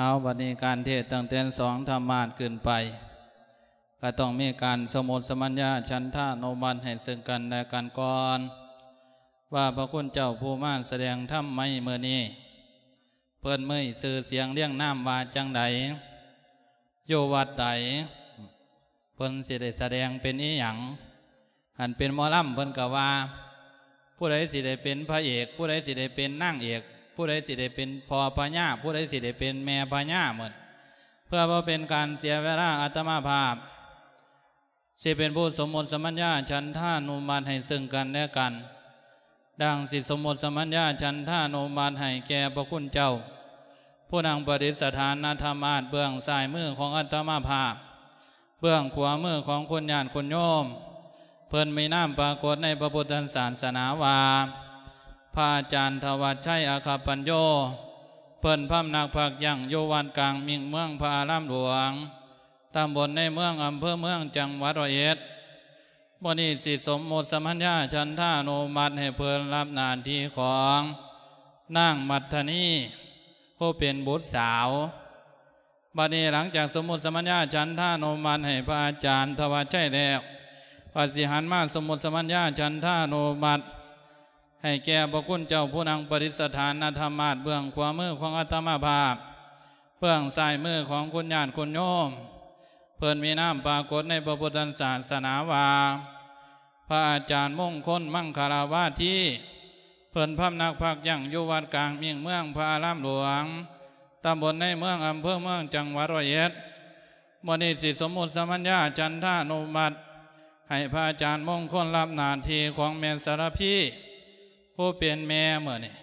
ເອົາ ບັດນີ້ການເທດຕັ້ງແຕ່ສອງທຳມາດຂຶ້ນໄປ ກໍຕ້ອງມີການສົມມຸດສະມັນຍາ ສັນທານຸມັດໃຫ້ເຊິ່ງກັນແລະກັນກ່ອນ ວ່າພະຄຸນເຈົ້າຜູ້ມາສະແດງທຳໃນມື້ນີ້ ເພິ່ນມີຊື່ສຽງລຽງນາມວ່າຈັ່ງໃດ? ຢູ່ວັດໃດ? ເພິ່ນຊິໄດ້ສະແດງເປັນອີ່ຫຍັງ? ອັນເປັນໝໍລຳເພິ່ນກໍວ່າ ຜູ້ໃດຊິໄດ້ເປັນພະເອກ? ຜູ້ໃດຊິໄດ້ເປັນນາງເອກ? ຜູ້ໃດຊິໄດ້ເປັນພໍ່ພະຍາ? ຜູ້ໃດຊິໄດ້ເປັນແມ່ພະຍາ? ໝົດ ເພື່ອບໍ່ເປັນການເສຍເວລາ ອາດຕະມາພາບ ຊິເປັນຜູ້ສົມມຸດສະມັນຍາ ສັນທານຸມັດໃຫ້ເຊິ່ງກັນແລະກັນ ດັ່ງຊິສົມມຸດສະມັນຍາ ສັນທານຸມັດໃຫ້ແກ່ພະຄຸນເຈົ້າ ຜູ້ນັ່ງປະດິດສະຖານອາດຕະມາພາບ ເບື້ອງຊ້າຍມືຂອງອາດຕະມາພາບ ເບື້ອງຂວາມືຂອງຄຸນຍາດຄຸນໂຍມ ເພິ່ນມີນາມປາກົດໃນພະພຸດທະສາສະໜາວ່າ ພະອາຈານທະວັດໄຊ ອັກຂະປັນໂຍ ເພິ່ນພຳນັກພັກຢັ້ງຢູ່ວັດກາງມິ້ງ ເມືອງພະອາລາມຫຼວງ ຕຳບົນໃນເມືອງ ອຳເພີເມືອງ ຈັງຫວັດຮ້ອຍເອັດ ມື້ນີ້ຊິສົມມຸດສະມັນຍາ ສັນທານຸມັດໃຫ້ເພິ່ນຮັບໜ້າທີ່ຂອງນາງມັດທະນີ ຜູ້ເປັນບຸດສາວ. ບັດນີ້ຫຼັງຈາກສົມມຸດສະມັນຍາ ສັນທານຸມັດໃຫ້ພະອາຈານທະວັດໄຊແລ້ວ ກໍຊິຫັນມາສົມມຸດສະມັນຍາ ສັນທານຸມັດ ໃຫ້ແກ່ພະຄຸນເຈົ້າຜູ້ນັ່ງປະດິດສະຖານອາດຕະມາພາບ ເບື້ອງຂວາມືຂອງອາດຕະມາພາບ ເບື້ອງຊ້າຍມືຂອງຄຸນຍາດຄຸນໂຍມ ເພິ່ນມີນາມປາກົດໃນພະພຸດທະສາສະໜາວ່າ ພະອາຈານມົງຄົນ ມັງຄະລະວາທີ ເພິ່ນພຳນັກພັກຢັ້ງຢູ່ວັດກາງມິ້ງ ເມືອງພະອາລາມຫຼວງ ຕຳບົນໃນເມືອງ ອຳເພີເມືອງ ຈັງຫວັດຮ້ອຍເອັດ ມື້ນີ້ຊິສົມມຸດສະມັນຍາ ສັນທານຸມັດ ໃຫ້ພະອາຈານມົງຄົນຮັບໜ້າທີ່ຂອງແມ່ສາລະພີ ຜູ້ເປັນແມ່ມື້ນີ້.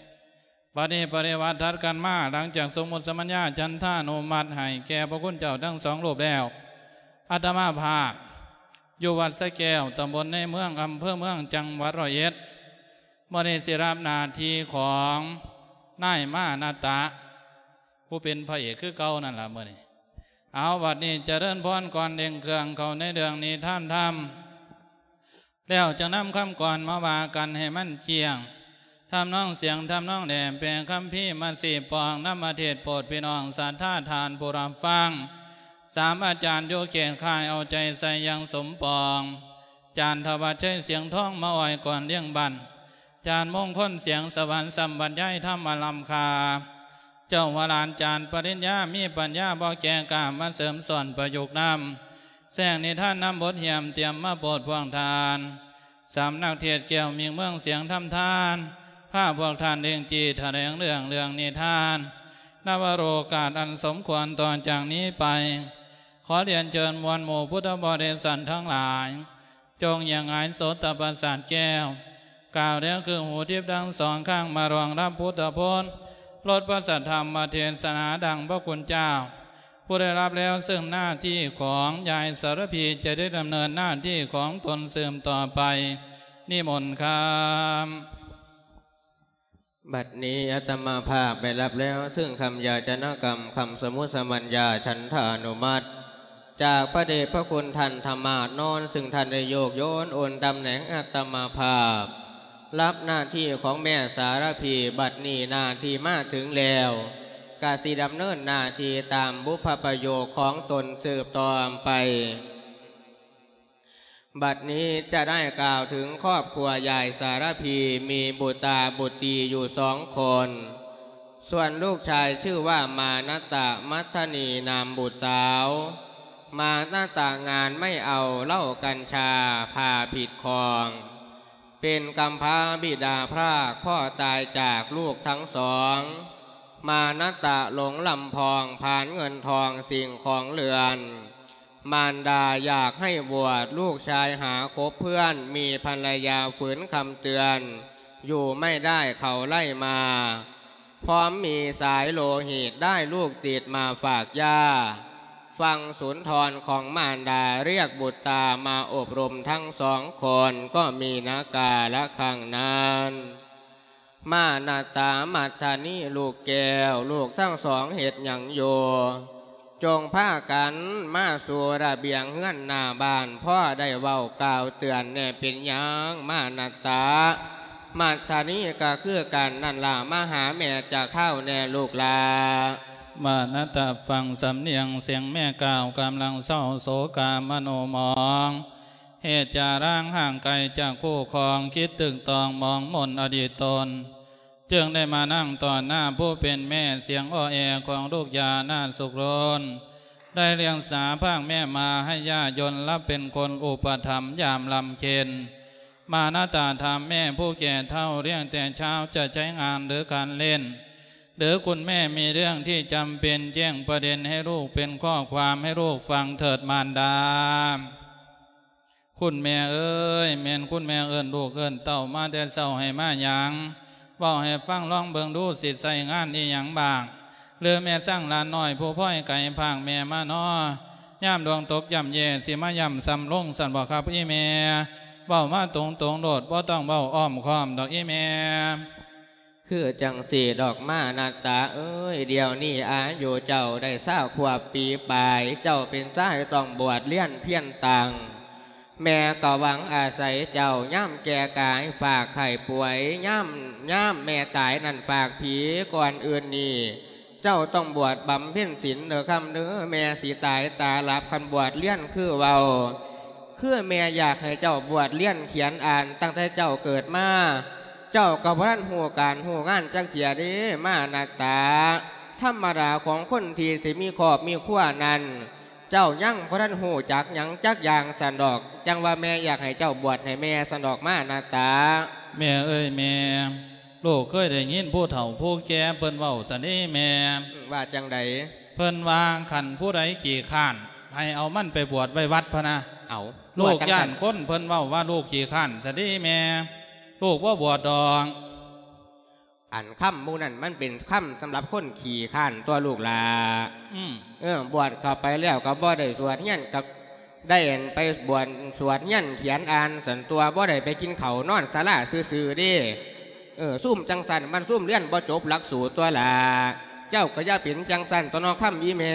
ບັດນີ້ປະລິວາດຖັດກັນມາ ຫຼັງຈາກສົມມຸດສະມັນຍາ ສັນທານຸມັດໃຫ້ແກ່ພະຄຸນເຈົ້າທັງສອງຮູບແລ້ວ ອາດຕະມາພາບຢູ່ວັດສະແກ້ວ ຕຳບົນໃນເມືອງ ອຳເພີເມືອງ ຈັງຫວັດຮ້ອຍເອັດ ມື້ນີ້ຊິຮັບໜ້າທີ່ຂອງນາຍມານະຕະ ຜູ້ເປັນພະເອກຄືເກົ່ານັ້ນລະມື້ນີ້. ເອົາ ບັດນີ້ຈະເລີນພອນກ່ອນເລັ່ງເຄື່ອງເຂົ້າໃນເລື່ອງນິທານທຳ ແລ້ວຈຶ່ງນຳຄຳກອນມາວ່າກັນໃຫ້ມັນຈຽງ ທຳນອງສຽງ ທຳນອງແຫຼມ ແປຄຳພີມາຊີ້ປ້ອງ ນຳມາເທດໂປດພີ່ນ້ອງສັດທາທ່ານຜູ້ຮັບຟັງ. ສາມອາຈານຢູ່ເຂດຄ້າຍ ເອົາໃຈໃສ່ຢ່າງສົມປອງ ອາຈານທະວັດໄຊ ສຽງທອງ ມາອ້ອຍກ່ອນລ້ຽງບ້ານ ອາຈານມົງຄົນ ສຽງສະຫວັນ ສ່ຳບັນຍາຍທຳອັນລ້ຳຄ່າ ເຈົ້າຫົວຫຼານ ອາຈານປະລິນຍາ ມີປັນຍາບໍ່ແກ່ກ້າ ມາເສີມສ້ອນປະຍຸກນຳ ແຊງນິທານນຳບົດຮ່ຽມ ຕຽມມາໂປດພວກທ່ານ. ສຳນັກເທດແກ້ວມິ້ງເມືອງ ສຽງທຳທານ ພາພວກທ່ານເລັ່ງຈີ່ຖະແຫຼງເລື່ອງ ເລື່ອງນິທານ ນະວະໂລກາດອັນສົມຄວນ. ຕໍ່ຈາກນີ້ໄປ ຂໍລຽນເຊີນມວນໝູ່ພຸດທະບໍລິສັດທັງຫຼາຍ ຈົ່ງຢ່າຫງາຍໂສດຕະປະສາດແກ້ວ ກ່າວແລ້ວຄືຫູທິບທັງສອງຂ້າງ ມາລອງຮັບພຸດທະພົນ ລົດພະສັດທຳມະເທດສະໜາ ດັ່ງພະຄຸນເຈົ້າ ຜູ້ໄດ້ຮັບແລ້ວ ເຊິ່ງໜ້າທີ່ຂອງຍາຍສາລະພີ ຈະໄດ້ດຳເນີນໜ້າທີ່ຂອງຕົນສືບຕໍ່ໄປ. ນິມົນຄຳ. ບັດນີ້ອາດຕະມາພາບໄດ້ຮັບແລ້ວ ເຊິ່ງຄຳຢາຈະນະກຳ ຄຳສົມມຸດສະມັນຍາ ສັນທານຸມັດ ຈາກພະເດດພະຄຸນທ່ານທະມາດນອນ ເຊິ່ງທ່ານໄດ້ໂຍກໂຍນໂອນຕຳແໜ່ງອາດຕະມາພາບ ຮັບໜ້າທີ່ຂອງແມ່ສາລະພີ. ບັດນີ້ໜ້າທີ່ມາເຖິງແລ້ວ ກະຊິດຳເນີນໜ້າທີ່ຕາມບຸບພະປະໂຫຍກຂອງຕົນສືບຕໍ່ໄປ. ບັດນີ້ຈະໄດ້ກ່າວເຖິງຄອບຄົວຍາຍສາລະພີ ມີບຸດຕາບຸດຕີຢູ່ສອງຄົນ. ສ່ວນລູກຊາຍຊື່ວ່າມານະຕະ ມັດທະນີນາມບຸດສາວ. ມານະຕະງານໄມ້ເອົາ ເຫຼົ້າກັນຊາ ຜ້າຜິດຂອງ ເປັນກຳພ້າບິດາພຣາກພໍ່ຕາຍຈາກລູກທັງສອງ. ມານະຕະຫຼົງລຳພອງ ຜານເງິນທອງສິ່ງຂອງເຮືອນ. ມານດາຢາກໃຫ້ບວດ ລູກຊາຍຫາຄົບເພື່ອນ ມີພັນລະຍາຝືນຄຳເຕືອນ ຢູ່ໄມ່ໄດ້ເຂົາໄລ່ມາ ພ້ອມມີສາຍໂລຫິດ ໄດ້ລູກຕິດມາຝາກຍ່າ. ຟັງສຸນທອນຂອງມານດາ ລຽກບຸດຕາມາອົບຮົມທັງສອງຄົນ ກໍມີນາກາລະຄັ້ງນັ້ນ. ມານະຕາ ມັດທະນີ ລູກແກ້ວ ລູກທັງສອງເຮັດຫຍັງຢູ່? ຈົ່ງພາກັນມາສູ່ລະບຽງເຮືອນໜ້າບ້ານ ພໍ່ໄດ້ເວົ້າກ່າວເຕືອນແດ່. ເປັນຫຍັງມານະຕາ? ມັດທະນີ ກໍຄືກັນນັ້ນລະ ມາຫາແມ່ຈັກຄາວແດ່ລູກຫຼ້າ. ມານະຕະຟັງສຳນຽງສຽງແມ່ກ່າວ ກຳລັງເສົ້າໂສກາມະໂນໝອງ ເຫດຈາລາງຫ່າງໄກຈາກຄູ່ຄອງ ຄິດຕຶກຕອງມອງມົນອະດີດຕົນ ຈຶ່ງໄດ້ມານັ່ງຕໍ່ໜ້າຜູ້ເປັນແມ່ ສຽງອໍແອຂອງລູກຢ່າໜ້າສຸກລົນ ໄດ້ລ້ຽງສາພາກແມ່ມາໃຫ້ຢ່າຍົນ ລັບເປັນຄົນອຸປະຖຳຍາມລຳເຄັນ. ມານະຕາຖາມແມ່ຜູ້ແກ່ເຖົ້າ ລ້ຽງແຕ່ເຊົ້າຈະໃຊ້ງານຫຼືການຫຼິ້ນ ຫຼືຄຸນແມ່ມີເລື່ອງທີ່ຈຳເປັນ ແຈ້ງປະເດັນໃຫ້ລູກ ເປັນຂໍ້ຄວາມໃຫ້ລູກຟັງເຖີດມານດາ. ຄຸນແມ່ເອີຍ ແມ່ນຄຸນແມ່ເອີ້ນລູກເອີ້ນເຕົ້າມາແຕ່ເຊົ້າໃຫ້ມາຫຍັງ? ເວົ້າໃຫ້ຟັງລອງເບິ່ງດູ ຊິໃຊ້ງານອີ່ຫຍັງບ້າງ? ຫຼືແມ່ຊ່າງຫຼານນ້ອຍຜູ້ພອຍໄກພາກແມ່ມານໍ? ຍາມດວງຕົກຢ້ຳແຍ່ ຊິມາຢ້ຳຊຳລົງຊັ້ນບໍຄັບອີ່ແມ່? ເວົ້າມາຕົງໆໂລດ ບໍ່ຕ້ອງເວົ້າອ້ອມຄ້ອມດອກອີ່ແມ່. ຄືຈັ່ງຊີ້ດອກມານະຕາເອີຍ ດຽວນີ້ອາຍຸເຈົ້າໄດ້ຊາວຂວບປີປາຍ ເຈົ້າເປັນຊາຍຕ້ອງບວດລຽນພຽນຕັ້ງ ແມ່ກໍຫວັງອາໄສເຈົ້າ ຍາມແກ່ກາຍຟາກໄຂ້ປ່ວຍ ຍາມ ຍາມແມ່ຕາຍນັ້ນຟາກຜີ ກ່ອນອື່ນນີ້ ເຈົ້າຕ້ອງບວດບຳເພັນສິນເດີຄຳເດີ ແມ່ຊິຕາຍຕາຫຼັບ ຄັນບວດລຽນຄືເວົ້າ. ຄືແມ່ຢາກໃຫ້ເຈົ້າບວດລຽນຂຽນອ່ານຕັ້ງແຕ່ເຈົ້າເກີດມາ ເຈົ້າກໍບໍ່ທັນຮູ້ການຮູ້ງານຈັກເທື່ອເດ້ ມານະຕາ. ທຳມະດາຂອງຄົນທີ່ຊິມີຄອບມີຄົວນັ້ນ ເຈົ້າຍັງບໍ່ທັນຮູ້ຈັກຫຍັງຈັກຢ່າງຊັ້ນດອກ ຈັ່ງວ່າແມ່ຢາກໃຫ້ເຈົ້າບວດໃຫ້ແມ່ຊັ້ນດອກ ມານະຕາ. ແມ່ເອີຍແມ່ ລູກເຄີຍໄດ້ຍິນຜູ້ເຖົ້າຜູ້ແກ່ເພິ່ນເວົ້າຊັ້ນເດ້ແມ່. ອືມ ວ່າຈັ່ງໃດ? ເພິ່ນວ່າຄັນຜູ້ໃດຂີ້ຄ້ານ ໃຫ້ເອົາມັນໄປບວດໄວ້ວັດພະນະ. ເອົາ ລູກຢ້ານຄົນເພິ່ນເວົ້າວ່າລູກຂີ້ຄ້ານຊັ້ນເດ້ແມ່ ລູກບໍ່ບວດດອກ. ອັນຄຳໝູ່ນັ້ນມັນເປັນຄຳສຳລັບຄົນຂີ້ຄ້ານຕົວະລູກຫຼ້າ. ອືມ ເອີ ບວດເຂົ້າໄປແລ້ວກໍບໍ່ໄດ້ສວດຮຽນ ກໍໄດ້ອັນໄປບວດສວດຮຽນຂຽນອ່ານຊັ້ນຕົວະ ບໍ່ໄດ້ໄປກິນເຂົ້ານອນສາລາຊື່ໆເດ້. ເອີ ຊຸມຈັ່ງຊັ້ນມັນຊຸມຮຽນບໍ່ຈົບຫຼັກສູດຕົວະຫຼ້າ ເຈົ້າກໍຢ່າເປັນຈັ່ງຊັ້ນຕົວະເນາະ ຄຳອີ່ແມ່.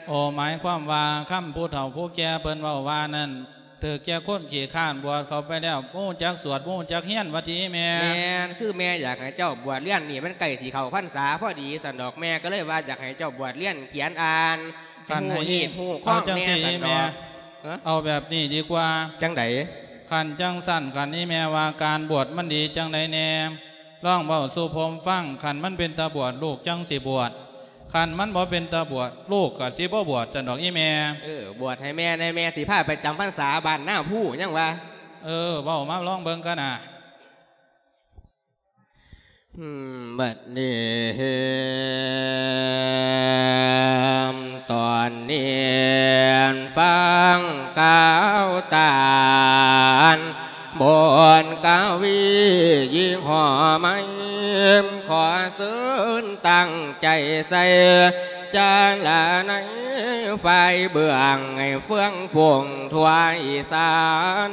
ໂອ ໝາຍຄວາມວ່າຄຳຜູ້ເຖົ້າຜູ້ແກ່ເພິ່ນເວົ້າວ່ານັ້ນ ຖືກແກ່ຄົນຂີ້ຄ້ານ ບວດເຂົ້າໄປແລ້ວບໍ່ຮູ້ຈັກສວດ ບໍ່ຮູ້ຈັກຮຽນ ວ່າຕິແມ່. ແມ່ນ ຄືແມ່ຢາກໃຫ້ເຈົ້າບວດຮຽນນີ້ ມັນໃກ້ຊິເຂົ້າພັນສາພໍດີຊັ້ນດອກ ແມ່ກໍເລີຍວ່າຢາກໃຫ້ເຈົ້າບວດຮຽນຂຽນອ່ານ ຄັນໃຫ້ ໃຫ້ຮູ້ຮີດຮູ້ຄອງແດ່ຊັ້ນດອກ. ເອົາແບບນີ້ດີກວ່າ. ຈັ່ງໃດ? ຄັນຈັ່ງຊັ້ນ ຄັນອີ່ແມ່ວ່າການບວດມັນດີຈັ່ງໃດແດ່ ລອງເວົ້າສູ່ຜົມຟັງ ຄັນມັນເປັນຕາບວດ ລູກຈັ່ງຊິບວດ ຄັນມັນບໍ່ເປັນຕາບວດ ລູກກໍຊິບໍ່ບວດຊັ້ນດອກອີ່ແມ່. ເອີ ບວດໃຫ້ແມ່ແດ່ ແມ່ຊິພາໄປຈຳພັນສາບ້ານນາພູ ຍັງວ່າ. ເອີ ເວົ້າມາລອງເບິ່ງກະນະ. ອືມ ບັດນີ້ ຕອນນີ້ຟັງຂ່າວຕານ ບົດກະວີຍີ່ຫໍ້ໃໝ່ ຂໍເຊີນຕັ້ງໃຈໃສ່ ຈາລະໃນຝ່າຍເບື້ອງ ໃຫ້ເຟືອງຝູງທົ່ວອີສານ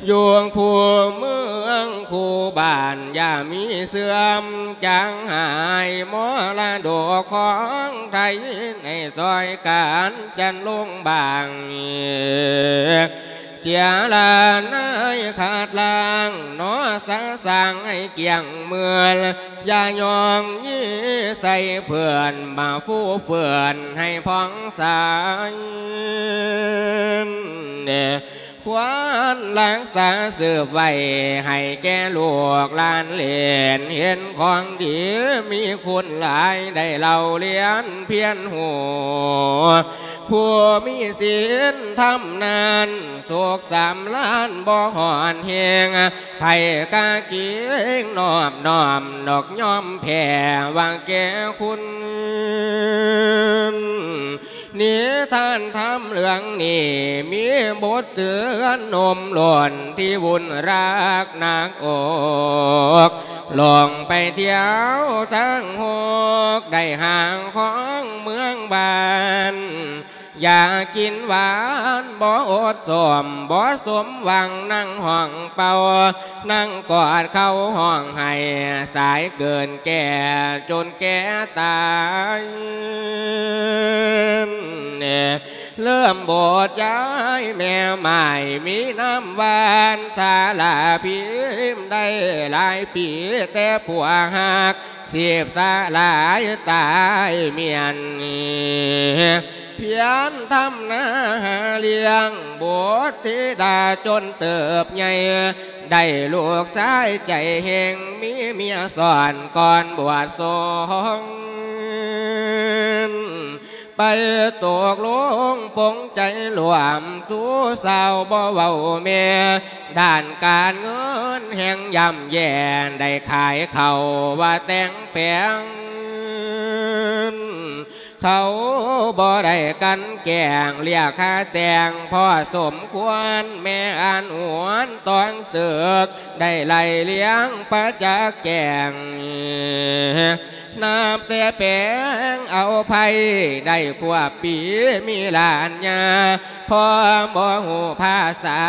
ຢູ່ຄູ່ເມືອງຄູ່ບ້ານ ຢ່າມີເສື່ອມຈາງຫາຍ ມໍລະດົກຂອງໄທ ໃຫ້ຊ່ອຍກັນຈັນລົງບາງ ເຈລະນາຍຂັດລ້າງ ໜໍສະສ້າງໃຫ້ກ້ຽງເໝືອນ ຢ່າຍ້ອງຢີໃສ່ເພື່ອນ ມາຟູເຟືອນໃຫ້ຜ່ອງໃສ ຄວນຮັກສາສືບໄວ້ ໃຫ້ແກ່ລູກຫຼານເຫຼນ ເຫັນຂອງດີມີຄຸນຫຼາຍ ໄດ້ເລົ່າລຽນພຽນຮູ້ ຜູ້ມີສິນທຳນັ້ນ ສຸກສຳລານບໍ່ຮ້ອນແຮງ ໃຜກະເກງນອບນ້ອມ ນອກຍອມແຜ່ວ່າແກ່ຄຸນ ນິທານທຳເລື່ອງນີ້ ມີບົດເຕືອນໜຸ່ມລົ້ນທີ່ວຸ່ນຮັກໜັກອົກ ລົງໄປທ່ຽວທາງຫົກ ໄດ້ຫາຂອງເມືອງບ້ານ ຢາກກິນຫວານບໍ່ອົດສົມ ບໍ່ສົມຫວັງນັ່ງຮ້ອງເປົ່າ ນັ່ງກອດເຂົ່າຮ້ອງໄຫ້ ສາຍເກີນແກ່ຈົນແກ່ຕາຍ ເລີ່ມໂບດຍ້າຍແມ່ໝ້າຍ ມີນາມຫວານສາລາພິມ ໄດ້ຫຼາຍປີແຕ່ຜົວຮັກ ຊີບສະຫຼາຍຕາຍມ້ຽນ ພຽນທຳນາຫາລ້ຽງບຸດທິດາຈົນເຕີບໃຫຍ່ ໄດ້ລູກຊາຍໃຈເຮັງ ມີເມຍຊ້ອນກ່ອນບວດສົງ ໄປຕົກລົງປົງໃຈລວມສູ່ສາວບໍ່ເວົ້າແມ່ ດ້ານການເງິນແຮ່ງຍ່ຳແຍ່ ໄດ້ຂາຍເຂົ້າວ່າແຕ່ງແປງ ເຂົາບໍ່ໄດ້ກັ່ນແກ້ງ ລຽກຄ່າແຕ່ງພໍສົມຄວນ ແມ່ອັນຫວນຕ້ອງຕຶກ ໄດ້ໄລ່ລ້ຽງປະຈັກແຈ້ງ ນັບແຕ່ແປງເອົາໄພ ໄດ້ຄວບປີມີຫຼານຍາ ພໍ່ບໍ່ຮູ້ພາສາ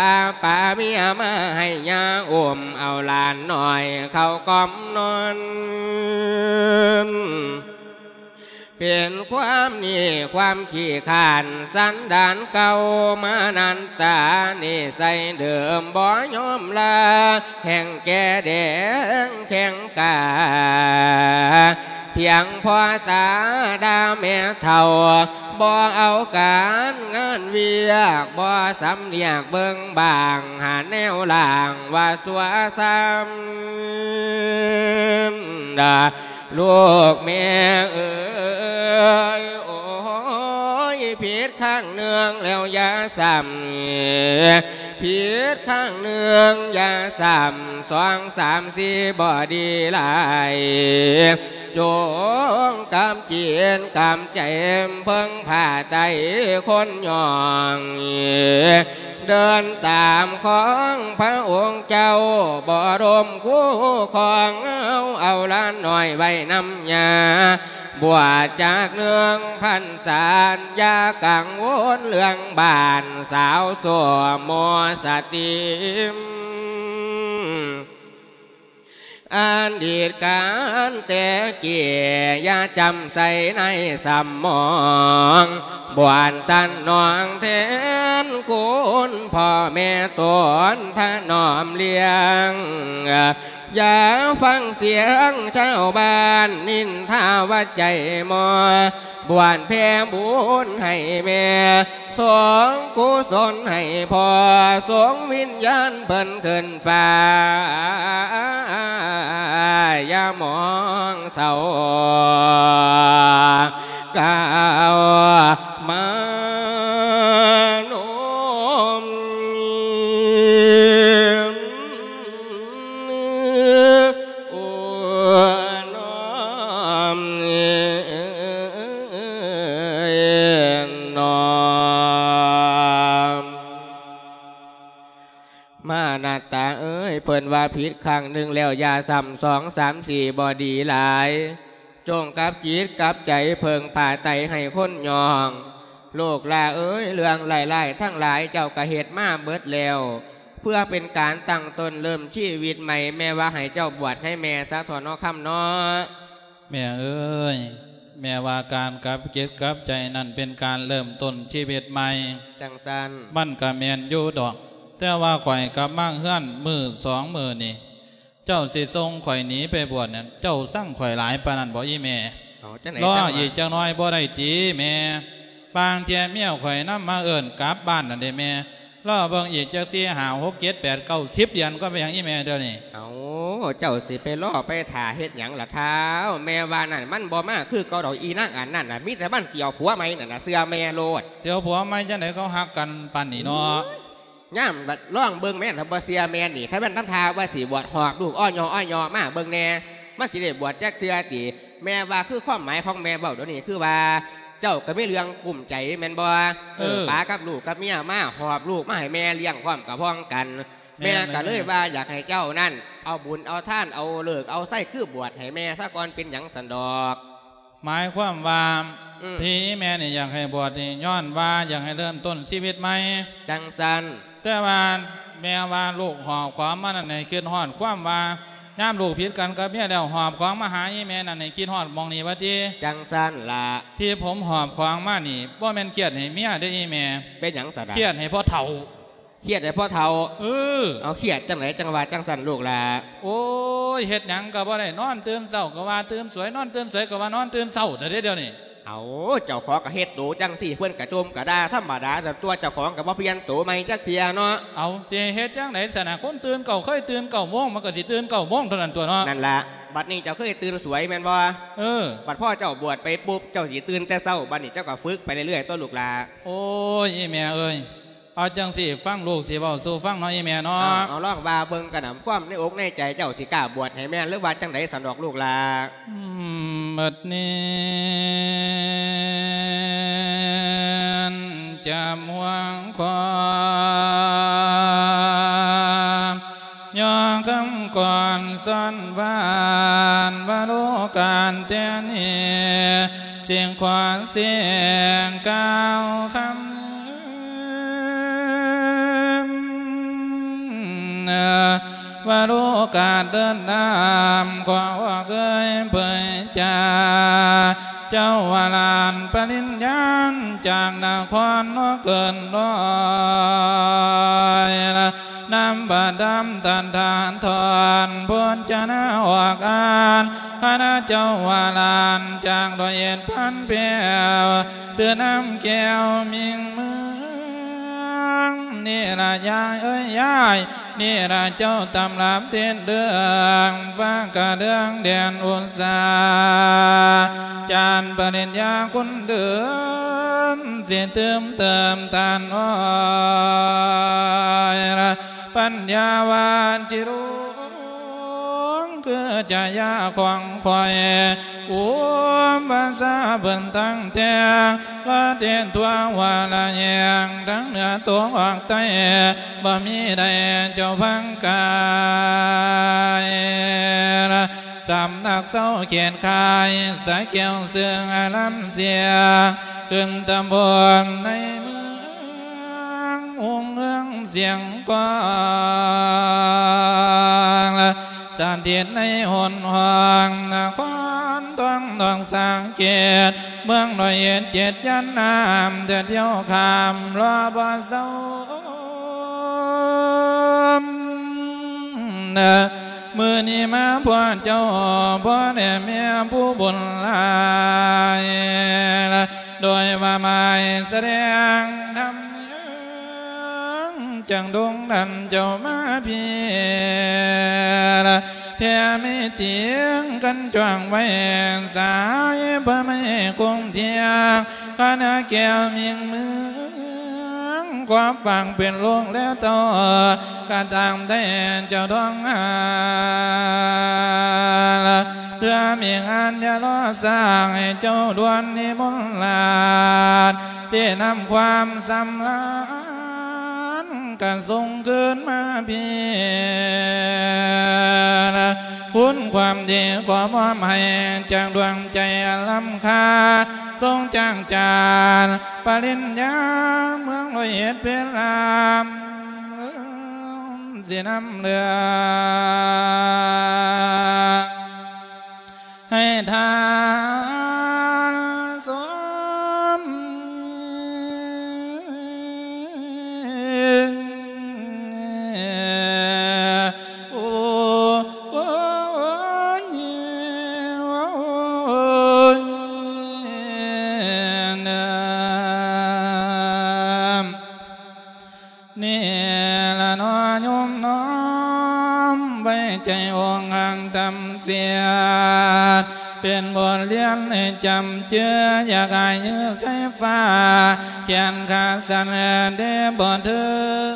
ປາເມຍມາໃຫ້ຍາອຸ້ມ ເອົາຫຼານນ້ອຍເຂົ້າກ່ອມນອນ ເປັນຄວາມໜີ້ຄວາມຂີ້ຄ້ານ ສັນດານເກົ່າມານັນຕາ ນິໄສເດີມບໍ່ຍອມລາ ແຮ່ງແກ່ແດງແຂງກາ ຖຽງພໍ່ຕາດ່າແມ່ເຖົ້າ ບໍ່ເອົາການງານວຽກ ບໍ່ສຳນຽກເບິ່ງບາງ ຫາແນວລ່າງວ່າຊົ່ວຊ້ຳ ລູກແມ່ເອີຍ ໂອ້ຍ ຜິດຄັ້ງໜຶ່ງແລ້ວຢ່າຊ້ຳ ຜິດຄັ້ງໜຶ່ງຢ່າຊ້ຳ ສອງສາມສີ່ບໍ່ດີຫຼາຍ ຈົ່ງກຳຈິດກຳໃຈ ເພິ່ງພາໄຕຄົນຍ່ອງ ເດີນຕາມຂອງພະອົງເຈົ້າ ບໍ່ລົມຄູ່ຄອງເອົາ ເອົາຫຼານນ້ອຍໄວ້ນຳຍ່າ ບວດຈັກໜຶ່ງພັນສາ ຢ່າກັງວົນເລື່ອງບ້ານ ສາວໂສມໂມສະຕິມ ອະດີດການແຕ່ກີ້ ຢ່າຈຳໃສ່ໃນສະໝອງ ບວນຕັນນອງແທນຄຸນພໍ່ແມ່ຕົນຖະໜອມລ້ຽງ ຢ່າຟັງສຽງຊາວບ້ານນິນທາວ່າໃຈໝໍ ບວນແຜ່ບຸນໃຫ້ແມ່ ສົ່ງກຸສົນໃຫ້ພໍ່ ສົ່ງວິນຍານເພິ່ນຂຶ້ນຟ້າ ຢ່າມອງເສົ້າ ກ່າວມາໂນມ ໂອ້ ນ້ອມ ນ້ອມ ມານາຕາເອີຍ ເພິ່ນວ່າຜິດຄັ້ງໜຶ່ງແລ້ວຢ່າຊ້ຳ ສອງສາມສີ່ບໍ່ດີຫຼາຍ ຈົ່ງກັບຈິດກັບໃຈເພິ່ງພາໄຕໃຫ້ຄົນຍ່ອງ ລູກຫຼ້າເອີຍ ເລື່ອງຮ້າຍໆທັງຫຼາຍເຈົ້າກະເຮັດມາເບິດແລ້ວ ເພື່ອເປັນການຕັ້ງຕົ້ນເລີ່ມຊີວິດໃໝ່ ແມ່ວ່າໃຫ້ເຈົ້າບວດໃຫ້ແມ່ຊະເຖາະເນາະ ຄຳເນາະ. ແມ່ເອີຍ ແມ່ວ່າການກັບຈິດກັບໃຈນັ້ນເປັນການເລີ່ມຕົ້ນຊີວິດໃໝ່ ຈັ່ງຊັ້ນ ມັນກະແມ່ນຢູ່ດອກ ແຕ່ວ່າຂ້ອຍກັບມາເຮືອນມື້ສອງມື້ນີ້ ເຈົ້າຊິສົ່ງຂ້ອຍໜີໄປບວດນັ້ນ ເຈົ້າຊັງຂ້ອຍຫຼາຍປານນັ້ນບໍ່ອີ່ແມ່? ເອົາ ຈັ່ງໃດ ລໍອີກຈັກໜ້ອຍບໍ່ໄດ້ຕິແມ່? ບາງເທື່ອເມຍຂ້ອຍນຳມາເອີ້ນກັບບ້ານນັ້ນເດ້ແມ່ ລໍເບິ່ງອີກຈັກສີ່ ຫ້າ ຫົກ ເຈັດ ແປດ ເກົ້າ ສິບ ເດືອນກ່ອນ ເປັນຫຍັງອີ່ແມ່ດຽວນີ້? ເອົາ ເຈົ້າຊິໄປລໍໄປຖ້າເຮັດຫຍັງລະທ້າວ? ແມ່ວ່ານັ້ນ ມັນບໍ່ມາຄືເກົ່າດອກ ອີນາງອັນນັ້ນນະ ມີແຕ່ມັນຊິເອົາຜົວໃໝ່ນັ້ນນະ ເຊື່ອແມ່ໂລດ. ຊິເອົາຜົວໃໝ່ຈັ່ງໃດ ເຂົາຮັກກັນປານນີ້ເນາະ. ຍາມລອງເບິ່ງແມ່ນ ຖ້າບໍ່ເຊື່ອແມ່ນີ້ ຖ້າແມ່ນທຳທ່າວ່າຊິບວດ ຫອບລູກອ້ອຍຍໍອ້ອຍຍໍມາເບິ່ງແດ່ ມັນຊິໄດ້ບວດຈັກເທື່ອຕິ? ແມ່ວ່າຄືຄວາມໝາຍຂອງແມ່ເວົ້າດຽວນີ້ ຄືວ່າເຈົ້າກໍມີເລື່ອງກຸ້ມໃຈແມ່ນບໍ່? ເອີ ເອີ ປາກັບລູກກັບເມຍມາ ຫອບລູກມາໃຫ້ແມ່ລ້ຽງພ້ອມກະພ້ອງກັນ. ແມ່ ແມ່ກໍເລີຍວ່າຢາກໃຫ້ເຈົ້ານັ້ນ ເອົາບຸນເອົາທານ ເອົາເລີກເອົາໄຊ ຄືບວດໃຫ້ແມ່ຊະກ່ອນ ເປັນຫຍັງຊັ້ນດອກ? ໝາຍຄວາມວ່າ ອືມ ທີ່ແມ່ນີ້ຢາກໃຫ້ບວດນີ້ ຍ້ອນວ່າຢາກໃຫ້ເລີ່ມຕົ້ນຊີວິດໃໝ່ ຈັ່ງຊັ້ນ. ແຕ່ວ່າແມ່ວ່າລູກຫອບຂອງມານັ້ນໃຫ້ຄິດຮອດຄວາມວ່າ ຍາມລູກຜິດກັນກັບເມຍແລ້ວ ຫອບຂອງມາຫາອີ່ແມ່ນັ້ນໃຫ້ຄິດຮອດໝ່ອງນີ້ວ່າຕິ? ຈັ່ງຊັ້ນລະ. ທີ່ຜົມຫອບຂອງມານີ້ ບໍ່ແມ່ນຄຽດໃຫ້ເມຍເດ້ອີ່ແມ່. ເປັນຫຍັງຊັ້ນນະ? ຄຽດໃຫ້ພໍ່ເຖົ້າ. ຄຽດໃດພໍ່ເຖົ້າ? ເອີ ເອົາ ຄຽດຈັ່ງໃດຈັ່ງວ່າຈັ່ງຊັ້ນລູກຫຼ້າ? ໂອ້ຍ ເຮັດຫຍັງກໍບໍ່ໄດ້ ນອນຕື່ນເຊົ້າກໍວ່າຕື່ນສວຍ ນອນຕື່ນສວຍກໍວ່ານອນຕື່ນເຊົ້າຊະເດ້ດຽວນີ້. ເອົາ ເຈົ້າຂອງກໍເຮັດໂຕຈັ່ງຊີ້ ເພິ່ນກໍຈົ່ມກໍດ່າທຳມະດາຊັ້ນຕົວະ ເຈົ້າຂອງກໍບໍ່ປ່ຽນໂຕໃໝ່ຈັກເທື່ອເນາະ. ເອົາ ຊິໃຫ້ເຮັດຈັ່ງໃດຊັ້ນນະ ຄົນຕື່ນເກົ້າ ເຄີຍຕື່ນເກົ້າໂມງ ມັນກໍຊິຕື່ນເກົ້າໂມງເທົ່ານັ້ນຕົວະເນາະ. ນັ້ນລະ ບັດນີ້ເຈົ້າເຄີຍຕື່ນສວຍແມ່ນບໍ່? ເອີ ບັດພໍເຈົ້າບວດໄປປຸບ ເຈົ້າຊິຕື່ນແຕ່ເຊົ້າ ບັດນີ້ເຈົ້າກໍຝຶກໄປເລື້ອຍໆຕົວະລູກຫຼ້າ. ໂອ້ຍ ອີ່ແມ່ເອີຍ ເອົາຈັ່ງຊີ້ ຟັງລູກຊິເວົ້າສູ່ຟັງເນາະ ອີ່ແມ່ເນາະ. ເອົາ ເອົາ ລອງວ່າເບິ່ງກະນຳ ຄວາມໃນອົກໃນໃຈເຈົ້າຊິກ້າບວດໃຫ້ແມ່ນ ຫຼືວ່າຈັ່ງໃດຊັ້ນດອກລູກຫຼ້າ? ອືມ ບັດນີ້ຈຳຫວງຄວາມ ຍໍຄຳກ່ອນສອນຫວານ ວ່າໂລການແຕ່ນີ້ ເສຍງຂວັນເສຍງກ່າວຄຳ ວ່າໂລກາເດີນນຳ ຂໍອອກເອີຍເຜີຍຈາ ເຈົ້າວ່າຫຼານປະລິນຍານ ຈາກນະຄອນເນາະເກີນຮ້ອຍ ນຳພະທຳຕັນຖານຖອນ ໂພນຈະນາອອກອ່ານ ຄະນະເຈົ້າວ່າຫຼານຈາກຮ້ອຍເອັດພັນແປ້ວ ຊື່ນຳແກ້ວມິ່ງເມືອງ ນີ້ລະຍາຍເອີຍຍາຍ ນີ້ລະເຈົ້າຕຳລັບເທດເລື່ອງ ຟ້າກະເດືອງແດນອຸດສາ ຈານປະລິນຍາຄຸນເດີນ ຊິຕື່ມເຕີມຕານອ້ອຍ ປັນຍາວາດຈິລຸງ ຄືຈະຍາຂອງຂ້ອຍ ອຸປະຊາເພິ່ນຕັ້ງແຕ່ງ ລະເທດທົ່ວວາລະແຫ່ງ ທັງເໜືອຕົກອອກໃຕ້ ບໍ່ມີໃດເຈົ້າພັງກາຍ ສຳນັກເຊົາເຂດຄ້າຍ ສະແກ້ວເຊື່ອງອາລາມເສຍ ຂຶ້ນຕຳບົນໃນເມືອງ ຮຸ່ງເຮືອງສຽງກອງ ສະຖິດໃນຫົນຫ້ອງນະຄອນທອງດອກສາເກດ ເມືອງຮ້ອຍເອັດເຈັດຍານນ້ຳ ຈະທ່ຽວຂ້າມລໍບໍ່ເຊົາ ມື້ນີ້ມາພໍ້ເຈົ້າ ພໍ່ແລະແມ່ຜູ້ບຸນຫຼາຍ ໂດຍວ່າໝາຍສະແດງທຳ ຈັ່ງດົງດັນເຈົ້າມາພີ້ ແຜ່ມີຕຽງກັນຈ້ວງໄວ້ ສາຍພະໄມກົງທຽງ ຄະນະແກ້ວມິ່ງເມືອງ ຄວາມຝັງເປັນລູກແລະເຕົ້າ ກະຕາມໄດ້ເຈົ້າດວງຫາ ເທື່ອມີງານຢ່າລໍຊ້າ ໃຫ້ເຈົ້າດ່ວນນິມົນລາດ ຊີ້ນຳຄວາມສຳລານ ກະສົ່ງຄືນມາພີ້ ຄຸນຄວາມດີຂໍມອບໃຫ້ ຈາກດວງໃຈອັນລ້ຳຄ່າ ຊົງຈ້າງຈານປະລິນຍາ ເມືອງຮ້ອຍເອັດເພັດລາມ ຊິນຳເລື່ອງ ໃຫ້ທ່ານຊົມ ໂອ້ ໂອ້ຍ ໂອ້ຍ ນາ ນີ້ລະເນາະໂຍມນ້ອມໄວ້ໃຈອົງຮັກທຳເສຍ ເປັນບົດຮຽນໃຫ້ຈຳເຈື່ອ ຢ່າກາຍຍືໃສ່ຟ້າ ແຂນຂາສັ້ນເດ້ບໍ່ເຖິງ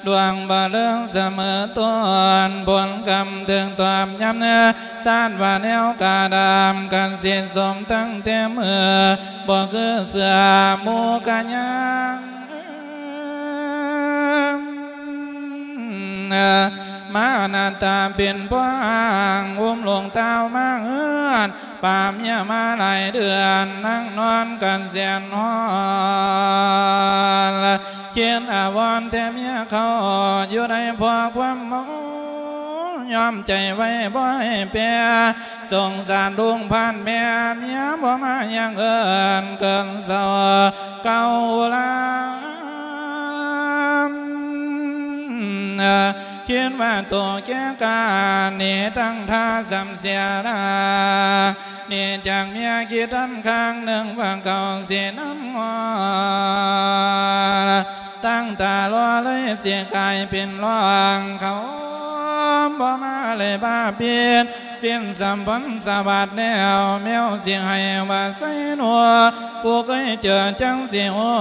ດວງບໍ່ເລິງສະເໝີຕົ້ນ ຜົນກຳເຖິງຕອບຍາມເນີ ຊາດວ່າແນວກາດຳ ກັນສິດສົມຕັ້ງແຕ່ເມື່ອ ບໍ່ຄືເສືອໝູ່ກະຍັງ ມາໜ້າຕາເປັນພວກອ້າງ ອຸ້ມລູກເຕົ້າມາເຮືອນ ປາເມຍມາຫຼາຍເດືອນ ນັ່ງນອນກັນແສນຮ້ອນ ຄິດອາວອນແຕ່ເມຍເຂົ້າ ຢູ່ໃນພວກຄວາມເມົາ ຍອມໃຈໄວ້ບໍ່ໃຫ້ແປ ສົງສານລູກພາດແມ່ ເມຍບໍ່ມາຢ່າງເອີ້ນເກີນເຊົາເກົ່າລາ ຄິດວ່າໂຕແກ່ການໜີຕັ້ງທ່າສຳເສຍລາ ໜີຈາກເມຍຄິດທັນຄັ້ງໜຶ່ງວ່າເຂົາຊິນຳມາ ຕັ້ງຕາລໍເລີຍຊິກາຍເປັນລອງ ເຂົາບໍ່ມາເລີຍບາບບິດ ສິ້ນສຳພັນສະບາດແລ້ວ ແມວຊິໃຫ້ວ່າໃສ່ໜູ ຜູ້ເຄີຍເຈີຈັ່ງຊິຮູ້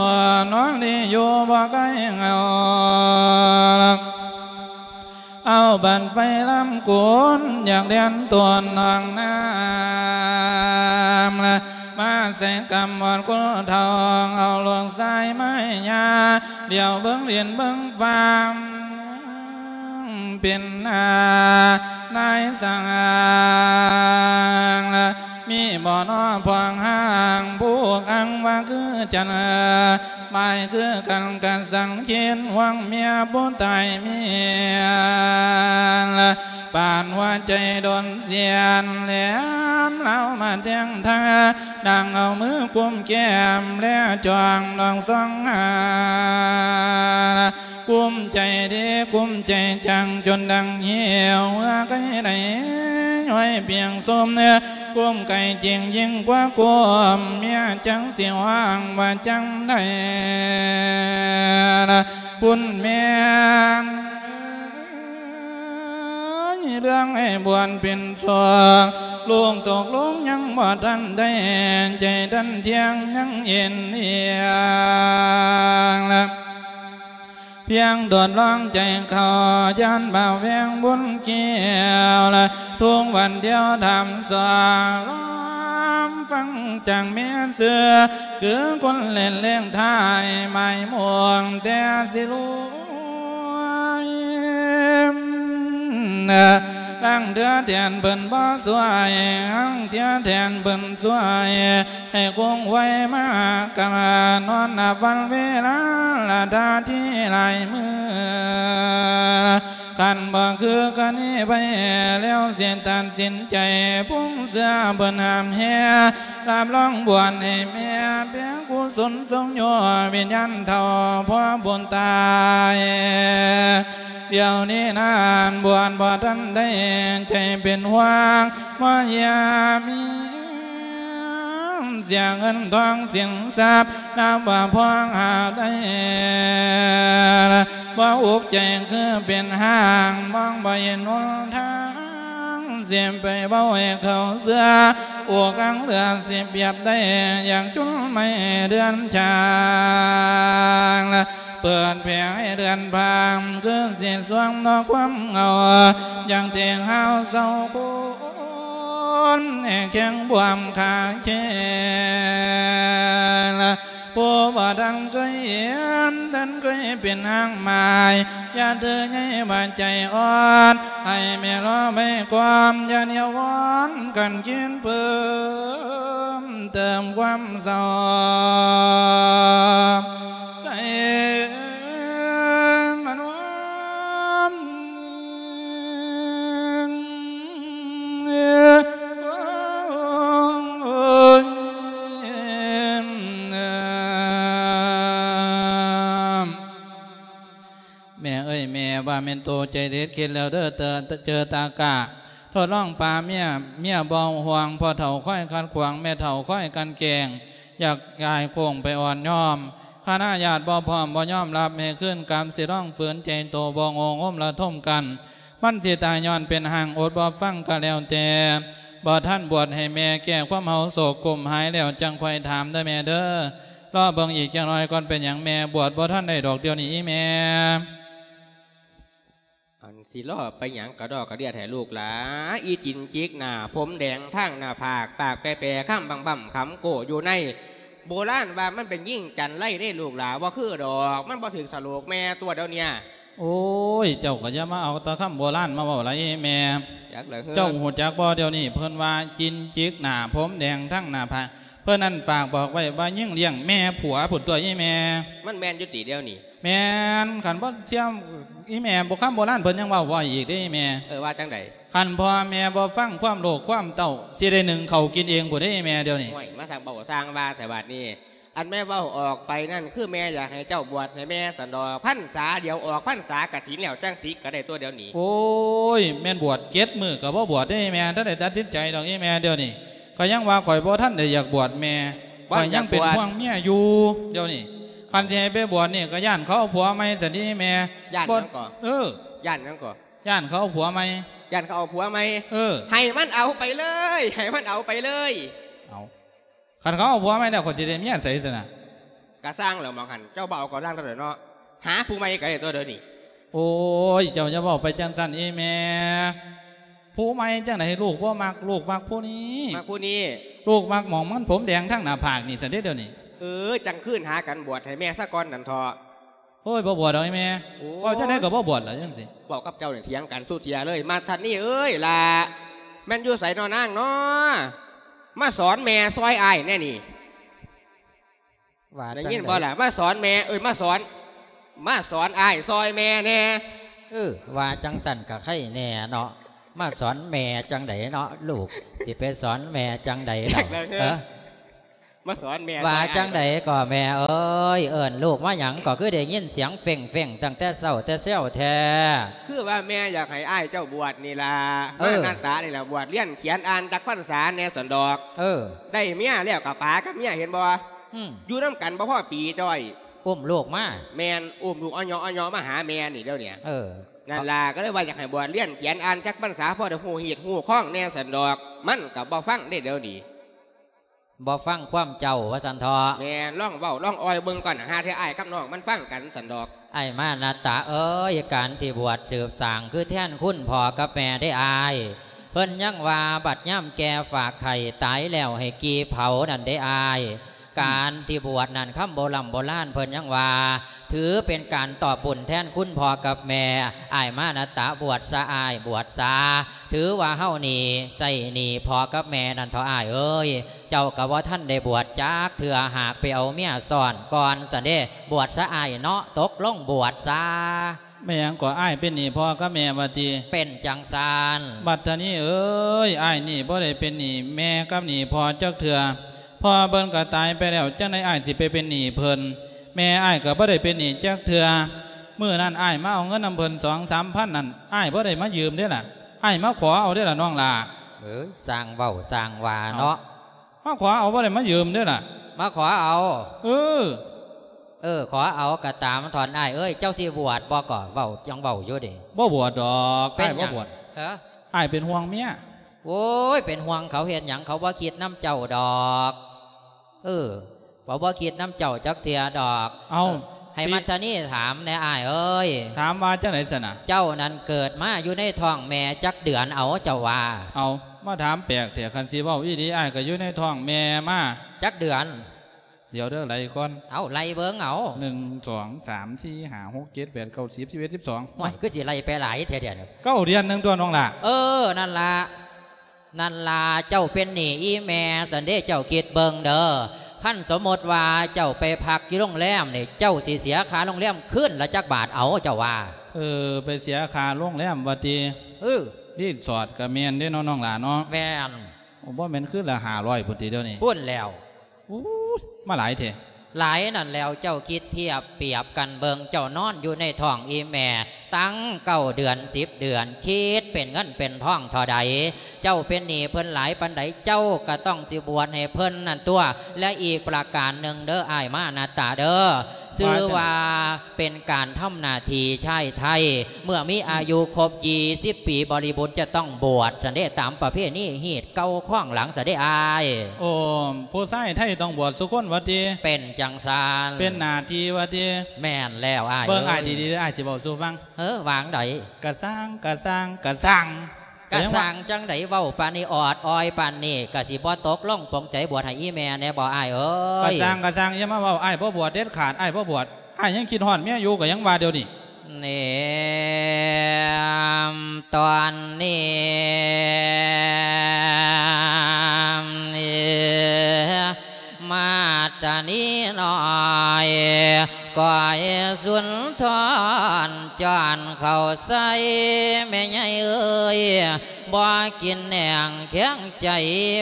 ນອນລີຢູ່ບໍ່ໄກເຫງົາ ເອົາບັ້ນໄຟລຳກຸນ ຢາກແລ່ນຕົນໜອງນ້ຳ ມາໃສ່ກຳມອດຄົນເຖົ້າ ເອົາລູກຊາຍມາໃຫ້ຍ່າ ດຽວເບິ່ງດິນເບິ່ງຟ້າ ເປັນນານາຍສ້າງ ມີບໍ່ນໍພວກຮ່າງ ຜູ້ອ້າງວ່າຄືຈັນ ໝາຍຄືກັນກະສັນຄິດຫວງເມຍຜູ້ຕາຍເມຍ ປານຫົວໃຈໂດນສຽນ ແຫຼມລາວມາແທງທາ ນາງເອົາມືກຸມແກ້ມ ແລຈ້ອງນອງສ່ອງຫາ ກຸມໃຈເດ ກຸມໃຈຈັງ ຈົນດັງຫິວ ເຫື່ອໄກ່ໄຫຼຍ້ອຍປຽງຊຸ່ມ ກຸມໄກ່ຈິງຍິ່ງກວ່າກຸມ ເມຍຈັ່ງຊິຮ້ອງວ່າຈັ່ງໃດ ຄຸນແມ່ເລື່ອງໃຫ້ບວນເປັນສອງ ລູກຕົກລົງຍັງບໍ່ທັນໄດ້ ໃຈທັນທ່ຽງຍັງເອັນເອີຍງ ພຽງໂດດລອງໃຈເຂົາ ຢ້ານບ່າວແວງບຸນແກ້ວ ທຸກວັນດຽວຖາມສອງ ລອງຟັງຈາກແມ່ເສືອ ຄືຄົນເຫຼັ້ນເລກທ້າຍ ໝາຍໝວກແຕ່ຊິລວຍ ລາງເທື່ອແທນເພິ່ນບໍ່ຊ່ວຍ ລາງເທື່ອແທນເພິ່ນຊ່ວຍ ໃຫ້ຄົງໄວມາກະມາ ນອນນັບວັນເວລາລະດາທີ່ຫຼາຍມື້ ຄັນບໍ່ຄືກະນີ້ໄປ ແລ້ວຊິຕັດສິນໃຈ ປຸງເຊື່ອເພິ່ນຫ້າມແຮ່ ຮັບລອງບວດໃຫ້ແມ່ ເປັນກຸສົນຊົງໂຍ ວິນຍານເຖົ້າພໍ່ບຸນຕາຍ ດຽວນີ້ນານບວດບໍ່ທັນໄດ້ ໃຈເປັນຫ່ວງ ມາຢາມເສຍເງິນທອງສິນຊັບ ນັບວ່າພໍຫາໄດ້ ບໍ່ອຸກໃຈຄືເປັນຮ່າງ ມອງບໍ່ເຫັນຫົນທາງ ຊິໄປເວົ້າໃຫ້ເຂົາເຊື່ອ ອົກອັງເຫຼືອຊິປຽບໄດ້ ຢາກຈຸນໄມ້ເດືອນຈາງ ເປີດແຜ່ໃຫ້ເດືອນພາງ ຄືຊິສວງນອກຄວາມເຫງົາ ຢ່າງເຕງຫາວເສົ້າຄົນ ແຫ່ແຂງບວມຂາແຂນ ຜູ້ບໍ່ທັນເຄີຍເຫັນ ທ່ານເຄີຍເປັນຮ່າງໝາຍ ຢ່າຖືໃຫຍ່ວ່າໃຈອ່ອນ ໃຫ້ແມ່ລໍໄວ້ກ່ອນ ຢ່າໜຽວວອນກັນຄິດເພີ່ມ ເຕີມຄວາມເສົ້າໃສ່ມານວນ ແມ່ເອີຍ ແມ່ວ່າແມ່ນໂຕໃຈເດັດເຂັດແລ້ວເດີ ເຕີ ເຈີຕາກະ ທົດລອງປາເມຍ ເມຍບໍ່ຫ່ວງ ພໍ່ເຖົ້າຄອຍຂັດຂວາງ ແມ່ເຖົ້າຄອຍກັ່ນແກງ ຢາກຍ້າຍໂຄ້ງໄປອ່ອນຍອມ ຄະນະຍາດບໍ່ພ້ອມບໍ່ຍອມຮັບ ໃຫ້ຄືນກັບ ຊິລອງຝືນໃຈໂຕ ບໍ່ໂງ່ງົມລະທົມກັນ ມັນຊິຕາຍຍ້ອນເປັນຮ່າງ ອົດບໍ່ຟັງກະແລ້ວແຕ່ ບໍ່ທັນບວດໃຫ້ແມ່ ແກ້ຄວາມເຫົາໂສກ ກຸ້ມຫາຍແລ້ວຈັ່ງຄ່ອຍຖາມເດີແມ່ເດີ ລໍເບິ່ງອີກຈັກໜ້ອຍກ່ອນ ເປັນຫຍັງແມ່ ບວດບໍ່ທັນໄດ້ດອກດຽວນີ້ອີແມ່. ອັນຊິລໍໄປຫຍັງກະດໍກະເດຍແທ້ລູກຫຼາ ອີຈິນຈິກໜ້າ ຜົມແດງທາງໜ້າຜາກ ປາກແປໆ ຄຳບຳໆ ຄຳໂກ້ຢູ່ໃນ ໂບລານວ່າມັນເປັນຍິງຈັນໄລເດ້ລູກຫຼາ ບໍ່ຄືດອກ ມັນບໍ່ຖືກສະໂຫຼກແມ່ຕົວະດຽວເນີ້ຍ. ໂອ້ຍ ເຈົ້າກະຢ່າມາເອົາແຕ່ຄຳໂບລານມາເວົ້າຫຼາຍແມ່ ຈັກລະເຮີ ເຈົ້າຮູ້ຈັກບໍ່ ດຽວນີ້ເພິ່ນວ່າຈິນຈິກໜ້າ ຜົມແດງທາງໜ້າຜາກ ເພິ່ນນັ້ນຝາກບອກໄວ້ວ່າຍິງລ້ຽງແມ່ຜົວພຸ້ນຕົວະອີແມ່. ມັນແມ່ນຢູ່ຕິດຽວນີ້? ແມ່ນ ຄັນບໍ່ເຊື່ອ ອີແມ່ ໂບ ຄຳໂບລານເພິ່ນຍັງເວົ້າໄວ້ອີກເດ້ອີແມ່. ເອີ ວ່າຈັ່ງໃດ? ຄັນພໍ່ແມ່ບໍ່ຟັງຄວາມລູກຄວາມເຕົ້າ ຊິໄດ້ໜຶ້ງເຂົ້າກິນເອງພຸ້ນເດ້ອີແມ່ດຽວນີ້. ໂອ້ຍ ມາສ້າງເວົ້າສ້າງວ່າແທ້ບາດນີ້. ອັນແມ່ເວົ້າອອກໄປນັ້ນ ຄືແມ່ຢາກໃຫ້ເຈົ້າບວດໃຫ້ແມ່ຊັ້ນດອກ. ພັນສາດຽວອອກພັນສາກະສິນແລ້ວ ຈັ່ງສິກະໄດ້ຕົວະດຽວນີ້. ໂອ້ຍ ແມ່ນບວດເຈັດມື້ກະບໍ່ບວດເດ້ແມ່. ທັນໄດ້ຕັດສິນໃຈດອກອີແມ່ດຽວນີ້. ຂ້ອຍຍັງວ່າຂ້ອຍບໍ່ທັນໄດ້ຢາກບວດແມ່. ບໍ່ຢາກບວດ. ຂ້ອຍຍັງເປັນຫ່ວງເມຍຢູ່ດຽວນີ້. ຄັນຊິໃຫ້ໄປບວດນີ້ກະຢ້ານເຂົາເອົາຜົວໃໝ່ຊັ້ນເດ້ແມ່. ຢ້ານຫຍັງກໍ? ເອີ ຢ້ານຫຍັງກໍ? ຢ້ານເຂົາເອົາຜົວໃໝ່. ຢ້ານເຂົາເອົາຜົວໃໝ່? ເອີ ໃຫ້ມັນເອົາໄປເລີຍ ໃຫ້ມັນເອົາໄປເລີຍ. ເອົາ ຄັນເຂົາເອົາຜົວໃໝ່ແລ້ວ ຂ້ອຍຊິໄດ້ເມຍໃສຊັ້ນນະ? ກະຊ່າງແລ້ວໝ່ອງຫັ້ນ ເຈົ້າບໍ່ເອົາກໍຊ່າງເທົ່າໃດເນາະ. ຫາຜູ້ໃໝ່ກະໄດ້ຕົວະດຽວນີ້. ໂອ້ຍ ເຈົ້າຢ່າເວົ້າໄປຈັ່ງຊັ້ນອີແມ່. ຜູ້ໃໝ່ຈັ່ງໃດ ລູກບໍ່ມັກ ລູກມັກຜູ້ນີ້. ມັກຜູ້ນີ້. ລູກມັກໝ່ອງມັນຜົມແດງທາງໜ້າຜາກນີ້ຊັ້ນເດ້ດຽວນີ້. ເອີ ຈັ່ງຄືນຫາກັນບວດໃຫ້ແມ່ຊະກ່ອນນັ້ນເຖາະ. ໂອ້ຍ ບໍ່ບວດດອກອີແມ່. ໂອ້ຍ ເວົ້າຈັ່ງໃດກໍບໍ່ບວດລະຈັ່ງຊີ້. ເວົ້າກັບເຈົ້ານີ້ຖຽງກັນສູ່ເທື່ອເລີຍ. ມາທັນນີ້ເອີຍ ຫຼ້າ ແມ່ນຢູ່ໃສນໍນາງນໍ? ມາສອນແມ່ຊ່ອຍອ້າຍແດ່ນີ້. ວ່າ ໄດ້ຍິນບໍ່ລະ? ມາສອນແມ່ ເອີຍ ມາສອນ ມາສອນອ້າຍຊ່ອຍແມ່ແດ່. ເອີ ວ່າຈັ່ງຊັ້ນກະໄຄແດ່ເນາະ. ມາສອນແມ່ຈັ່ງໃດເນາະ ລູກ ຊິໄປສອນແມ່ຈັ່ງໃດລະ? ເອີ ມາສອນແມ່ ວ່າຈັ່ງໃດກໍແມ່ເອີຍ? ເອີ້ນລູກມາຫຍັງກໍຄືໄດ້ຍິນສຽງເຟັ່ງໆ ຕັ້ງແຕ່ເຊົ້າແຕ່ແຊວແທ້. ຄືວ່າແມ່ຢາກໃຫ້ອ້າຍເຈົ້າບວດນີ້ລະ. ເອີ ມານັດຕານີ້ລະ ບວດຮຽນຂຽນອ່ານຈັກພັນສາແດ່ຊັ້ນດອກ. ເອີ ໄດ້ເມຍແລ້ວກະປາກັບເມຍ ເຫັນບໍ່? ອືມ ຢູ່ນຳກັນບໍ່ພໍປີຈ້ອຍ. ອຸ້ມລູກມາ. ແມ່ນ ອຸ້ມລູກອະເຍາະອະເຍາະມາຫາແມ່ນີ້ດຽວນີ້. ເອີ ນັ້ນລະ ກໍເລີຍວ່າຢາກໃຫ້ບວດຮຽນຂຽນອ່ານຈັກພັນສາ ພໍໄດ້ຮູ້ຮີດຮູ້ຄອງແດ່ຊັ້ນດອກ. ມັນກໍບໍ່ຟັງເດ້ດຽວນີ້. ບໍ່ຟັງຄວາມເຈົ້າວ່າຊັ້ນເຖາະ. ແມ່ນ ລອງເວົ້າລອງອ່ອຍເບິ່ງກ່ອນ ຫາເທື່ອອ້າຍກັບນ້ອງມັນຟັງກັນຊັ້ນດອກ. ອ້າຍມານະຕະເອີຍ ການທີ່ບວດສືບສ້າງຄືແທນຄຸນພໍ່ກັບແມ່ເດ້ອ້າຍ. ເພິ່ນຍັງວ່າບັດຍາມແກ່ຝາກໄຂ່ ຕາຍແລ້ວໃຫ້ກີ່ເຜົານັ້ນເດ້ອ້າຍ. ການທີ່ບວດນັ້ນ ຄຳໂບລຳໂບລານເພິ່ນຍັງວ່າ ຖືເປັນການຕອບບຸນແທນຄຸນພໍ່ກັບແມ່. ອ້າຍມານະຕະ ບວດຊະອ້າຍ ບວດຊະ. ຖືວ່າເຮົານີ້ໃຊ້ໜີ້ພໍ່ກັບແມ່ນັ້ນເຖາະອ້າຍເອີຍ. ເຈົ້າກໍບໍ່ທັນໄດ້ບວດຈັກເທື່ອ ຫາກໄປເອົາເມຍຊ້ອນກ່ອນຊັ້ນເດ້. ບວດຊະອ້າຍເນາະ ຕົກລົງບວດຊະ. ແມ່ນຫຍັງກໍ ອ້າຍເປັນໜີ້ພໍ່ກັບແມ່ວ່າຕິ? ເປັນຈັ່ງຊັ້ນ. ບັດທະນີເອີຍ ອ້າຍນີ້ບໍ່ໄດ້ເປັນໜີ້ແມ່ກັບໜີ້ພໍ່ຈັກເທື່ອ. ພໍ່ເພິ່ນກໍຕາຍໄປແລ້ວ ຈັ່ງໃດອ້າຍຊິໄປເປັນໜີ້ເພິ່ນ? ແມ່ອ້າຍກໍບໍ່ໄດ້ເປັນໜີ້ຈັກເທື່ອ. ມື້ນັ້ນອ້າຍມາເອົາເງິນນຳເພິ່ນສອງສາມພັນນັ້ນ ອ້າຍບໍ່ໄດ້ມາຢືມເດ້ລະ ອ້າຍມາຂໍເອົາເດ້ລະນ້ອງຫຼ້າ. ເອີ ຊ່າງເວົ້າຊ່າງວ່າເນາະ. ເອົ້າ ມາຂໍເອົາ ບໍ່ໄດ້ມາຢືມເດ້ລະ ມາຂໍເອົາ. ເອີ ເອີ ຂໍເອົາກໍຕາມຖອນອ້າຍເອີຍ. ເຈົ້າຊິບວດບໍ່ກໍເວົ້າ ຈັ່ງເວົ້າຢູ່ເດ້. ບໍ່ບວດດອກ. ເປັນຫຍັງ? ອ້າຍບໍ່ບວດ. ເອີ ອ້າຍເປັນຫ່ວງເມຍ. ໂອ້ຍ ເປັນຫ່ວງເຂົາເຮັດຫຍັງ? ເຂົາບໍ່ຄິດນຳເຈົ້າດອກ. ເອີ ເຂົາບໍ່ຄິດນຳເຈົ້າຈັກເທື່ອດອກ. ເອົ້າ ເອີ ໃຫ້ມັດທະນີຖາມແດ່ອ້າຍເອີຍ. ຖາມວ່າຈັ່ງໃດຊັ້ນນະ? ເຈົ້ານັ້ນເກີດມາຢູ່ໃນທ້ອງແມ່ຈັກເດືອນ ເອົາ ເຈົ້າວ່າ? ເອົ້າ ມາຖາມແປກແທ້. ຄັນຊິເວົ້າອີ່ຫຼີ ອ້າຍກໍຢູ່ໃນທ້ອງແມ່ມາຈັກເດືອນ? ດຽວເດີ ໄລ່ກ່ອນ. ເອົາ ໄລ່ເບິ່ງເອົາ. ໜຶ່ງ ສອງ ສາມ ສີ່ ຫ້າ ຫົກ ເຈັດ ແປດ ເກົ້າ ສິບ ສິບເອັດ ສິບສອງ. ໂອ້ຍ ຄືຊິໄລ່ໄປຫຼາຍແທ້ດຽວນີ້. ເກົ້າເດືອນໜຶ່ງຕົວະນ້ອງຫຼ້າ. ເອີ ນັ້ນລະ ນັ້ນລະ ເຈົ້າເປັນໜີ້ອີ່ແມ່ຊັ້ນເດ້. ເຈົ້າຄິດເບິ່ງເດີ ຄັນສົມມຸດວ່າເຈົ້າໄປພັກຢູ່ໂຮງແຮມນີ້ ເຈົ້າຊິເສຍຄ່າໂຮງແຮມຄືນລະຈັກບາດ ເອົາ ເຈົ້າວ່າ? ເອີ ໄປເສຍຄ່າໂຮງແຮມວ່າຕິ? ເອີ ຣີສອດກໍແມ່ນເດ້ເນາະ ນ້ອງຫຼ້າເນາະ. ແມ່ນ. ໂອ້ ບໍ່ແມ່ນຄືລະຫ້າຮ້ອຍພຸ້ນຕິດຽວນີ້? ພຸ້ນແລ້ວ. ໂອ້ຍ ມາຫຼາຍແທ້. ຫຼາຍນັ້ນແລ້ວ ເຈົ້າຄິດທຽບປຽບກັນເບິ່ງ ເຈົ້ານອນຢູ່ໃນທ້ອງອີ່ແມ່ຕັ້ງເກົ້າເດືອນ ສິບເດືອນ ຄິດເປັນເງິນເປັນທອງເທົ່າໃດ? ເຈົ້າເປັນໜີ້ເພິ່ນຫຼາຍປານໃດ ເຈົ້າກໍຕ້ອງຊິບວດໃຫ້ເພິ່ນນັ້ນຕົວະ. ແລະ ອີກປະການໜຶ່ງເດີ ອ້າຍມານະຕະເດີ ຊື່ວ່າເປັນການທຳໜ້າທີ່ຊາຍໄທ ເມື່ອມີອາຍຸຄົບຊາວປີບໍລິບູນຈະຕ້ອງບວດຊັ້ນເດ້ ຕາມປະເພນີຮີດເກົ່າຄອງຫຼັງຊະເດ້ອ້າຍ. ໂອ້ ຜູ້ຊາຍໄທຕ້ອງບວດສູ່ຄົນວ່າຕິ? ເປັນຈັ່ງຊັ້ນ. ເປັນໜ້າທີ່ວ່າຕິ? ແມ່ນແລ້ວອ້າຍ. ເບິ່ງອ້າຍດີໆ ອ້າຍຊິເວົ້າສູ່ຟັງ. ເອີ ວ່າຈັ່ງໃດ? ກະຊ່າງ ກະຊ່າງ ກະຊ່າງ. ກະຊ່າງຈັ່ງໃດ ເວົ້າປານນີ້ ອອດອອຍປານນີ້ ກະຊິບໍ່ຕົກລົງປົງໃຈບວດໃຫ້ອີ່ແມ່ແດ່ບໍ່ອ້າຍເອີຍ? ກະຊ່າງ ກະຊ່າງ ຢ່າມາເວົ້າ ອ້າຍບໍ່ບວດເດັດຂາດ ອ້າຍບໍ່ບວດ. ອ້າຍຍັງຄິດຮອດເມຍຢູ່ ກໍຍັງວ່າດຽວນີ້. ແນມຕອນນີ້ ມາດຕານີນ້ອຍ ກ້ອຍສຸນທອນ ຈອນເຂົ້າໃສ່ແມ່ໃຫຍ່ເອີຍ ບໍ່ກິນແໜງແຂງໃຈ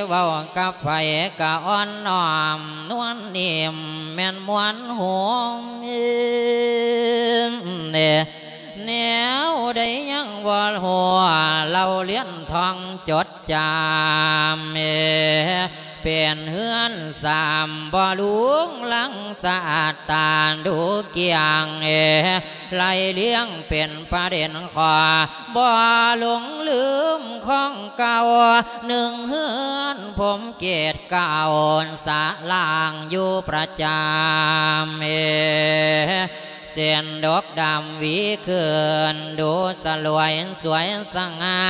ເວົ້າກັບໃຜກະອ່ອນນ້ອມນວນນິ້ມ ແມ່ນມ່ວນໂຮມເນ ແນວໃດຍັງບໍ່ຮູ້ ເລົ່າລຽນທ່ອງຈົດຈຳ ເປັນເຮືອນສາມບໍ່ລຸງລັງ ສະອາດຕາດູກຽງ ໄລ່ລຽງເປັນປະເດັນຂໍ້ ບໍ່ຫຼົງລືມຂອງເກົ່າ ໜຶ່ງເຮືອນພົມເກດເກົ້າ ສະລ່າງຢູ່ປະຈຳ ເສັ້ນດົກດຳຫວີຂຶ້ນ ດູສະຫຼວຍສວຍສະຫງ່າ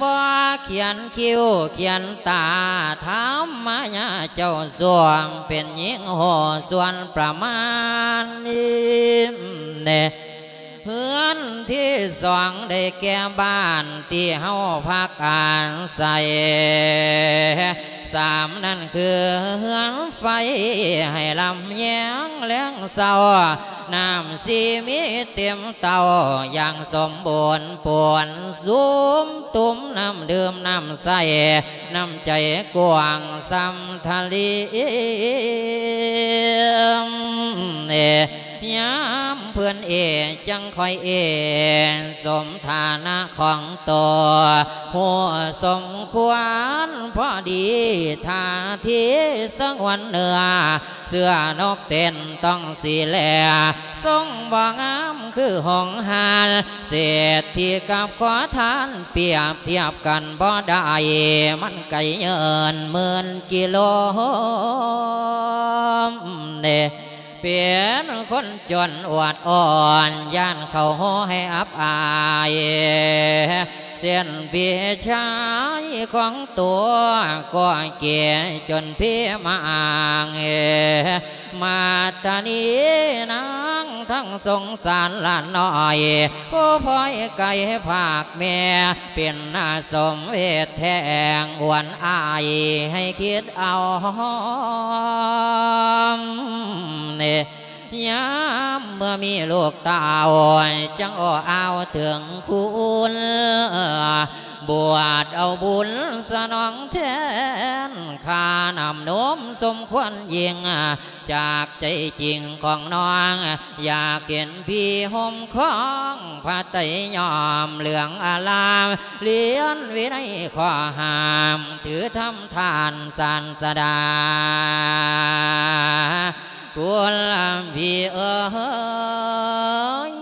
ບໍ່ຂຽນຄິ້ວຂຽນຕາ ທຳມະຍາເຈົ້າຊ່ວງ ເປັນຍິງໂຫສ່ວນປະມານ ເຮືອນທີສອງໄດ້ແກ່ບ້ານທີ່ເຮົາພັກອາໄສ ສາມນັ້ນຄືເຮືອນໄຟໃຫ້ລຳແຍງແລງເຊົ້າ ນ້ຳສີມີເຕັມເຕົ້າຢ່າງສົມບູນ ປວນສຸມ ຕຸ່ມນ້ຳດື່ມນ້ຳໃຊ້ ນ້ຳໃຈກວ້າງສ່ຳທະເລ ຍາມເພິ່ນເອ ຈັ່ງຄ່ອຍເອ ສົມຖານະຂອງໂຕ ຮູ້ສົມຄວນພໍດີ ທ່າທີສະຫງວນເນື້ອ ເຊື່ອນົກເຕັ້ນຕ້ອງສີແລ ຊົງບໍ່ງາມຄືຫົງຫານ ເສດຖີກັບຂໍທານ ປຽບທຽບກັນບໍ່ໄດ້ ມັນໄກເຍີນໝື່ນກິໂລ ເນ ເປັນຄົນຈົນອວດອ່ອນ ຢ້ານເຂົາໂຫໃຫ້ອັບອາຍ ເຊັ່ນພີ່ຊາຍຂອງຕົວກໍເກຈົນພີມາອ້າງ ມາດຕານີນາງທັງສົງສານຫຼານນ້ອຍ ຜູ້ພອຍໄກພາກແມ່ ເປັນໜ້າສົມເວດແທ້ງ ອວນອາຍໃຫ້ຄິດເອົາ ຍາມເມື່ອມີລູກເຕົ້າ ຈັ່ງໂອ້ອາວເຖິງຄຸນ ບວດເອົາບຸນສະໜອງແທນ ຄ່ານ້ຳນົມສົມຄວນຍິ່ງ ຈາກໃຈຈິງຂອງນ້ອງ ຢາກເຫັນພີ່ຫົ່ມຄອງ ພະໄຕຍອມເຫຼືອງອາລາມ ລຽນວິໄນຂໍ້ຫ້າມ ຖືທຳທ່ານສານສະດາ ຄຸນພີ່ເອີຍ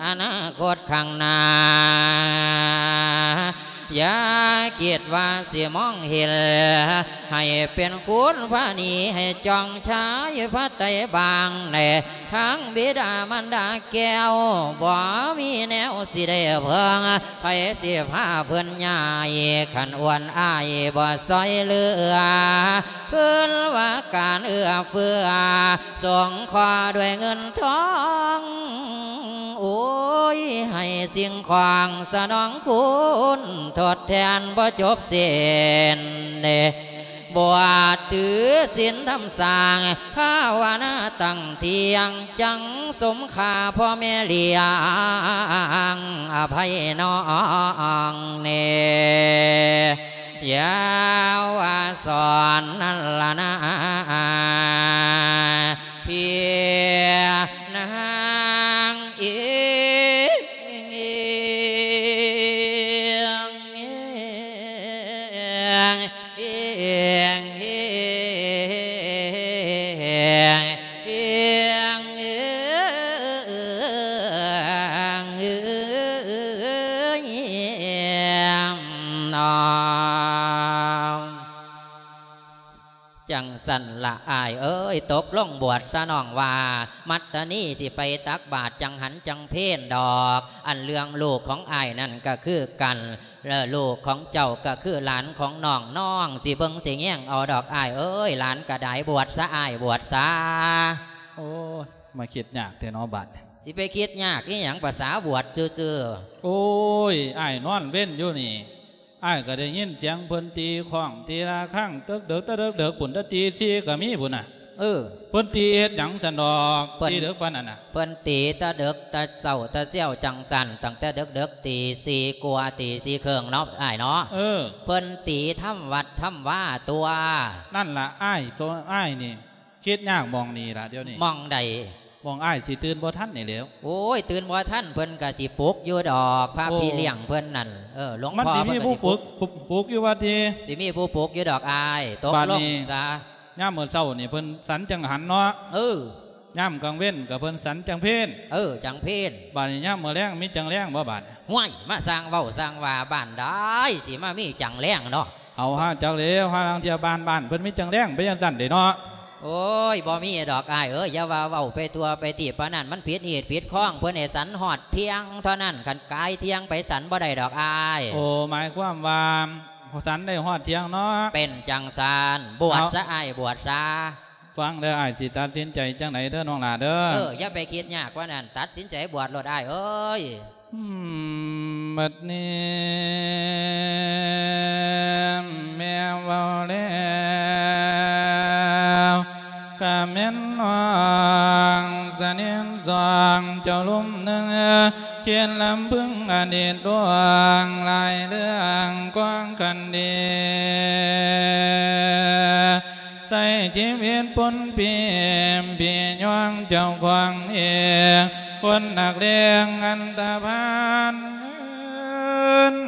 ອະນາຄົດຂ້າງໜ້າ ຢ່າຄິດວ່າຊິມອງເຫັນ ໃຫ້ເປັນຄຸນພານີ ໃຫ້ຈອງຊາຍພະໄຕບາງ ໃນທາງບິດາມານດາແກ້ວ ບໍ່ມີແນວຊິໄດ້ເພິ່ງ ໃຜຊິພາເພິ່ນຍ້າຍ ຄັນອວນອາຍບໍ່ຊ່ອຍເຫຼືອ ເພິ່ນວ່າການເອື້ອເຟື້ອ ສົງເຄາະດ້ວຍເງິນທອງ ໂອ້ຍ ໃຫ້ສິ່ງຂອງສະໜອງຄຸນ ທົດແທນບໍ່ຈົບສິ້ນ ບວດຖືສິນທຳສ້າງ ພາວະນາຕັ້ງທ່ຽງ ຈັ່ງສົມຄ່າພໍ່ແມ່ລ້ຽງ ອະໄພນ້ອງແນ່ ຢ່າວ່າສອນນັ້ນລະນາ ພີ່ນາງເອີຍ ເອີຍ ເອີຍ ເອີຍ ເອີຍ ເອີຍ ເອີຍ ເອີຍ ເອີຍ ເອີຍ ຈັ່ງຊັ້ນລະອ້າຍເອີຍ ຕົກລົງບວດຊະນ້ອງວ່າ ມັດຕະນີຊິໄປຕັກບາດ ຈັ່ງຫັນຈັ່ງເພນດອກ ອັນເລື່ອງລູກຂອງອ້າຍນັ້ນກະຄືກັນ ແລະ ລູກຂອງເຈົ້າກະຄືຫຼານຂອງນ້ອງ ນ້ອງຊິເບິ່ງຊິແຍງເອົາດອກອ້າຍເອີຍ ຫຼານກະໄດ້ ບວດຊະອ້າຍ ບວດຊະ. ໂອ້ຍ ມາຄິດຍາກແທ້ເນາະບາດນີ້ ຊິໄປຄິດຍາກອີ່ຫຍັງ ພາສາບວດຊື່ໆ. ໂອ້ຍ ອ້າຍນອນເວັນຢູ່ນີ້ ອ້າຍກໍໄດ້ຍິນສຽງເພິ່ນຕີຄ້ອງຕີລະຄັງເດິກໆ ແຕ່ເດິກໆ ພຸ້ນ ແຕ່ຕີສີ່ກໍມີພຸ້ນນະ. ເອີ ເພິ່ນຕີເຮັດຫຍັງຊັ້ນດອກ ເພິ່ນ ຕີເດິກປານນັ້ນນະ? ເພິ່ນຕີແຕ່ເດິກແຕ່ເຊົ້າແຕ່ຊຽວຈັ່ງຊັ້ນ ຕັ້ງແຕ່ເດິກໆ ຕີສີ່ກວ່າຕີສີ່ເຄິ່ງເນາະ ອ້າຍເນາະ. ເອີ ເພິ່ນຕີທຳວັດທຳວາຕົວະ. ນັ້ນລະອ້າຍ ໂຊ ອ້າຍນີ້ຄິດຍາກໝ່ອງນີ້ລະດຽວນີ້. ໝ່ອງໃດ? ໝ່ອງອ້າຍຊິຕື່ນບໍ່ທັນນີ້ແຫຼ້ວ. ໂອ້ຍ ຕື່ນບໍ່ທັນ ເພິ່ນກະຊິປຸກຢູ່ດອກ ພະ ໂອ້ ພີ່ລ້ຽງເພິ່ນນັ້ນ. ເອີ ຫຼວງພໍ່ ມັນຊິມີຜູ້ປຸກ ເພິ່ນກະຊິປຸກ ປຸກ ປຸກຢູ່ວ່າຕິ? ຊິມີຜູ້ປຸກຢູ່ດອກອ້າຍ. ຕົກລົງ ບາດນີ້ ຊະ ຍາມມື້ເຊົ້ານີ້ເພິ່ນສັນຈັງຫັນເນາະ. ເອີ ຍາມກາງເວັນກະເພິ່ນສັນຈັງເພນ. ເອີ ຈັງເພນ. ບາດນີ້ຍາມມື້ແລງມີຈັງແລງບໍ່ບາດ? ຫ້ວຍ ມາສ້າງເວົ້າສ້າງວ່າ ບ້ານໃດຊິມາມີຈັງແລງເນາະ? ເຮົາຫາຈັກແລ້ວ ຫາລາງເທື່ອບ້ານ ບ້ານເພິ່ນມີຈັງແລງໄປຈັ່ງຊັ້ນເດ້ເນາະ. ໂອ້ຍ ບໍ່ມີດອກອ້າຍເອີຍ ຢ່າວ່າເວົ້າໄປທົ່ວໄປທີບປານນັ້ນ ມັນຜິດຮີດຜິດຄອງ ເພິ່ນໃຫ້ສັນຮອດທ່ຽງເທົ່ານັ້ນ ຄັນກາຍທ່ຽງໄປສັນບໍ່ໄດ້ດອກອ້າຍ. ໂອ້ ໝາຍຄວາມວ່າສັນໄດ້ຮອດທ່ຽງເນາະ. ເປັນຈັ່ງຊັ້ນ ບວດຊະ ເອົາ ອ້າຍ ບວດຊະ. ຟັງເດີ ອ້າຍຊິຕັດສິນໃຈຈັ່ງໃດເດີນ້ອງຫຼ້າເດີ. ເອີ ຢ່າໄປຄິດຍາກກວ່ານັ້ນ ຕັດສິນໃຈບວດໂລດອ້າຍເອີຍ. ອືມ ບັດນີ້ແມ່ເວົ້າແລ້ວ ກະແມ່ນນ້ອງສະໜິດສອງເຈົ້າລຸ່ມໜຶ່ງ ຄິດລຳເພິງອະດີດລ່ວງຫຼາຍເລື່ອງກວາງຄັນດີ ໃຊ້ຊີວິດປົນປີ້ ປີ້ຍ່ອງເຈົ້າຂອງເອງ ຄົນນັກເລງອັນຕະພານ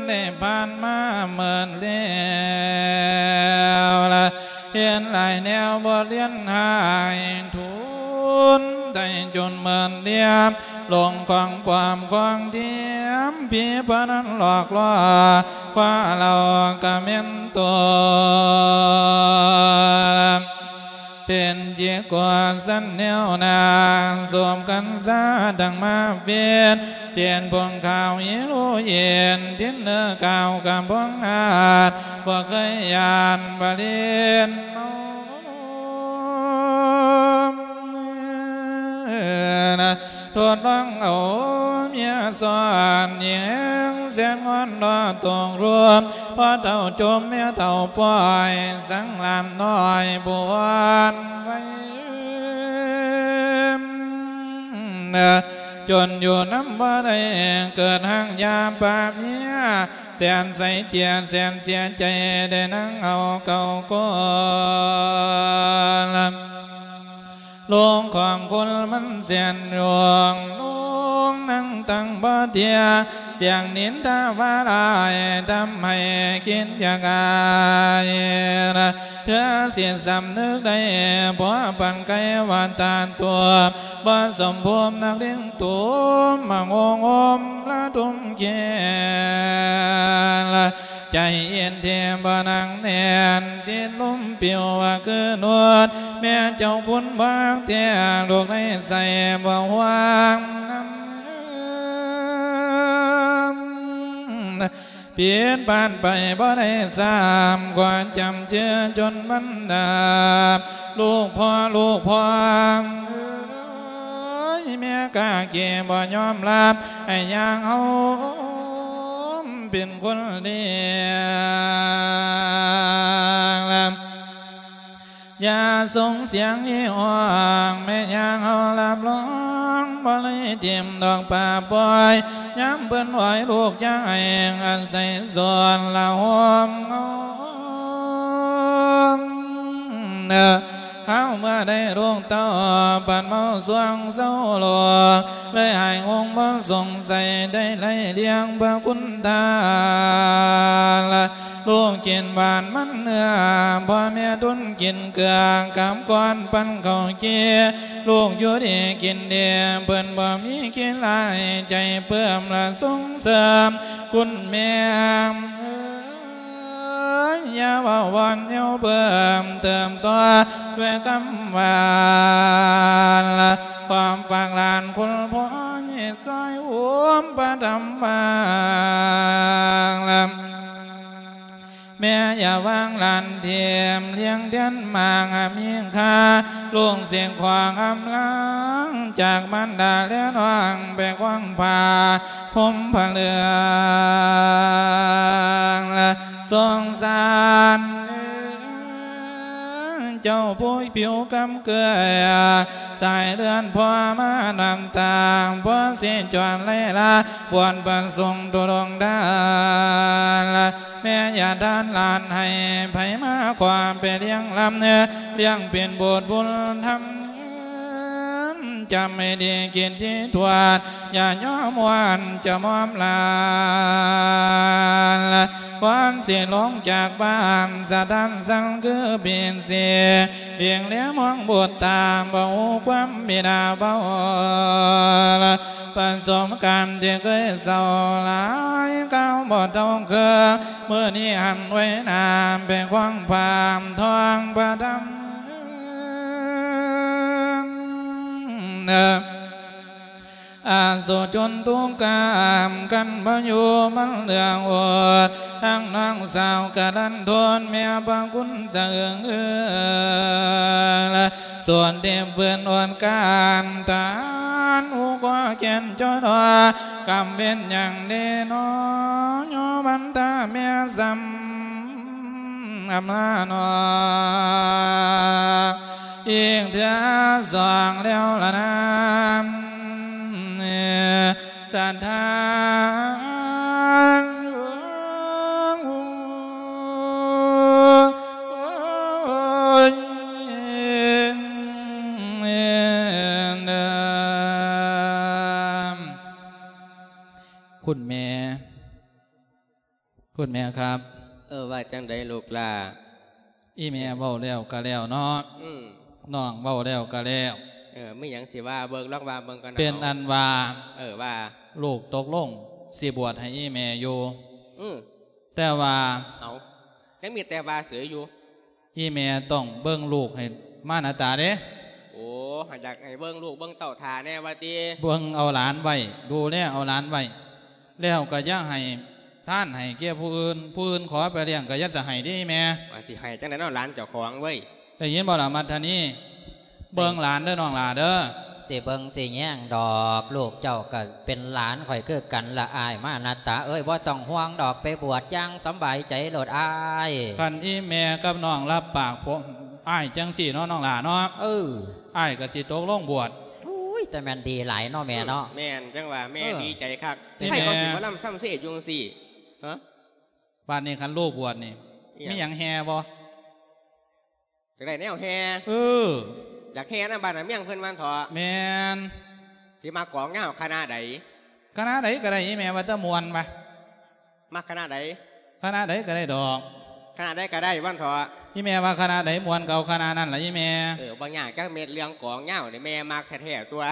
ໄດ້ຜ່ານມາເໝິດແລ້ວລະ ເຫັນຫຼາຍແນວບົດຮຽນຫາຍ ທຸນໄດ້ຈົນເໝິດລຽມ ຫຼົງຂອງປອມຂອງທຽມ ຜີພະນັນຫຼອກຫຼອກ ຄວ້າເຫຼົ່າກະແມ່ນຕົວ ເປັນຈິກກວາດສັນແນວໜ້າ ສົມກັນຊາດັ່ງມາເວນ ສຽນພວງຂາວອີໂລເຢັນ ດິນເໜືອກາວກະພວງອາດ ບໍ່ເຄີຍຢ້ານປະເລນ ທົດລອງເອົາເມຍສອນຍິງແຮງແສນງອນລໍຕົກລົມ ພໍ່ເຖົ້າຈົ່ມແມ່ເຖົ້າປ່ອຍ ສັງຫຼານນ້ອຍຜູ້ອ່ອນໄວ ຈົນຢູ່ນຳບໍ່ໄດ້ ເກີດຮ່າງຢາປະເມຍ ແສນໃສເຈຍດ ແສນເສຍໃຈ ໄດ້ນັ່ງເອົາເກົ່າກ່ອນ ໂລກຂອງຄົນມັນແສນໂຍງ ໂລກນັ່ງຕັ້ງບໍ່ເທື່ອ ສຽງນິນທາວ່າຮ້າຍ ທຳໃຫ້ຄິດຢາກອາຍ ເທື່ອຊິສຳນຶກໄດ້ ພໍປານໄກວ່າຕາຕົວ ບໍ່ສົມພູມນັກເລງໂຕ ມາໂງໂຮມລະທຸມແຄນ ໃຈເຢັນທີ່ບໍ່ໜັກແໜ້ນ ຕິດລົມປິວວ່າຄືນວດ ແມ່ເຈົ້າຄຸນບໍ່ຮັກແທ້ ລູກໃນໃສບໍ່ຫວັງນຳ ຜິດພາດໄປບໍ່ໄດ້ຊ້ຳ ຂໍຈຳເຈື່ອຈົນບັນດາ ລູກພໍ່ ລູກພໍ່ເອີຍ ແມ່ກະເກບໍ່ຍອມຮັບ ໃຫ້ຍ່າງເຮົາເປັນຄົນລຽງ ຢ່າສົ່ງສຽງອີຮ້ອງ ແມ່ຍ່າງເຮົາຮັບຮອງ ບໍ່ເລີຍຖິ້ມດອກປາປ່ອຍ ຍາມເພິ່ນອ້ອຍລູກຢ່າໃຫ້ ອາໄສສອນລະໂຮມເງົາ ເອີ ເຮົາເມື່ອໄດ້ລູກເຕົ້າ ປັດເມົາຊ່ວງເຊົາໂລກ ເລີຍຫາຍງົງບໍ່ສົງໄສ ໄດ້ໄລ່ລ້ຽງເພື່ອຄຸນທານ ລູກກິນຫວານມັນເໜືອ ພໍ່ແມ່ດຸນກິນເກືອ ກັບກ່ອນປັນເຂົ້າເຈຍ ລູກຢູ່ດີກິນດີ ເພິ່ນບໍ່ມີຂີ້ລາຍ ໃຈເພີ່ມລະສົ່ງເສີມ ຄຸນແມ່ເອີຍ ຢ່າເວົ້າວອນແນວເພີ່ມເຕີມຕໍ່ ດ້ວຍຄຳຫວານ ຄວາມຝາກຫຼານຄຸນພໍ່ ໃຫ້ຊ່ອຍໂຮມປະທຳບາງ ແມ່ຢ່າວາງຫຼານຖິ້ມ ລ້ຽງແທນໝາກມີຄ່າ ລູກເສກຂອງອຳລາ ຈາກມານດາແລນ້ອງ ໄປຄວາມຜ້າຫົ່ມຜ້າເຫຼືອງ ສົງສານ ເຈົ້າຜູ້ຜິວຄຳເກືອ ສາຍເລືອດພໍ່ມານຳຕາງ ບໍ່ຊິຈອນໄລລາ ບວນພະສົງທຸດງທານ ແມ່ຢ່າທານຫຼານໃຫ້ໃຜມາ ຄວາມໄປລ້ຽງລຳ ລ້ຽງເປັນບຸດບຸນທຳ ຈຳໃຫ້ດີຄິດທີ່ທວດ ຢ່າຍອມຫວັ່ນຈະມອມຫຼານ ກ່ອນຊິລົງຈາກບ້ານ ສະທ້ານສັ່ນຄືເປັນເສ ເບງແລມອງບຸດຕາ ບໍ່ຮູ້ຄວາມບິດາເບົາ ປະສົບການທີ່ເຄີຍເສົ້າຫຼາຍ ຄາວບໍ່ເທົ່າເຄີຍ ມື້ນີ້ຫັນໄວ້ໜ້າ ໄປຄວ້າງພາມທອງພະທຳ ອາໂສຊົນທຸກກາມ ຄັນບໍ່ຢູ່ມັນເຫຼືອອົດ ທັງນ້ອງສາວກະລັນທົນ ແມ່ພະຄຸນສະເອີງເອີ ສ່ວນທີ່ຟື້ນອົດການ ທານຜູ້ກໍແກ່ນຈົດ ກຳເວັນຫຍັງເດນໍ ຍອມັນຕາແມ່ສ່ຳ ອຳລານ້ອງ ອີກເທື່ອສອງແລ້ວລະນາ ສະຖານ ຄຸນແມ່ ຄຸນແມ່ຄັບ ເອີ ວ່າຈັ່ງໃດລູກຫຼ້າ? ອີ່ແມ່ເວົ້າແລ້ວກະແລ້ວເນາະ ອືມ ນ້ອງເວົ້າແລ້ວກະແລ້ວ ເອີ ມີຫຍັງຊິວ່າເບິ່ງ ລອງວ່າເບິ່ງກ່ອນເນາະ ເປັນອັນວ່າ ເອີ ວ່າ ລູກຕົກລົງຊິບວດໃຫ້ອີ່ແມ່ຢູ່ ອືມ ແຕ່ວ່າ ເອົາ ຍັງມີແຕ່ວ່າເສີຍຢູ່ ອີ່ແມ່ຕ້ອງເບິ່ງລູກໃຫ້ມານາຕາເດ້ ໂອ້ ຫາກຢາກໃຫ້ເບິ່ງລູກເບິ່ງເຕົ້າຖ້າແດ່ວ່າຕິ ເບິ່ງເອົາຫຼານໄວ້ ດູແລເອົາຫຼານໄວ້ ແລ້ວກໍຢ່າໃຫ້ທານໃຫ້ແກ່ຜູ້ອື່ນ ຜູ້ອື່ນຂໍໄປລ້ຽງກໍຢ່າສະໃຫ້ເດ້ອີ່ແມ່ ວ່າຊິໃຫ້ຈັ່ງໃດເນາະ ຫຼານເຈົ້າຂອງເວີຍ ໄດ້ຍິນບໍ່ລະມັດທະນີ? ເບິ່ງຫຼານເດີນ້ອງຫຼ້າເດີ ຊິເບິ່ງຊິແຍງດອກ ລູກເຈົ້າກໍເປັນຫຼານຂ້ອຍຄືກັນລະອ້າຍມານາຕາເອີຍ ບໍ່ຕ້ອງຫ່ວງດອກ ໄປບວດຢ່າງສຳບາຍໃຈໂລດອ້າຍ ຄັນອີ່ແມ່ກັບນ້ອງຮັບປາກ ພວກອ້າຍຈັ່ງຊີ້ເນາະນ້ອງຫຼ້າເນາະ ເອີ ອ້າຍກໍຊິຕົກລົງບວດ ໂອ້ຍ ແຕ່ແມ່ນດີຫຼາຍເນາະແມ່ເນາະ ອືມ ແມ່ນ ຈັ່ງວ່າແມ່ ເອີ ດີໃຈຄັກ ແມ່ ໃຜເຂົາຊິມາລຳຊຳເຊຢູ່ຈັ່ງຊີ້ ຮະ ບາດນີ້ຄັນລູກບວດນີ້ ອີຫຍັງ ມີຫຍັງແຫ່ບໍ່? ຢາກໄດ້ແນວແຫ່ ເອີ ຢາກແຫ່ນຳບ້ານນຳເມືອງເພິ່ນວ່າຊັ້ນເຖາະ ແມ່ນ ຊິມັກກອງຍາວຄະນະໃດ? ຄະນະໃດກໍໄດ້ ອີ່ແມ່ວ່າແຕ່ມ່ວນວ່າ ມັກຄະນະໃດ? ຄະນະໃດກໍໄດ້ດອກ ຄະນະໃດກໍໄດ້ວ່າຊັ້ນເຖາະ ອີ່ແມ່ວ່າຄະນະໃດມ່ວນກໍເອົາຄະນະນັ້ນລະອີ່ແມ່ ເອີ ບໍ່ຍາກຈັກເມັດ ເລື່ອງກອງຍາວນີ້ແມ່ມັກແທ້ໆຕົວະ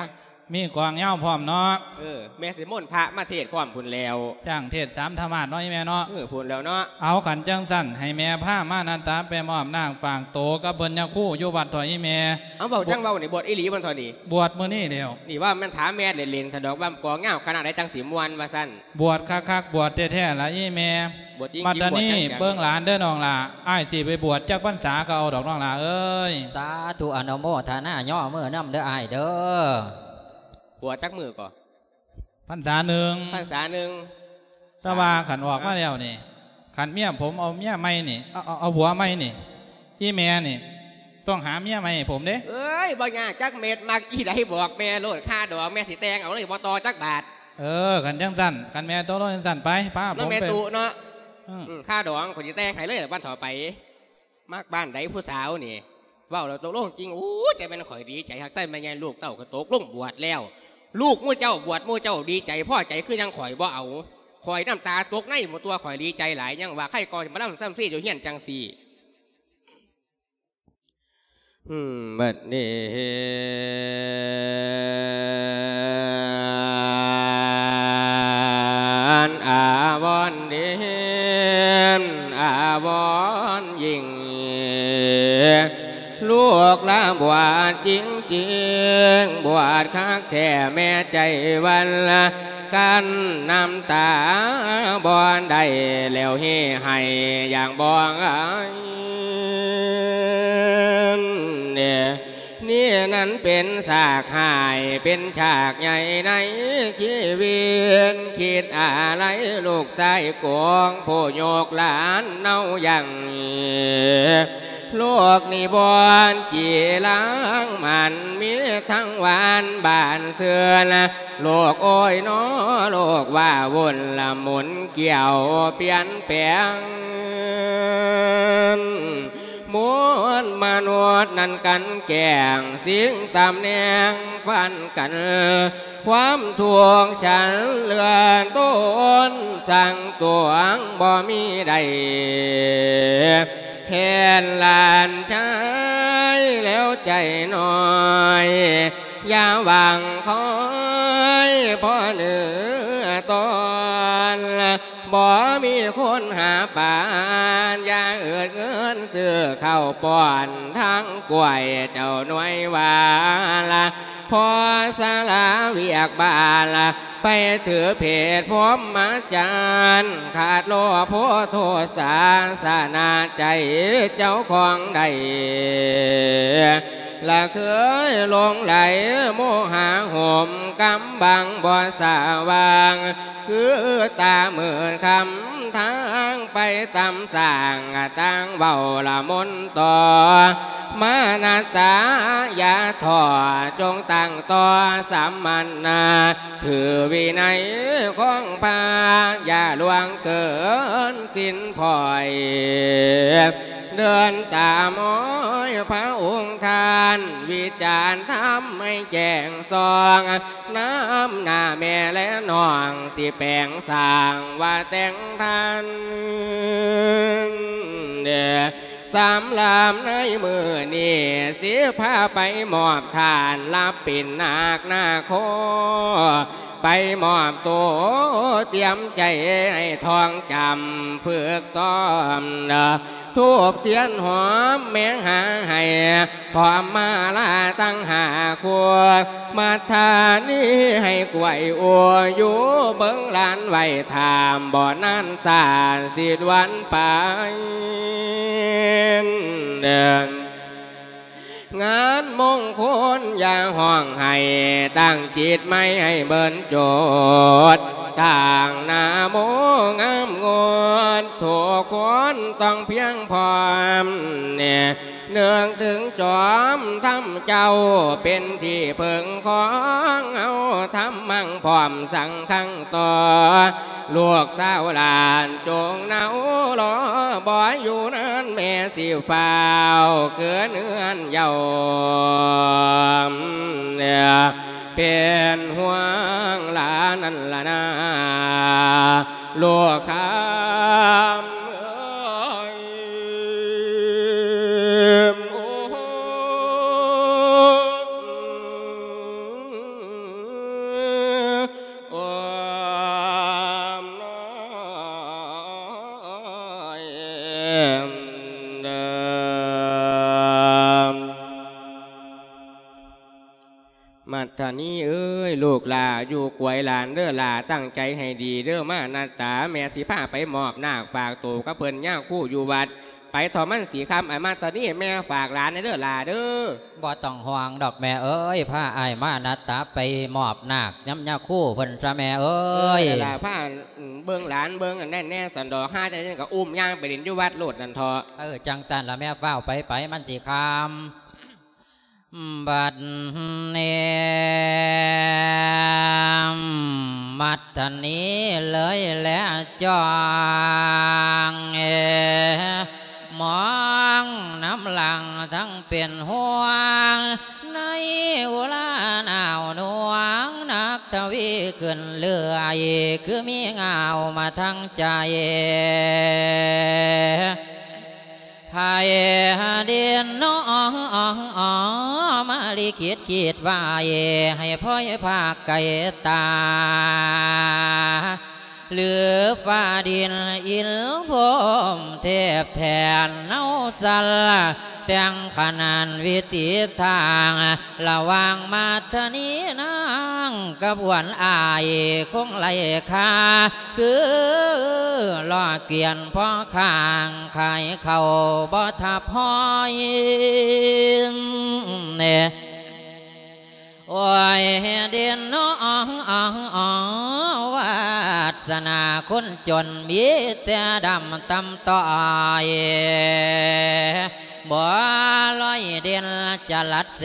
ມີກອງຍາວພ້ອມເນາະ ເອີ ແມ່ຊິມົນພະມາເທດພ້ອມພຸ້ນແລ້ວ ຈ້າງເທດສາມທຳມາດເນາະອີ່ແມ່ເນາະ ເອີ ພຸ້ນແລ້ວເນາະ ເອົາ ຄັນຈັ່ງຊັ້ນ ໃຫ້ແມ່ພາມານາຕາໄປມອບນາກຝາກໂຕກັບເພິ່ນຍາຄູຢູ່ວັດເຖາະອີ່ແມ່ ເອົາ ເວົ້າຈັ່ງເວົ້ານີ້ ບວດອີ່ຫຼີບໍ່ເນາະເທາະນີ້ ບວດມື້ນີ້ແລ້ວ ນີ້ວ່າແມ່ນຖາມແມ່ເລ່ນໆ ຊັ້ນດອກ ວ່າກອງຍາວຄະນະໃດຈັ່ງຊິມ່ວນວ່າຊັ້ນ ບວດຄັກໆ ບວດແທ້ໆລະອີ່ແມ່ ບວດຈິງໆ ບັດນີ້ ບວດຈັງໆ ເບິ່ງຫຼານເດີນ້ອງຫຼ້າ ອ້າຍຊິໄປບວດຈັກພັນສາກໍເອົາດອກນ້ອງຫຼ້າເອີຍ ສາທຸ ອະນຸໂມທະນາຍໍມືນຳເດີອ້າຍເດີ ບວດຈັກມື້ກໍ? ພັນສາໜຶ່ງ ພັນສາໜຶ່ງ ແຕ່ວ່າຄັນອອກມາແລ້ວນີ້ ຄັນເມຍຜົມເອົາເມຍໃໝ່ນີ້ ເອົາ ເອົາ ເອົາຜົວໃໝ່ນີ້ ອີ່ແມ່ນີ້ຕ້ອງຫາເມຍໃໝ່ໃຫ້ຜົມເດ້ ເອີຍ ບໍ່ຍາກຈັກເມັດ ມັກອີ່ໃດບອກແມ່ໂລດ ຄ່າດອງແມ່ຊິແຕ່ງເອົາເລີຍ ບໍ່ຕໍ່ຈັກບາດ ເອີ ຄັນຈັ່ງຊັ້ນ ຄັນແມ່ຕົກລົງຈັ່ງຊັ້ນ ໄປ ພາຜົມໄປ ແມ່ຕຸເນາະ ອືມ ອືມ ຄ່າດອງຂ້ອຍຊິແຕ່ງໃຫ້ເລີຍ ວັນເທົ່າໄປ ມັກບ້ານໃດຜູ້ສາວນີ້ ເວົ້າແລ້ວຕົກລົງຈິງ ໂອ້ຍ ຈັ່ງແມ່ນຂ້ອຍດີໃຈຄັກ ໃສ່ແມ່ໃຫຍ່ລູກເຕົ້າກໍຕົກລົງບວດແລ້ວ ລູກໝູ່ເຈົ້າບວດ ໝູ່ເຈົ້າດີໃຈພໍໃຈ ຄືຫຍັງຂ້ອຍບໍ່ເອົາ ຂ້ອຍນ້ຳຕາຕົກໃນໝົດຕົວ ຂ້ອຍດີໃຈຫຼາຍ ຍັງວ່າໃຄກໍມາລຳຊຳເຊຢູ່ເຮືອນຈັ່ງຊີ້ ອືມ ບັດນີ້ ອາວອນດີ ອາວອນຍິ່ງ ລູກລະບວດຈິງໆ ບວດຄັກແທ້ແມ່ໃຈວັນລະ ກັ້ນນ້ຳຕາບໍ່ໄດ້ ແລ້ວເຮໄຫ້ຢ່າງບໍ່ອາຍ ນີ້ນະ ມັນເປັນສາກຮ້າຍ ເປັນສາກໃຫຍ່ໃນຊີວິດ ຄິດອາໄລລູກຊາຍໂກງ ຜູ້ຍົກຫຼານເນົາຍັງ ໂລກນີ້ບໍ່ຈີລາງມັນ ມີທັງຫວານບານຊື່ນ ໂລກໂອ້ຍນໍ ໂລກວ້າວຸ່ນລະໝູນ ກ່ຽວປ່ຽນແປງ ມວນມະນຸດນັ້ນກັນແກ່ງ ຊິງຕຳແໜ່ງຟັນກັນ ຄວາມທຸກສັນເຫຼືອທົນ ສ້າງຕົວງບໍ່ມີໄດ້ ເຫັນຫຼານຊາຍແລ້ວໃຈນ້ອຍ ຢ່າຫວັງຄອຍພໍເໜືອຕອນ ບໍ່ມີຄົນຫາປານ ຢ່າເອີດເງິນຊື້ເຂົ້າປ້ອນ ທາງກ້ວຍເຈົ້າໜ່ວຍວ່າລະ ພໍສາລາວຽກບ້ານລະ ໄປຖືເພດພົມມາຈານ ຂາດໂລໂພໂທສາ ຊະນະໃຈເຈົ້າຂອງໄດ້ ລະເຄີຍຫຼົງໄຫຼໂມຫະຫົມ ກຳບັງບໍ່ສະຫວ່າງ ຄືຕາມືດຄຳທາງໄປຕາມສ້າງ ຕ່າງເວົ້າລະມົນຕໍ່ ມານະຕາຢ່າທໍ້ ຈົ່ງຕັ້ງຕໍ່ສຳມະນາ ຖືວິໄນຂອງພະ ຢ່າລ່ວງເກີນສິນພ້ອຍ ເດີນຕາມຮອຍພະອົງທ່ານ ວິຈານທຳໃຫ້ແຈ້ງສ່ອງ ນຳໜ້າແມ່ແລະນ້ອງ ທີ່ແປງສ້າງວ່າແຕ່ງທັນ ສຳລັບໃນມື້ນີ້ ຊິພາໄປມອບທ່ານ ຮັບເປັນນາກນາໂຄ ໄປມອບໂຕ ຕຽມໃຈໃຫ້ທ່ອງຈຳ ຝຶກຊ້ອມ ທູບທຽນຫອມແມງຫາໃຫ້ ພ້ອມມາລາຕັ້ງຫ້າຄູ່ ມັດທານີໃຫ້ກວຍອູ ຢູ່ເບິ່ງຫຼານໄວ້ຖ້າ ບໍ່ນານຊາດຊິດ່ວນໄປ ງານມົງຄົນຢ່າຮ້ອງໄຫ້ ຕັ້ງຈິດໃໝ່ໃຫ້ເບິ່ນໂຈດ ຕັ້ງໜ້າໂມງາມງົດ ທຸກຄົນຕ້ອງພຽງພ້ອມ ນຶກເຖິງຈອມທຳເຈົ້າ ເປັນທີ່ເພິ່ງຂອງເຮົາ ທຳມັງພ້ອມສັງຄັງຕໍ່ ລູກສາວຫຼານຈົ່ງເນົາລໍ ບໍ່ຢູ່ນານແມ່ຊິຟ້າວຄືນເຮືອນເຍົາ ເປັນຫ່ວງຫຼານນັ້ນລະນາ ລູກຄຳເອີຍ ໂອ້ ໂອ້ ມັດທະນີເອີຍ ລູກຫຼ້າຢູ່ກວຍຫຼານເດີຫຼ້າ ຕັ້ງໃຈໃຫ້ດີເດີມານັດຕາ ແມ່ຊິພາໄປມອບນາກ ຝາກໂຕກັບເພິ່ນຍາຄູຢູ່ວັດ ໄປເຖາະມັນຊິຄ່ຳ ອາຍມັດທະນີ ແມ່ຝາກຫຼານແດ່ເດີຫຼ້າເດີ. ບໍ່ຕ້ອງຫ່ວງດອກແມ່ເອີຍ ພາອ້າຍມານັດຕາໄປມອບນາກນຳຍາຄູເພິ່ນຊະແມ່ເອີຍ. ເອີ ລະພາເບິ່ງຫຼານເບິ່ງອັນນັ້ນແດ່ ສັນດອກ ຫາຈັ່ງໃດກໍອຸ້ມຍ່າງໄປຫຼິ້ນຢູ່ວັດໂລດນັ້ນເຖາະ. ເອີ ຈັ່ງຊັ້ນລະແມ່ ຟ້າວໄປໄປ ມັນຊິຄ່ຳ. ບັດນີ້ ມັດທະນີເລີຍແລະຈ້ອງ ເອ ມອງນຳຫຼັງທັງເປັນຫ່ວງ ໃນອຸລາໜາວໜ່ວງ ນັກທະວີຂຶ້ນເລື່ອຍ ຄືມີງາວມາທາງໃຈ. ໃຜເດັ່ນໜໍ ມາລິຄິດຄິດໄວ້ ໃຫ້ພອຍພາກໄກຕາ ຫຼືຟ້າດິນອິນພົມເທບແທນເອົາສັນ ແຕ່ງຂະໜານວິຕິທາງ ລະຫວ່າງມາດທະນີນາງກັບຫວນອ້າຍ ຄົງໄລ່ຄ່າ ຄືລໍ້ກວຽນພໍຄ້າງ ຂາຍເຂົ້າບໍ່ທັບຫອຍ ເນ ໂອ້ຍ ເດນເນາະ ວາດສະໜາຄົນຈົນມີແຕ່ດຳຕ່ຳຕ້ອຍ ບໍ່ລອຍເດັ່ນຈະລັດແສ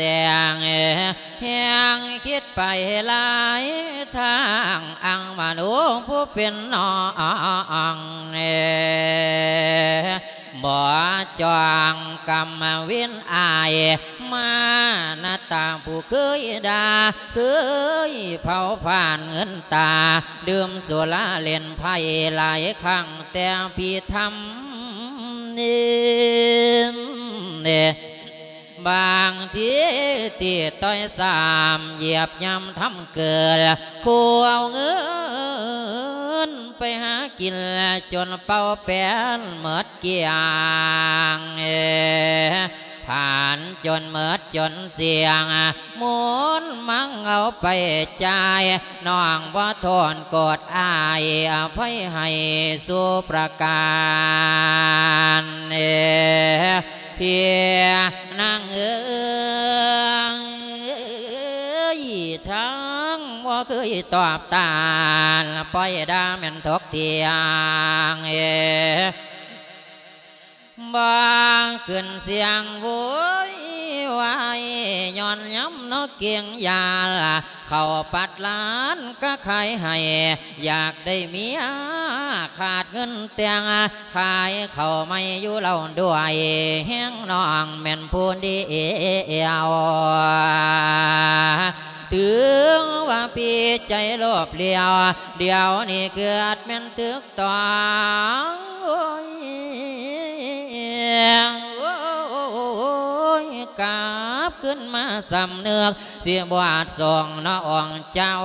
ງ ແຮງຄິດໄປຫຼາຍທາງ ອັງມະໂນຜູ້ເປັນນ້ອງ ບໍ່ຈ້ອງກຳເວັນອາຍ ມານະຕາຜູ້ເຄີຍດ່າ ເຄີຍເຜົາຜານເງິນຕາ ດື່ມສຸລາຫຼິ້ນໄພ້ຫຼາຍຄັ້ງແຕ່ພິທຳ ບາງທີຕີຕ້ອຍຊ້ຳ ຢຽບຫຍ້ຳທຳເກີນ ຜູ້ເອົາເງິນໄປຫາກິນ ຈົນເປົ່າແປນໝົດກ້ຽງ ຜ່ານຈົນໝົດຈົນສ່ຽງ ໝູນມັງເອົາໄປຈ່າຍ ນ້ອງບໍ່ໂທດໂກດອາຍ ອະໄພໃຫ້ສູ່ປະການ ພີ່ນາງເອີຍ ທັງບໍ່ເຄີຍຕອບຕານ ປ່ອຍດ່າແມ່ນທົກທ່ຽງ ບໍ່ຂຶ້ນສຽງໂວຍວາຍ ຍ້ອນຍາມນອກກຽງຢານ ເຂົ້າປັດລ້ານກະຂາຍໃຫ້ ຢາກໄດ້ເມຍຂາດເງິນແຕ່ງ ຂາຍເຂົ້າໃໝ່ຢູ່ເຫຼົ່າດ້ວຍ ແຮງນ້ອງແມ່ນຜູ້ດຽວ ຖືວ່າປີໃຈໂລບຫຼຽວ ດຽວນີ້ເກີດແມ່ນຕຶກ ຕ້ອງ ໂອ້ຍ ກັບຄືນມາສຳນຶກ ຊິບວດສົ່ງເນາະອົງເຈົ້າ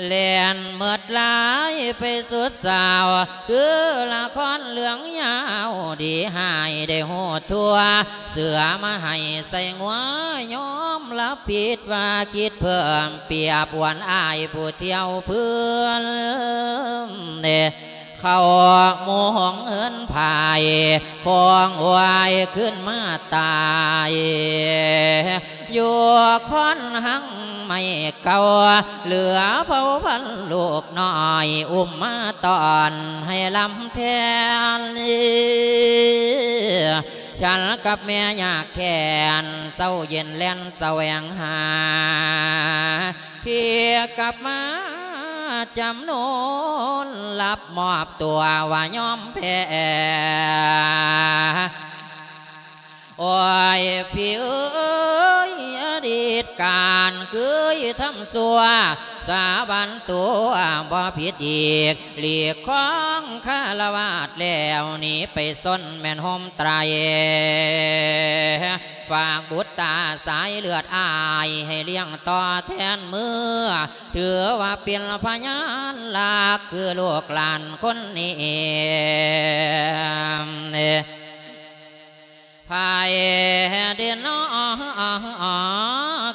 ແລ່ນໝົດຫຼາຍໄປສຸດສາວ ຄືລະຄອນເລື່ອງຍາວ ດີຮ້າຍໄດ້ຮູ້ທົ່ວ ເສືອມາໃຫ້ໃສ່ງົວ ຍອມຮັບຜິດວ່າຄິດເພີ່ມ ປຽບອວນອາຍຜູ້ທ່ຽວເພື່ອນ ເຂົ້າໝູ່ຫ້ອງເຮືອນພາຍ ຄອງວາຍຄືນມາຕາຍ ຢູ່ຄອນຫັງໄມ້ເກົ່າ ເຫຼືອເຜົ່າພັນລູກນ້ອຍ ອຸ້ມມາຕ້ອນໃຫ້ລຳແທນ ສັນກັບແມ່ຍາກແຄ້ນ ເຊົາເຢັນແລ່ນສະແຫວງຫາ ພີ່ກັບມາຈຳນົນ ຮັບມອບຕົວວ່າຍອມແພ້ ໂອ້ຍ ພີ່ເອີຍ ອະດີດການເຄີຍທຳຊົ່ວ ສາບານຕົວບໍ່ຜິດອີກ ຫຼີກຄອງຄາລະວາດແລ້ວ ໜີໄປຊົນແມ່ນໂຮມໄຕ ຝາກບຸດຕາສາຍເລືອດອາຍ ໃຫ້ລ້ຽງຕໍ່ແທນເມືອ ຖືວ່າເປັນພະຍານຫຼັກ ຄືລູກຫຼານຄົນນີ້ ໃຜເດເນາະ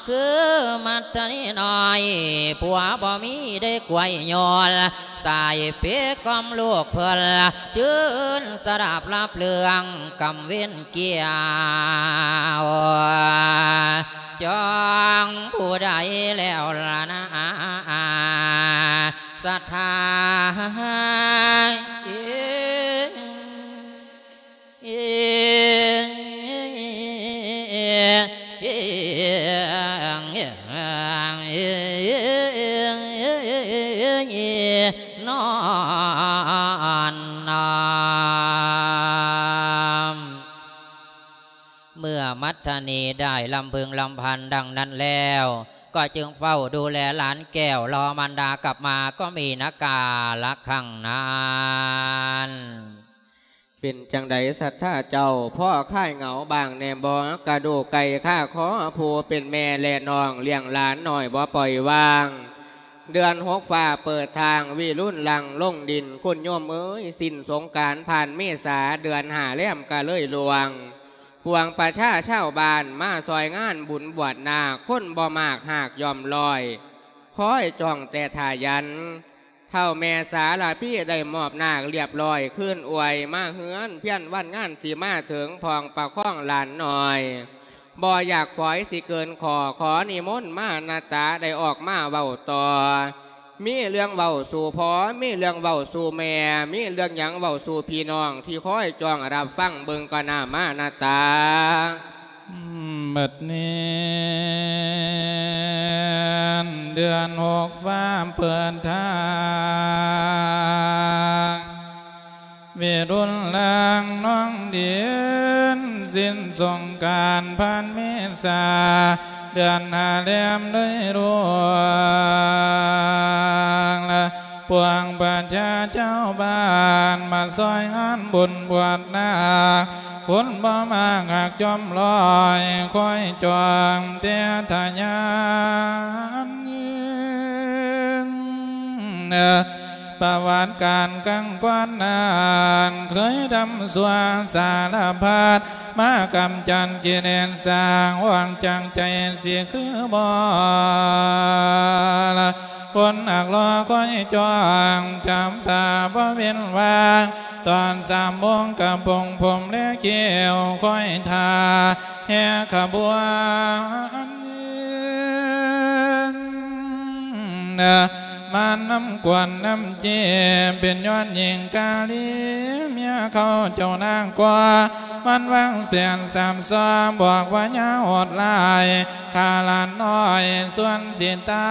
ຄືມັດຕະນີນ້ອຍ ຜົວບໍ່ມີໄດ້ກວຍຍອນ ສາຍເປກກ່ອມລູກເພິ່ນ ຈື່ນສະດັບລັບເລື່ອງກຳເວັນກ່ຽວ ຈອງຜູ້ໃດແລ້ວລະນາ ສັດທາ ນອນນ້ອມ. ເມື່ອມັດທະນີໄດ້ລຳເພິງລຳພັນດັ່ງນັ້ນແລ້ວ ກໍຈຶ່ງເຝົ້າດູແລຫຼານແກ້ວ ລໍມານດາກັບມາກໍມີນາກາລະຄັ້ງນັ້ນ. ເປັນຈັ່ງໃດສັດທາເຈົ້າ ພໍຄາຍເຫງົາບ້າງແດ່ບໍ່? ກະດູກໄກ່ຄາຄໍ ຜູ້ເປັນແມ່ແລະນ້ອງລ້ຽງຫຼານນ້ອຍບໍ່ປ່ອຍວາງ ເດືອນຫົກຟ້າເປີດທາງ ວິລຸນຫຼັ່ງລົງດິນ ຄຸນໂຍມເອີຍ ສິ້ນສົງການຜ່ານເມສາ ເດືອນຫ້າແລມກະເລີຍລ່ວງ ປວງປະຊາຊາວບ້ານ ມາຊ່ອຍງານບຸນບວດນາກ ຄົນບໍ່ມາກຮາກຍ່ອມລ້ອຍ ຄອຍຈ້ອງແຕ່ຖ້າຢັນ ທ້າວແມ່ສາລະພີໄດ້ມອບນາກລຽບລ້ອຍ ຄືນອວຍມາເຮືອນພຽນ ວັນງານຊິມາເຖິງ ພ້ອມປະຄອງຫຼານນ້ອຍ ບໍ່ຢາກຝອຍຊິເກີນຂໍ ຂໍນິມົນມານາຕາ ໄດ້ອອກມາເວົ້າຕໍ່. ມີເລື່ອງເວົ້າສູ່ພໍ່ ມີເລື່ອງເວົ້າສູ່ແມ່ ມີເລື່ອງຫຍັງເວົ້າສູ່ພີ່ນ້ອງ ທີ່ຄອຍຈ້ອງຮັບຟັງເບິ່ງກໍໜ້າມານາຕາ. ບັດນີ້ເດືອນຫົກຟ້າເປີດທາງ ເວລຸນລາງນ້ອງດິນ ສິ້ນສົງການຜ່ານເມສາ ເດືອນຫ້າແລມເລີຍລ່ວງລະ ປວງປະຊາຊາວບ້ານ ມາຊ່ອຍງານບຸນບວດນາກ ຄົນບໍ່ມາກຮັກຈອມລອຍ ຄອຍຈອງແຕ່ທະຍານ ປະຫວັດການຄັ້ງກ່ອນນັ້ນ ເຄີຍທຳຊົ່ວສາລະພັດ ມາກຳຈັດກິເລດສ້າງ ຫວັງຈັງໃຈຊິຄືບໍ່ລະ ຄົນຮັກລໍຄອຍຈ້ອງ ຈຳຕາບໍ່ເວັ້ນວ່າງ ຕອນສາມໂມງກະປົງຜົມແລະຄິ້ວ ຄອຍຖ້າແຫ່ຂະບວນ ມານຳກວນນຳເຈ ເປັນຍອດຍິງກາລີ ເມຍເຂົາເຈົ້ານາງກວ່າ ມັນວາງແຜນສາມຊອມ ບອກວ່າຢ່າໂຫດຮ້າຍ ຂ້າຫຼານນ້ອຍສ່ວນຊິຕາ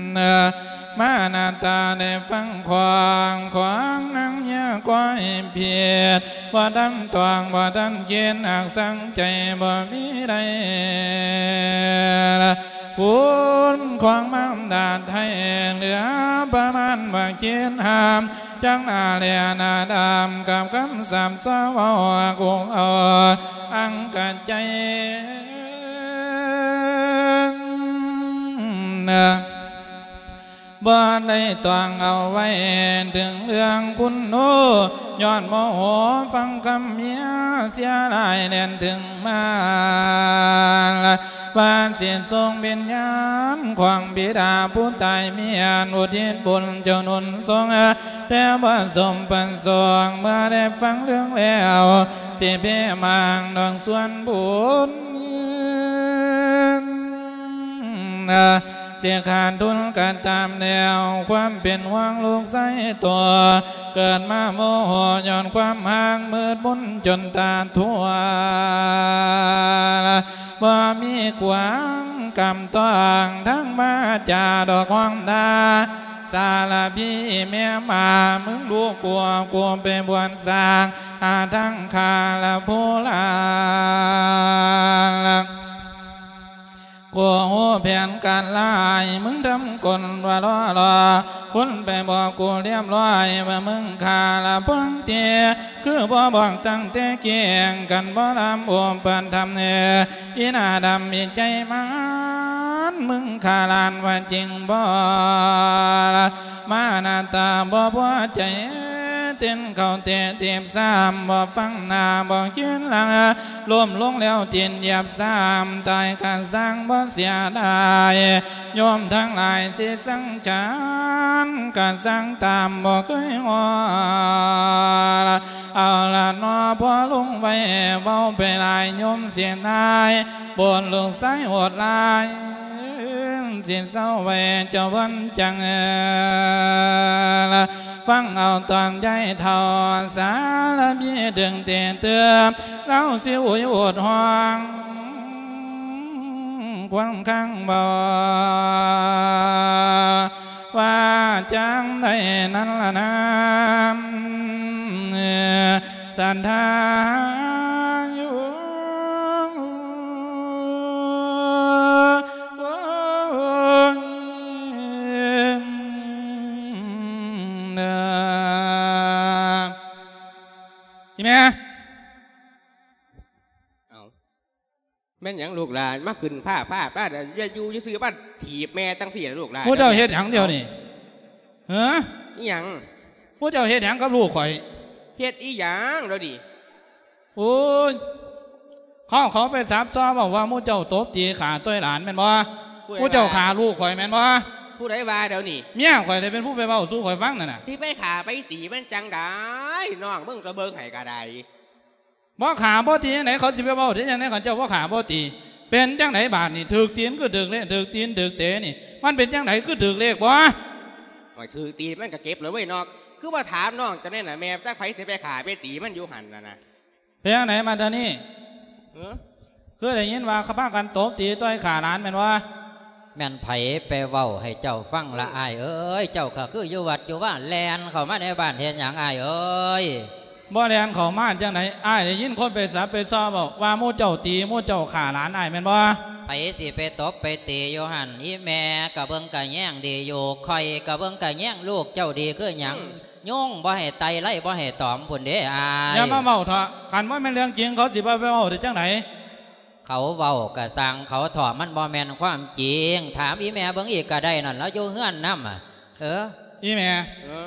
ຍ ມານາຕາໄດ້ຟັງຂອງ ຂອງນາງເມຍກ້ອຍເພັດ ບໍ່ທັນຕ້ອງ ບໍ່ທັນຄິດ ຫາກສັງໃຈບໍ່ມີໄດ້ ຄຸນຂອງມານດາໄທ ເຫຼືອປະມານບໍ່ຄິດຫ້າມ ຈັ່ງໜ້າແລໜ້າດຳ ກັບຄຳສາບສາເວົ້າ ກຸກເອົາອັງກະໃຈ ບໍ່ໄດ້ຕ້ອງເອົາໄວ້ ເຖິງເລື່ອງຄຸນໂນ ຍ້ອນໂມໂຫຟັງຄຳເມຍ ເສຍຫຼາຍແລ່ນເຖິງມາ ວ່າຊິສົ່ງວິນຍານຂອງບິດາຜູ້ຕາຍເມຍ ອຸທິດບຸນເຈົ້າໜູນສົງ ແຕ່ບໍ່ສົມປະສົງ ເມື່ອໄດ້ຟັງເລື່ອງແລ້ວ ຊິເພມາງດອກສ່ວນບຸນ ຊິຂາດທຶນກໍຕາມແລ້ວ ຄວາມເປັນຫ່ວງລູກຊາຍຕົວ ເກີດມາໂມໂຫຍ້ອນຄວາມຫາກມືດມົນຈົນຕາທົ່ວ ບໍ່ມີກວາງກຳຕ້ອງ ທັງວາຈາດອກຮ້ອງດ່າ ສາລະພີແມ່ໝາ ມຶງຮູ້ກົວ ກູໄປບວດສ້າງ ຫາທາງຂ້າລະຜູ້ລາ ກູຮູ້ແຜນການລາຍ ມຶງທຳກົນວ່າລໍລໍ ຄຸນໄປບອກກູລຽບຮ້ອຍ ວ່າມຶງຂ້າລະພວງເຕ ຄືບໍ່ບອກຕັ້ງແຕ່ກີ້ ຄັນບໍ່ລຳອຸປະຖຳເນ ອີໜ້າດຳອີໃຈມັນ ມຶງຂ້າຫຼານວ່າຈິງບໍ່ລະ ມາໜ້າຕາບໍ່ພໍໃຈ ເຕັ້ນເຂົ້າເຕະຖີບຊ້ຳ ບໍ່ຟັງໜ້າບໍ່ຄິດຫຼັງ ລົ້ມລົງແລ້ວຕີນຢຽບຊ້ຳ ຕາຍກະຊ່າງບໍ່ເສຍດາຍ ໂຍມທັງຫຼາຍຊິສັງຂານ ກະຊ່າງຕາມບໍ່ເຄີຍງໍລະ ເອົາລະນໍ ພໍລົງໄວ້ ເວົ້າໄປຫຼາຍໂຍມເສຍນາຍ ບົນລູກຊາຍໂຫດຮ້າຍ ຊິເຊົາໄວ້ເຈົ້າວັນຈັງ ຟັງເອົາຕອນຍາຍເຖົ້າ ສາລະພີເຖິງເຕເຕືອມ ລາວຊິອຸຍໂອດຮ້ອງ ຄວນຄາງບໍ່ ວ່າຈັ່ງໃດນັ້ນລະນາ ສັນທາຢູ່ ອີ່ແມ່ ເອົ້າ ແມ່ນຫຍັງລູກຫຼານ ມາຂຶ້ນພ້າໆ ປ້າດ ຢ່າຢູ່ຊື່ໆ ມາຖີບແມ່ຈັ່ງຊີ້ລະລູກຫຼານ ໝູ່ເຈົ້າເຮັດຫຍັງດຽວນີ້ ເອີ ອີ່ຫຍັງ ໝູ່ເຈົ້າເຮັດຫຍັງກັບລູກຂ້ອຍ ເຮັດອີ່ຫຍັງດຽວນີ້ ໂອ້ຍ ເຂົາ ເຂົາໄປສາບສ່ອງເວົ້າວ່າໝູ່ເຈົ້າຕົບຕີຂ້າຕ່ອຍຫຼານແມ່ນບໍ່ ຜູ້ເຈົ້າຂ້າລູກຂ້ອຍແມ່ນບໍ່? ຜູ້ໃດວ່າດຽວນີ້? ເມຍຂ້ອຍໄດ້ເປັນຜູ້ໄປເວົ້າສູ່ຂ້ອຍຟັງນັ້ນນະ. ຊິໄປຂ້າໄປຕີມັນຈັ່ງໃດ? ນ້ອງມຶງກໍເບິ່ງໃຫ້ກໍໄດ້. ບໍ່ຂ້າບໍ່ຕີຈັ່ງໃດ ເຂົາຊິໄປເວົ້າໄດ້ຈັ່ງໃດ ຄັນເຈົ້າບໍ່ຂ້າບໍ່ຕີ? ເປັນຈັ່ງໃດບາດນີ້? ຖືກຕີນຄືຖືກເລກ ຖືກຕີນຖືກເຕະນີ້ ມັນເປັນຈັ່ງໃດ ຄືຖືກເລກບໍ່? ໂອ້ຍ ຖືກຕີນມັນກໍເຈັບເລີຍເວີ້ຍເນາະ. ຄືບໍ່ຖາມນ້ອງເຈົ້າແດ່ນະ ແມ່ຈັກໃຜຊິໄປຂ້າໄປຕີມັນຢູ່ຫັ້ນນະນະ. ເປັນຈັ່ງໃດມາດຕານີ? ເອີ ຄືໄດ້ຍິນວ່າເຂົາພາກັນຕົບຕີຕ່ອຍຂ້າຫຼານແມ່ນບໍ່? ແມ່ນໃຜໄປເວົ້າໃຫ້ເຈົ້າຟັງລະອ້າຍເອີຍ? ເຈົ້າກໍຄືຢູ່ວັດຢູ່ວາ ແລ່ນເຂົ້າມາໃນບ້ານເຮັດຫຍັງອ້າຍເອີຍ? ບໍ່ແລ່ນເຂົ້າມາຈັ່ງໃດ ອ້າຍໄດ້ຍິນຄົນໄປສັບໄປຊໍເວົ້າວ່າໝູ່ເຈົ້າຕີ ໝູ່ເຈົ້າຂ້າຫຼານອ້າຍແມ່ນບໍ່? ໃຜຊິໄປຕົບໄປຕີຢູ່ຫັ້ນ? ອີ່ແມ່ກະເບິ່ງກະແຍງດີຢູ່ ຂ້ອຍກະເບິ່ງກະແຍງລູກເຈົ້າດີຄືຫຍັງ. ອືມ ຍຸງບໍ່ໃຫ້ໄຕ່ ໄລ່ບໍ່ໃຫ້ຕອມພຸ້ນເດ້ອ້າຍ. ຢ່າມາເວົ້າເຖາະ ຄັນບໍ່ແມ່ນເລື່ອງຈິງ ເຂົາຊິບໍ່ໄປເວົ້າໄດ້ຈັ່ງໃດ? ເຂົາເວົ້າກະຊ່າງເຂົາເຖາະ ມັນບໍ່ແມ່ນຄວາມຈິງ. ຖາມອີ່ແມ່ເບິ່ງອີກກະໄດ້ນັ້ນ ລາວຢູ່ເຮືອນນຳ. ເອີ ອີ່ແມ່ ເອີ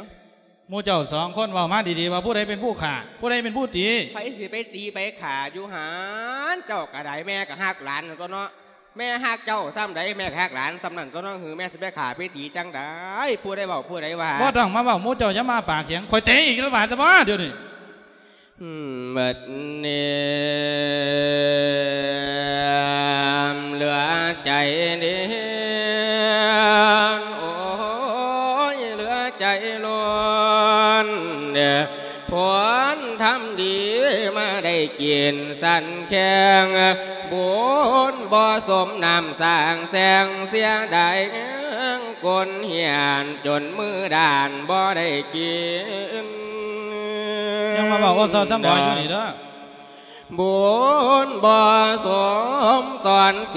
ໝູ່ເຈົ້າສອງຄົນເວົ້າມາດີໆ ວ່າຜູ້ໃດເປັນຜູ້ຂ້າ ຜູ້ໃດເປັນຜູ້ຕີ? ໃຜຊິໄປຕີໄປຂ້າຢູ່ຫັ້ນ? ເຈົ້າກະໄດ້ ແມ່ກະຮັກຫຼານນັ້ນຕົວະເນາະ. ແມ່ຮັກເຈົ້າສ່ຳໃດ ແມ່ກໍຮັກຫຼານສ່ຳນັ້ນຕົວະເນາະ. ຫື ແມ່ຊິໄປຂ້າໄປຕີຈັ່ງໃດ? ຜູ້ໃດເວົ້າ ຜູ້ໃດວ່າ? ບໍ່ຕ້ອງມາເວົ້າ ໝູ່ເຈົ້າຢ່າມາປາກຂຽງ ຂ້ອຍເຕະອີກລະບາດຊະບໍ່ດຽວນີ້. ອືມ ບັດນີ້ເຫຼືອໃຈເດ ໂອ້ຍ ເຫຼືອໃຈລ້ນເດ ຜົນທຳດີມາໄດ້ກິນສັນແຂງ ບຸນບໍ່ສົມນ້ຳສ້າງແສງ ເສຍດາຍແຮງກົ້ນຫ້ຽນ ຈົນມືດ້ານບໍ່ໄດ້ກິນ. ຍັງມາເວົ້າໂອຊອຊຳບອຍຢູ່ນີ້ເດີ. ບຸນບໍ່ສົມຕອນເສ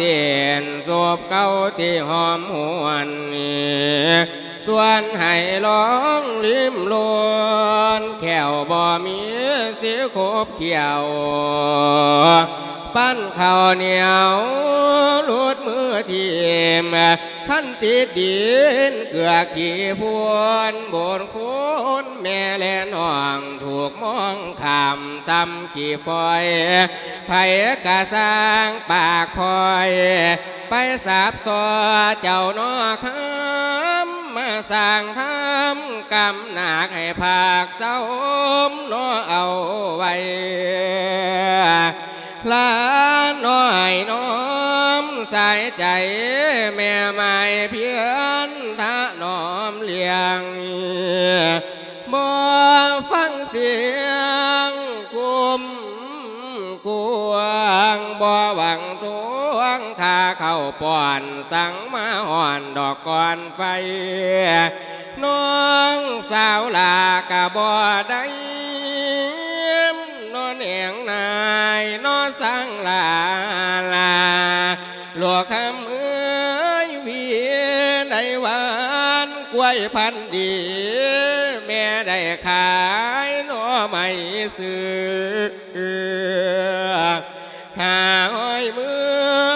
ນ ສົບເກົ່າທີ່ຫອມຫວນ ຊວນໃຫ້ລອງລິມລົນ ແຂ້ວບໍ່ມີສີຂົບຂຽວ ປັ້ນເຂົ້າໜຽວຫຼຸດມືຖິ້ມ ຄັນຕິດດິນເກືອຂີ້ຝຸ່ນ ບຸນຄຸນແມ່ແລນ້ອງ ຖືກມອງຂ້າມຊຳຂີ້ຝອຍ ໃຜກະຊ່າງປາກພອຍ ໄປສາບສໍ່ເຈົ້າໜໍ່ຄຳ ມາສ້າງທຳກຳໜາກໃຫ້ພາກເຊົາໜໍ່ເອົາໄວ້ ຫຼານນ້ອຍນ້ອມສາຍໃຈ ແມ່ໝ້າຍພຽນຖະໜອມລ້ຽງ ບໍ່ຟັງສຽງກຸມກວາງ ບໍ່ຫວັງທວງຄ່າເຂົ້າປ້ອນ ສັ່ງມາຮ້ອນດອກກ່ອນໄຟ ນ້ອງສາວຫຼ້າກະບໍ່ໄດ້ ນອນແອງນາຍ ນອນສັງຫຼາຫຼາ ລູກຄຳເອີຍ ວີໄດ້ຫວານ ກ້ວຍພັນດີ ແມ່ໄດ້ຂາຍໜໍ່ໄມ້ຊື້ ຫາຫ້ອຍມື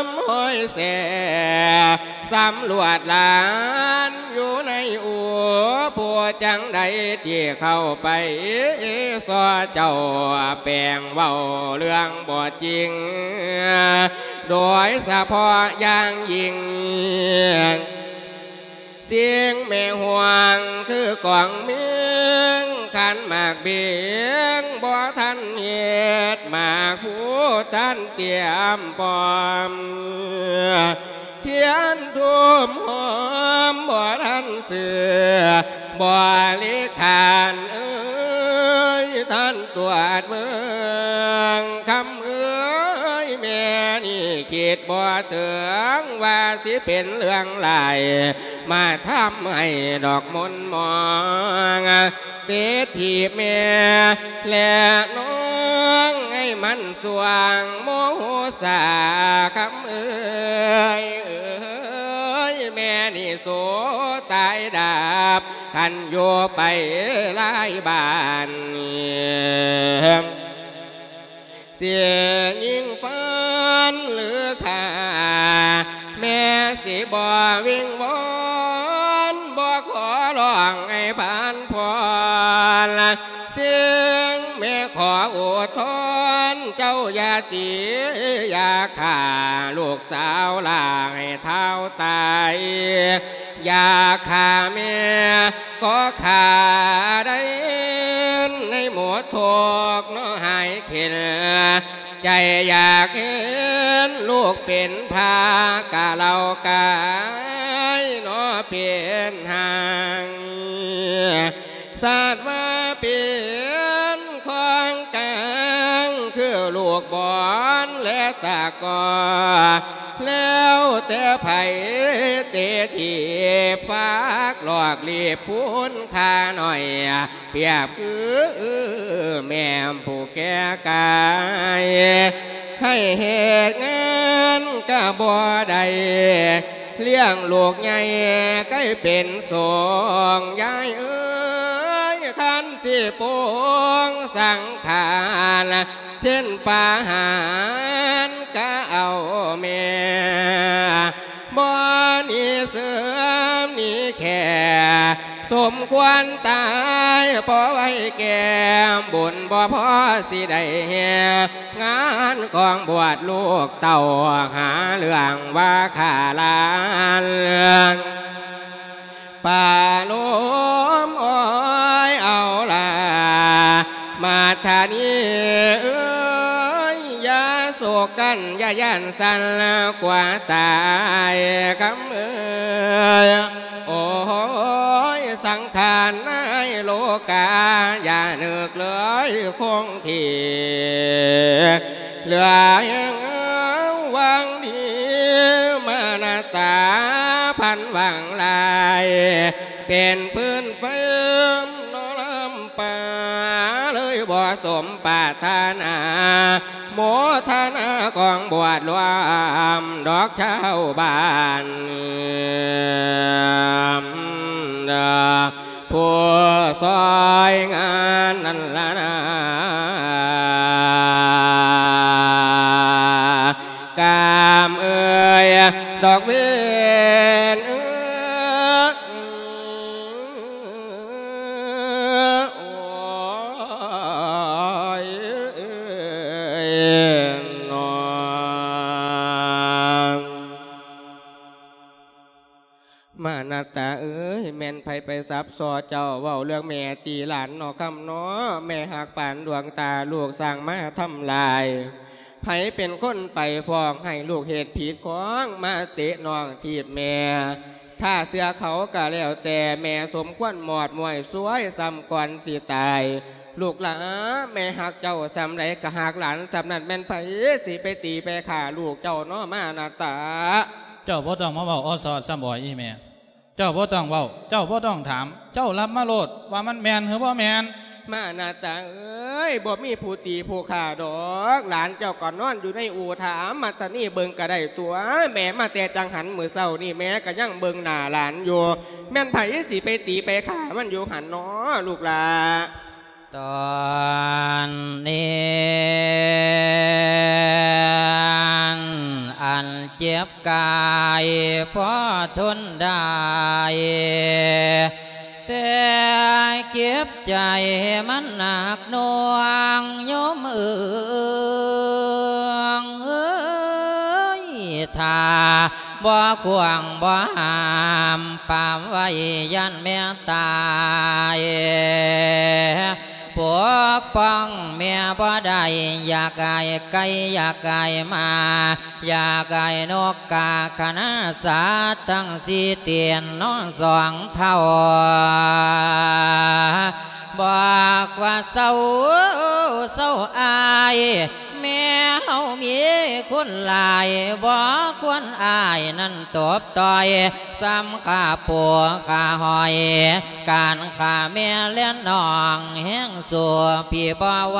ມຫ້ອຍແສ ສຳຫຼວດຫຼານຢູ່ໃນອູ່ ຜູ້ຈັ່ງໃດທີ່ເຂົ້າໄປສໍ່ເຈົ້າ ແປງເວົ້າເລື່ອງບໍ່ຈິງ ໂດຍສະເພາະຢ່າງຍິ່ງ ສິ່ງແມ່ຫ່ວງຄືກອງເມງ ຄັນໝາກເບງບໍ່ທັນເຮັດ ໝາກພູທັນຕຽມພ້ອມ ທຽນທູມຫອມບໍ່ທັນເຊື່ອ ບໍລິຂານເອີຍ ທ່ານຕວດເບິ່ງ ຄຳເອີຍ ແມ່ນີ້ຄິດບໍ່ເຖິງ ວ່າຊິເປັນເລື່ອງຮ້າຍ ມາທຳໃຫ້ດອກມົນໝອງ ຕິດທີ່ແມ່ ແລະນ້ອງໃຫ້ມັນຊ່ວງໂມໂຫສາ ຄຳເອີຍ ເອີຍ ແມ່ນີ້ໂສຕາຍດາບ ຄັນຢູ່ໄປຫຼາຍບ້ານ ເສຍຍິງຟັນຫຼືຂ້າ ແມ່ຊິບໍ່ວິງວອນ ບໍ່ຂໍຮ້ອງໃຫ້ຜ່ານຜ່ອນ ເສຍງແມ່ຂໍໂອດທອນ ເຈົ້າຢ່າຕີ ຢ່າຂ້າລູກສາວຫຼາຍເທົ່າຕາຍ ຢ່າຂ້າແມ່ກໍຂ້າໄດ້ ໃນໝົດທຸກເນາະຫາຍເຂັນ ໃຈຢາກເຫັນລູກເປັນພາ ກະເລົ່າກາຍເນາະເປັນຮ່າງ ຊາດວ່າເປັນຂອງກາງ ຄືລູກບອນ ແລະຕະກໍ ແລ້ວແຕ່ໃຜເຕະຖີບ ຝາກຫຼອກຫຼີບຄູນຂ້າໜ້ອຍ ປຽບຄືແມ່ຜູ້ແກ່ກາຍ ໃຫ້ເຮັດງານກະບໍ່ໄດ້ ລ້ຽງລູກໃຫຍ່ໃກ້ເປັນສົງ ຍາຍເອີຍ ຄັນຊິປົງສັງຂານ ເຊັ່ນປະຫານກະເອົາແມ່ ບໍ່ໜີເສື່ອມໜີແຄ ສົມຄວນຕາຍ ພໍໄວ້ແກ່ບຸນ ບໍ່ພໍຊິໄດ້ແຫ່ງານຂອງບວດລູກເຕົ້າ ຫາເລື່ອງວ່າຂ້າຫຼານ ປາໂລມອ້ອຍເອົາລາ ມາທານີເອີຍ ຢ່າໂສກກັນ ຢ່າຢ້ານສັ່ນ ກວ່າຕາຍ ຄຳເອີຍ ໂອ້ຍ ສັງຂານໃນໂລກາ ຢ່ານຶກເລີຍຄົງທີ່ ເຫຼືອແຮງຫວັງດີ ມານະຕາ ພັນຫວັງຫຼາຍ ເປັນຟືນໄຟນອນລຳປາ ເລີຍບໍ່ສົມປາດຖະໜາ ໂມທະນາຂອງບວດລວມດອກຊາວບ້ານ ຜູ້ຊ່ອຍງານນັ້ນລະນາ ກາມເອີຍ ດອກເວນເອີຍ ໂອ້ຍ ມານະຕາເອີຍ ແມ່ນໃຜໄປສັບສໍ່ເຈົ້າ ເວົ້າເລື່ອງແມ່ຕີຫຼານເນາະຄຳເນາະ ແມ່ຮັກປານດວງຕາ ລູກສ້າງມາທຳລາຍ ໃຜເປັນຄົນໄປຟ້ອງໃຫ້ລູກເຮັດຜິດຂອງ ມາເຕະນ້ອງຖີບແມ່ ຖ້າເຊື່ອເຂົາກະແລ້ວແຕ່ ແມ່ສົມຄວນໝອດມ້ວຍຊວຍ ສ່ຳກ່ອນຊິຕາຍ ລູກຫຼາ ແມ່ຮັກເຈົ້າສ່ຳໃດກະຮັກຫຼານສ່ຳນັ້ນ ແມ່ນໃຜຊິໄປຕີໄປຂ້າລູກເຈົ້າເນາະ ມານະຕາ. ເຈົ້າບໍ່ຕ້ອງມາເວົ້າອໍສໍ່ຊ້ຳບໍ່ ອີ່ແມ່ ເຈົ້າບໍ່ຕ້ອງເວົ້າ ເຈົ້າບໍ່ຕ້ອງຖາມ ເຈົ້າຮັບມາໂລດວ່າມັນແມ່ນຫຼືບໍ່ແມ່ນ. ມານະຕາເອີຍ ບໍ່ມີຜູ້ຕີຜູ້ຂ້າດອກ ຫຼານເຈົ້າກໍນອນຢູ່ໃນອູ່ຖາມມາດຕານີເບິ່ງກໍໄດ້ຕົວະ ແມ່ມາແຕ່ຈັງຫັນມື້ເຊົ້ານີ້ ແມ່ກໍຍັງເບິ່ງໜ້າຫຼານຢູ່ ແມ່ນໃຜຊິໄປຕີໄປຂ້າມັນຢູ່ຫັ້ນເນາະ ລູກຫຼາ. ຕອນນີ້ອັນເຈັບກາຍພໍທົນໄດ້ ແຕ່ເຈັບໃຈມັນໜັກໜ່ວງໂຍມເອີຍ ຖ້າ ບໍ່ຂວາງບໍ່ຫ້າມປາມໄວ້ຢ້ານແມ່ຕາຍ ປົກປ້ອງແມ່ບໍ່ໄດ້ ຢາກໄກ່ໄກ່ ຢາກໄກ່ໝາ ຢາກໄກ່ນົກກາຂະນາ ສັດທັງສີ່ຕີນນ້ອງສອງເທົ້າ ບອກວ່າເຊົາ ເຊົາອ້າຍ ແມ່ເຮົາມີຄຸນຫຼາຍ ບໍ່ຄວນອ້າຍນັ້ນຕົບຕ່ອຍ ສ່ຳຂ້າປູຂ້າຫອຍ ການຂ້າແມ່ແລະນ້ອງແຮງສູ້ ພີ່ບໍ່ໄຫວ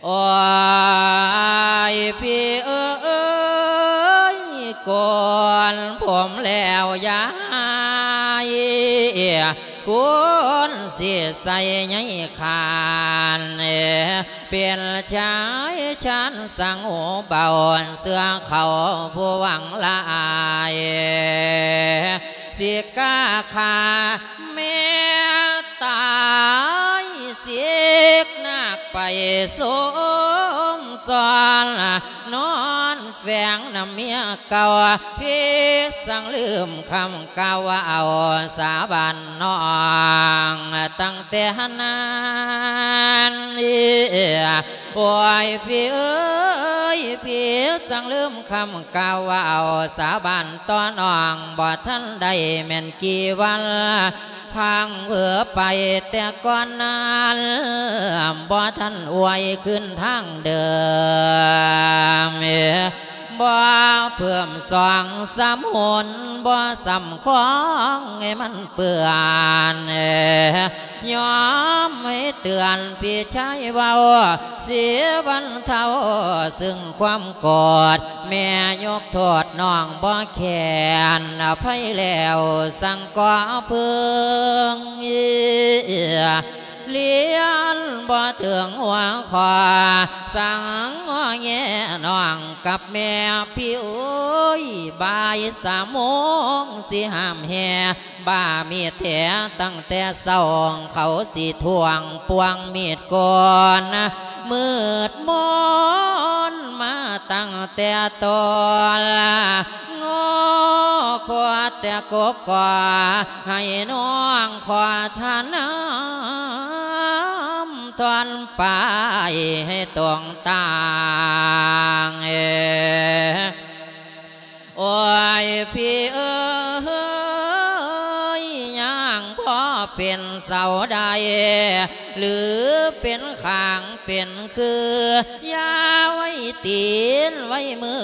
ໂອ້ຍ ພີ່ເອີຍ ໂກນຜົມແລ້ວຢ່າໃຫ້ ຄຸນຊິໃສ່ໃຍຄານ ເປັນຊາຍຊານສັງຫູເບົາ ເຊື່ອເຂົາຜູ້ຫວັງຫຼາຍ ຊິກ້າຂ້າແມ່ຕາຍເສຍ ເມຍເກົ່າ ຜິດສັງລືມຄຳກ່າວເວົ້າສາບານນ້ອງ ຕັ້ງແຕ່ນັ້ນ ໂອ້ຍ ພີ່ເອີຍ ຜິດສັງລືມຄຳກ່າວເວົ້າສາບານຕໍ່ນ້ອງ ບໍ່ທັນໄດ້ແມ່ນກີ່ວັນ ພັງເຜີໄປແຕ່ກ່ອນນັ້ນ ບໍ່ທັນອວຍຄືນທາງເດີມ ບໍ່ເພີ່ມສອງສາມຫົນ ບໍ່ສຳຄອງໃຫ້ມັນເປື້ອນ ຍອມໃຫ້ເຕືອນພີ່ຊາຍເວົ້າ ຊິບັນເທົາຊຶ່ງຄວາມໂກດ ແມ່ຍົກໂທດນ້ອງບໍ່ແຄ້ນ ອະໄພແລ້ວສັງກໍເພິ່ງ ລຽນບໍ່ເຖິງຫົວຂໍ້ ສັງງໍແງນ້ອງກັບແມ່ ພີ່ເອີຍ ບ່າຍສາມໂມງ ຊິຫ້າມແຫ່ ບ້າມີດແທ້ ຕັ້ງແຕ່ເຊົ້າ ເຂົາຊິທວງ ປວງມີດໂກນ ມືດມົນມາຕັ້ງແຕ່ຕົ້ນ ງໍຂໍແຕ່ກົບກໍ ໃຫ້ນ້ອງຂໍທານນຳ ທ່ອນປາຍໃຫ້ຕົງຕ່າງ ເອ ໂອ້ຍ ພີ່ເອີຍ ຍ່າງບໍ່ເປັນເສົາໃດ ຫຼືເປັນຂ້າງເປັນຄື ຢ່າໄວ້ຕີນໄວ້ມື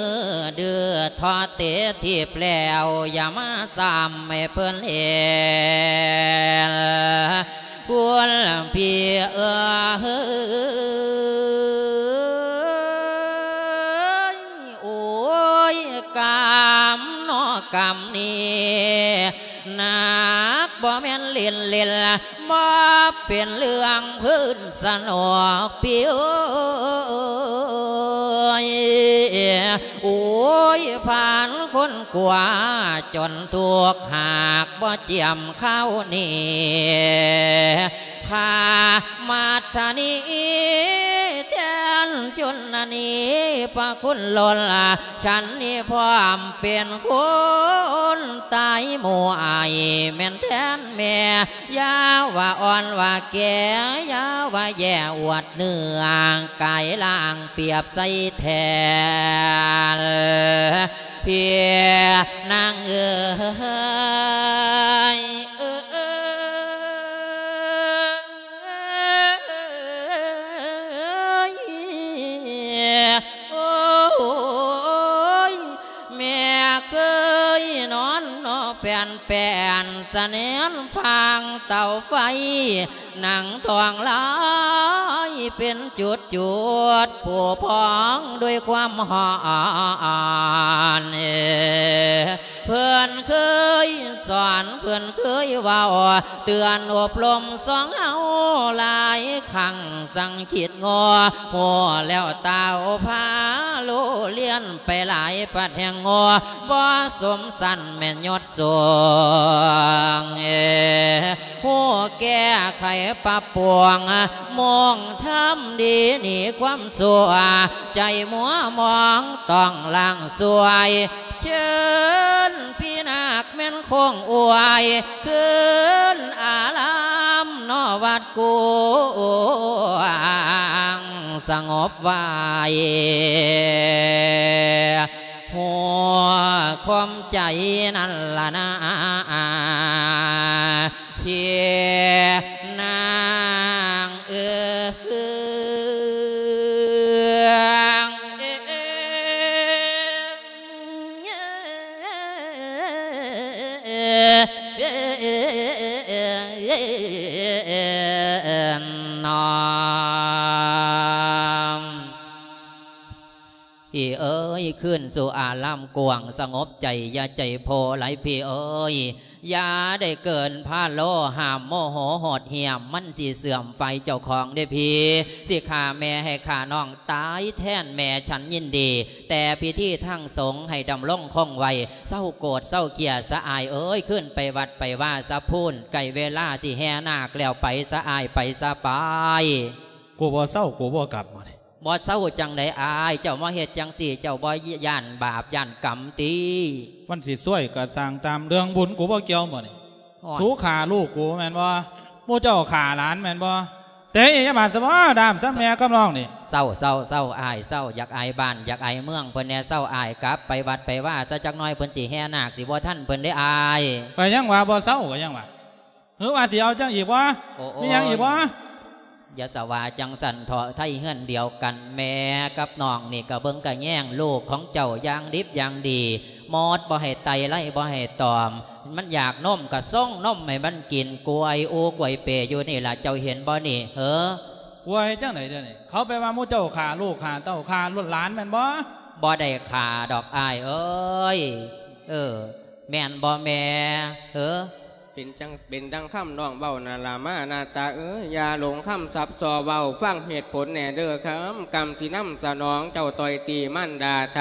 ດື້ທໍເຕະຖີບແລ້ວ ຢ່າມາຊ້ຳໃຫ້ເພິ່ນເຫັນ ຄຸນພີ່ເອີຍ ໂອ້ຍ ກຳເນາະກຳນີ້ ໜັກບໍ່ແມ່ນຫຼິ້ນໆ ບໍ່ເປັນເລື່ອງພື້ນສະໜອກ ພີ່ເອີຍ ໂອ້ຍ ຜ່ານຄົນກວ່າຈົນທຸກ ຫາກບໍ່ຈຽມຄາວນີ້ ຂ້າມາດທະນີ ແທນຊົນນະນີ ພະຄຸນລົ້ນ ສັນນີ້ພ້ອມເປັນຄົນຕາຍໝູ່ອ້າຍ ແມ່ນແທນແມ່ ຢ່າວ່າອ່ອນວ່າແກ່ ຢ່າວ່າແຍ່ອວດເນື້ອ ກາຍລ່າງປຽບໃສ່ແທນ ພີ່ນາງເອີຍ ເອີຍ ເອີຍ ໂອ້ຍ ແມ່ເຄີຍນອນໜໍ່ແປ່ນ ແປ້ນສະແໜນພາງເຕົາໄຟ ນັ່ງທ້ອງລາຍເປັນຈຸດໆ ຜູ້ພອງດ້ວຍຄວາມຮ້ອນ ເພິ່ນເຄີຍສອນ ເພິ່ນເຄີຍເວົ້າ ເຕືອນອົບລົມສອງເຮົາຫຼາຍຄັ້ງ ສັງຄິດງໍ ຮູ້ແລ້ວຕາວພາໂລລຽນໄປຫຼາຍ ປັດແຫ່ງງໍ ບໍ່ສົມສັນແມ່ນຍົດສູງ ເອ ຮູ້ແກ້ໄຂປັບປຸງ ມຸ່ງທຳດີໜີຄວາມຊົ່ວ ໃຈມົວມອງຕ້ອງລ້າງຊ່ວຍ ເຊີນພີ່ນາກແມ່ນຄົງອວຍ ຄືນອາລາມນອວັດກວາງ ສະຫງົບໄວ້ ຫົວຄວາມໃຈນັ້ນລະນາ ພີ່ນາງເອີຍ ນ້ອງ ພີ່ເອີຍ ຄືນສູ່ອາລາມກວ້າງສະຫງົບໃຈ ຢ່າໃຈໂພຫຼາຍພີ່ເອີຍ ຢ່າໄດ້ເກີນພາໂລ ຫ້າມໂມໂຫໂຫດຫ້ຽມ ມັນຊິເສື່ອມຝ່າຍເຈົ້າຂອງເດ້ພີ່ ຊິຂ້າແມ່ໃຫ້ຂ້ານ້ອງຕາຍແທນແມ່ ສັນຍິນດີ ແຕ່ພິທີທາງສົງໃຫ້ດຳລົງຄົງໄວ້ ເຊົາໂກດເຊົາເກຍສະອາຍເອີຍ ຄືນໄປວັດໄປວາຊະພຸ້ນ ໃກ້ເວລາຊິແຫ່ນາກແລ້ວ ໄປສະອາຍ ໄປສະ ໄປ. ກູບໍ່ເຊົາ ກູບໍ່ກັບ ມື້ນີ້ ບໍ່ເຊົາຈັ່ງໃດອ້າຍ? ເຈົ້າມາເຮັດຈັ່ງຊີ້ ເຈົ້າບໍ່ຢ້ານບາບຢ້ານກຳຕິ? ມັນຊິຊວຍກໍຊ່າງຕາມ ເລື່ອງບຸນກູບໍ່ກ່ຽວໝົດນີ້. ໂອ້ຍ ສູຂ້າລູກກູແມ່ນບໍ່? ໝູ່ເຈົ້າຂ້າຫຼານແມ່ນບໍ່? ເຕະຢ່າບາດຊະບໍ່ ດ້າມຊະແມ່ກັບນ້ອງນີ້. ເຊົາ ເຊົາ ເຊົາ ອ້າຍ ເຊົາ ຢາກອາຍບ້ານ ຢາກອາຍເມືອງເພິ່ນແດ່ ເຊົາ ອ້າຍ ກັບໄປວັດໄປວາຊະຈັກໜ້ອຍ ເພິ່ນຊິແຫ່ນາກ ຊິບໍ່ທັນເພິ່ນເດ້ອ້າຍ. ກໍຍັງວ່າບໍ່ເຊົາ ກໍຍັງວ່າ ຫຼືວ່າຊິເອົາຈັ່ງອີກບໍ່? ໂອ້ ມີຫຍັງອີກບໍ່? ໂອ້ຍ ຢ່າສະວ່າຈັ່ງຊັ້ນເຖາະ ໄທເຮືອນດຽວກັນ ແມ່ກັບນ້ອງນີ້ກໍເບິ່ງກະແຍງລູກຂອງເຈົ້າຢ່າງດິບຢ່າງດີ ໝົດບໍ່ໃຫ້ໄຕໄລ່ບໍ່ໃຫ້ຕອມ ມັນຢາກນົມກໍສົ່ງນົມໃຫ້ມັນກິນ ກວຍອູກວຍເປຢູ່ນີ້ລະ ເຈົ້າເຫັນບໍ່ນີ້ ເຫີ? ກວຍຈັ່ງໃດດຽວນີ້? ເຂົາໄປວ່າໝູ່ເຈົ້າຂ້າລູກຂ້າເຕົ້າຂ້າລູກຫຼານແມ່ນບໍ່? ບໍ່ໄດ້ຂ້າດອກອ້າຍເອີຍ. ເອີ ແມ່ນບໍ່ແມ່ ເຫີ? ເປັນຈັ່ງ ເປັນດັ່ງຄຳນ້ອງເວົ້ານັ້ນລະມານາຕາເອີຍ ຢ່າຫຼົງຄຳສັບສໍເວົ້າ ຟັງເຫດຜົນແດ່ເດີຄຳ ກຳທີ່ນຳສະໜອງເຈົ້າຕ່ອຍຕີມານດາໄທ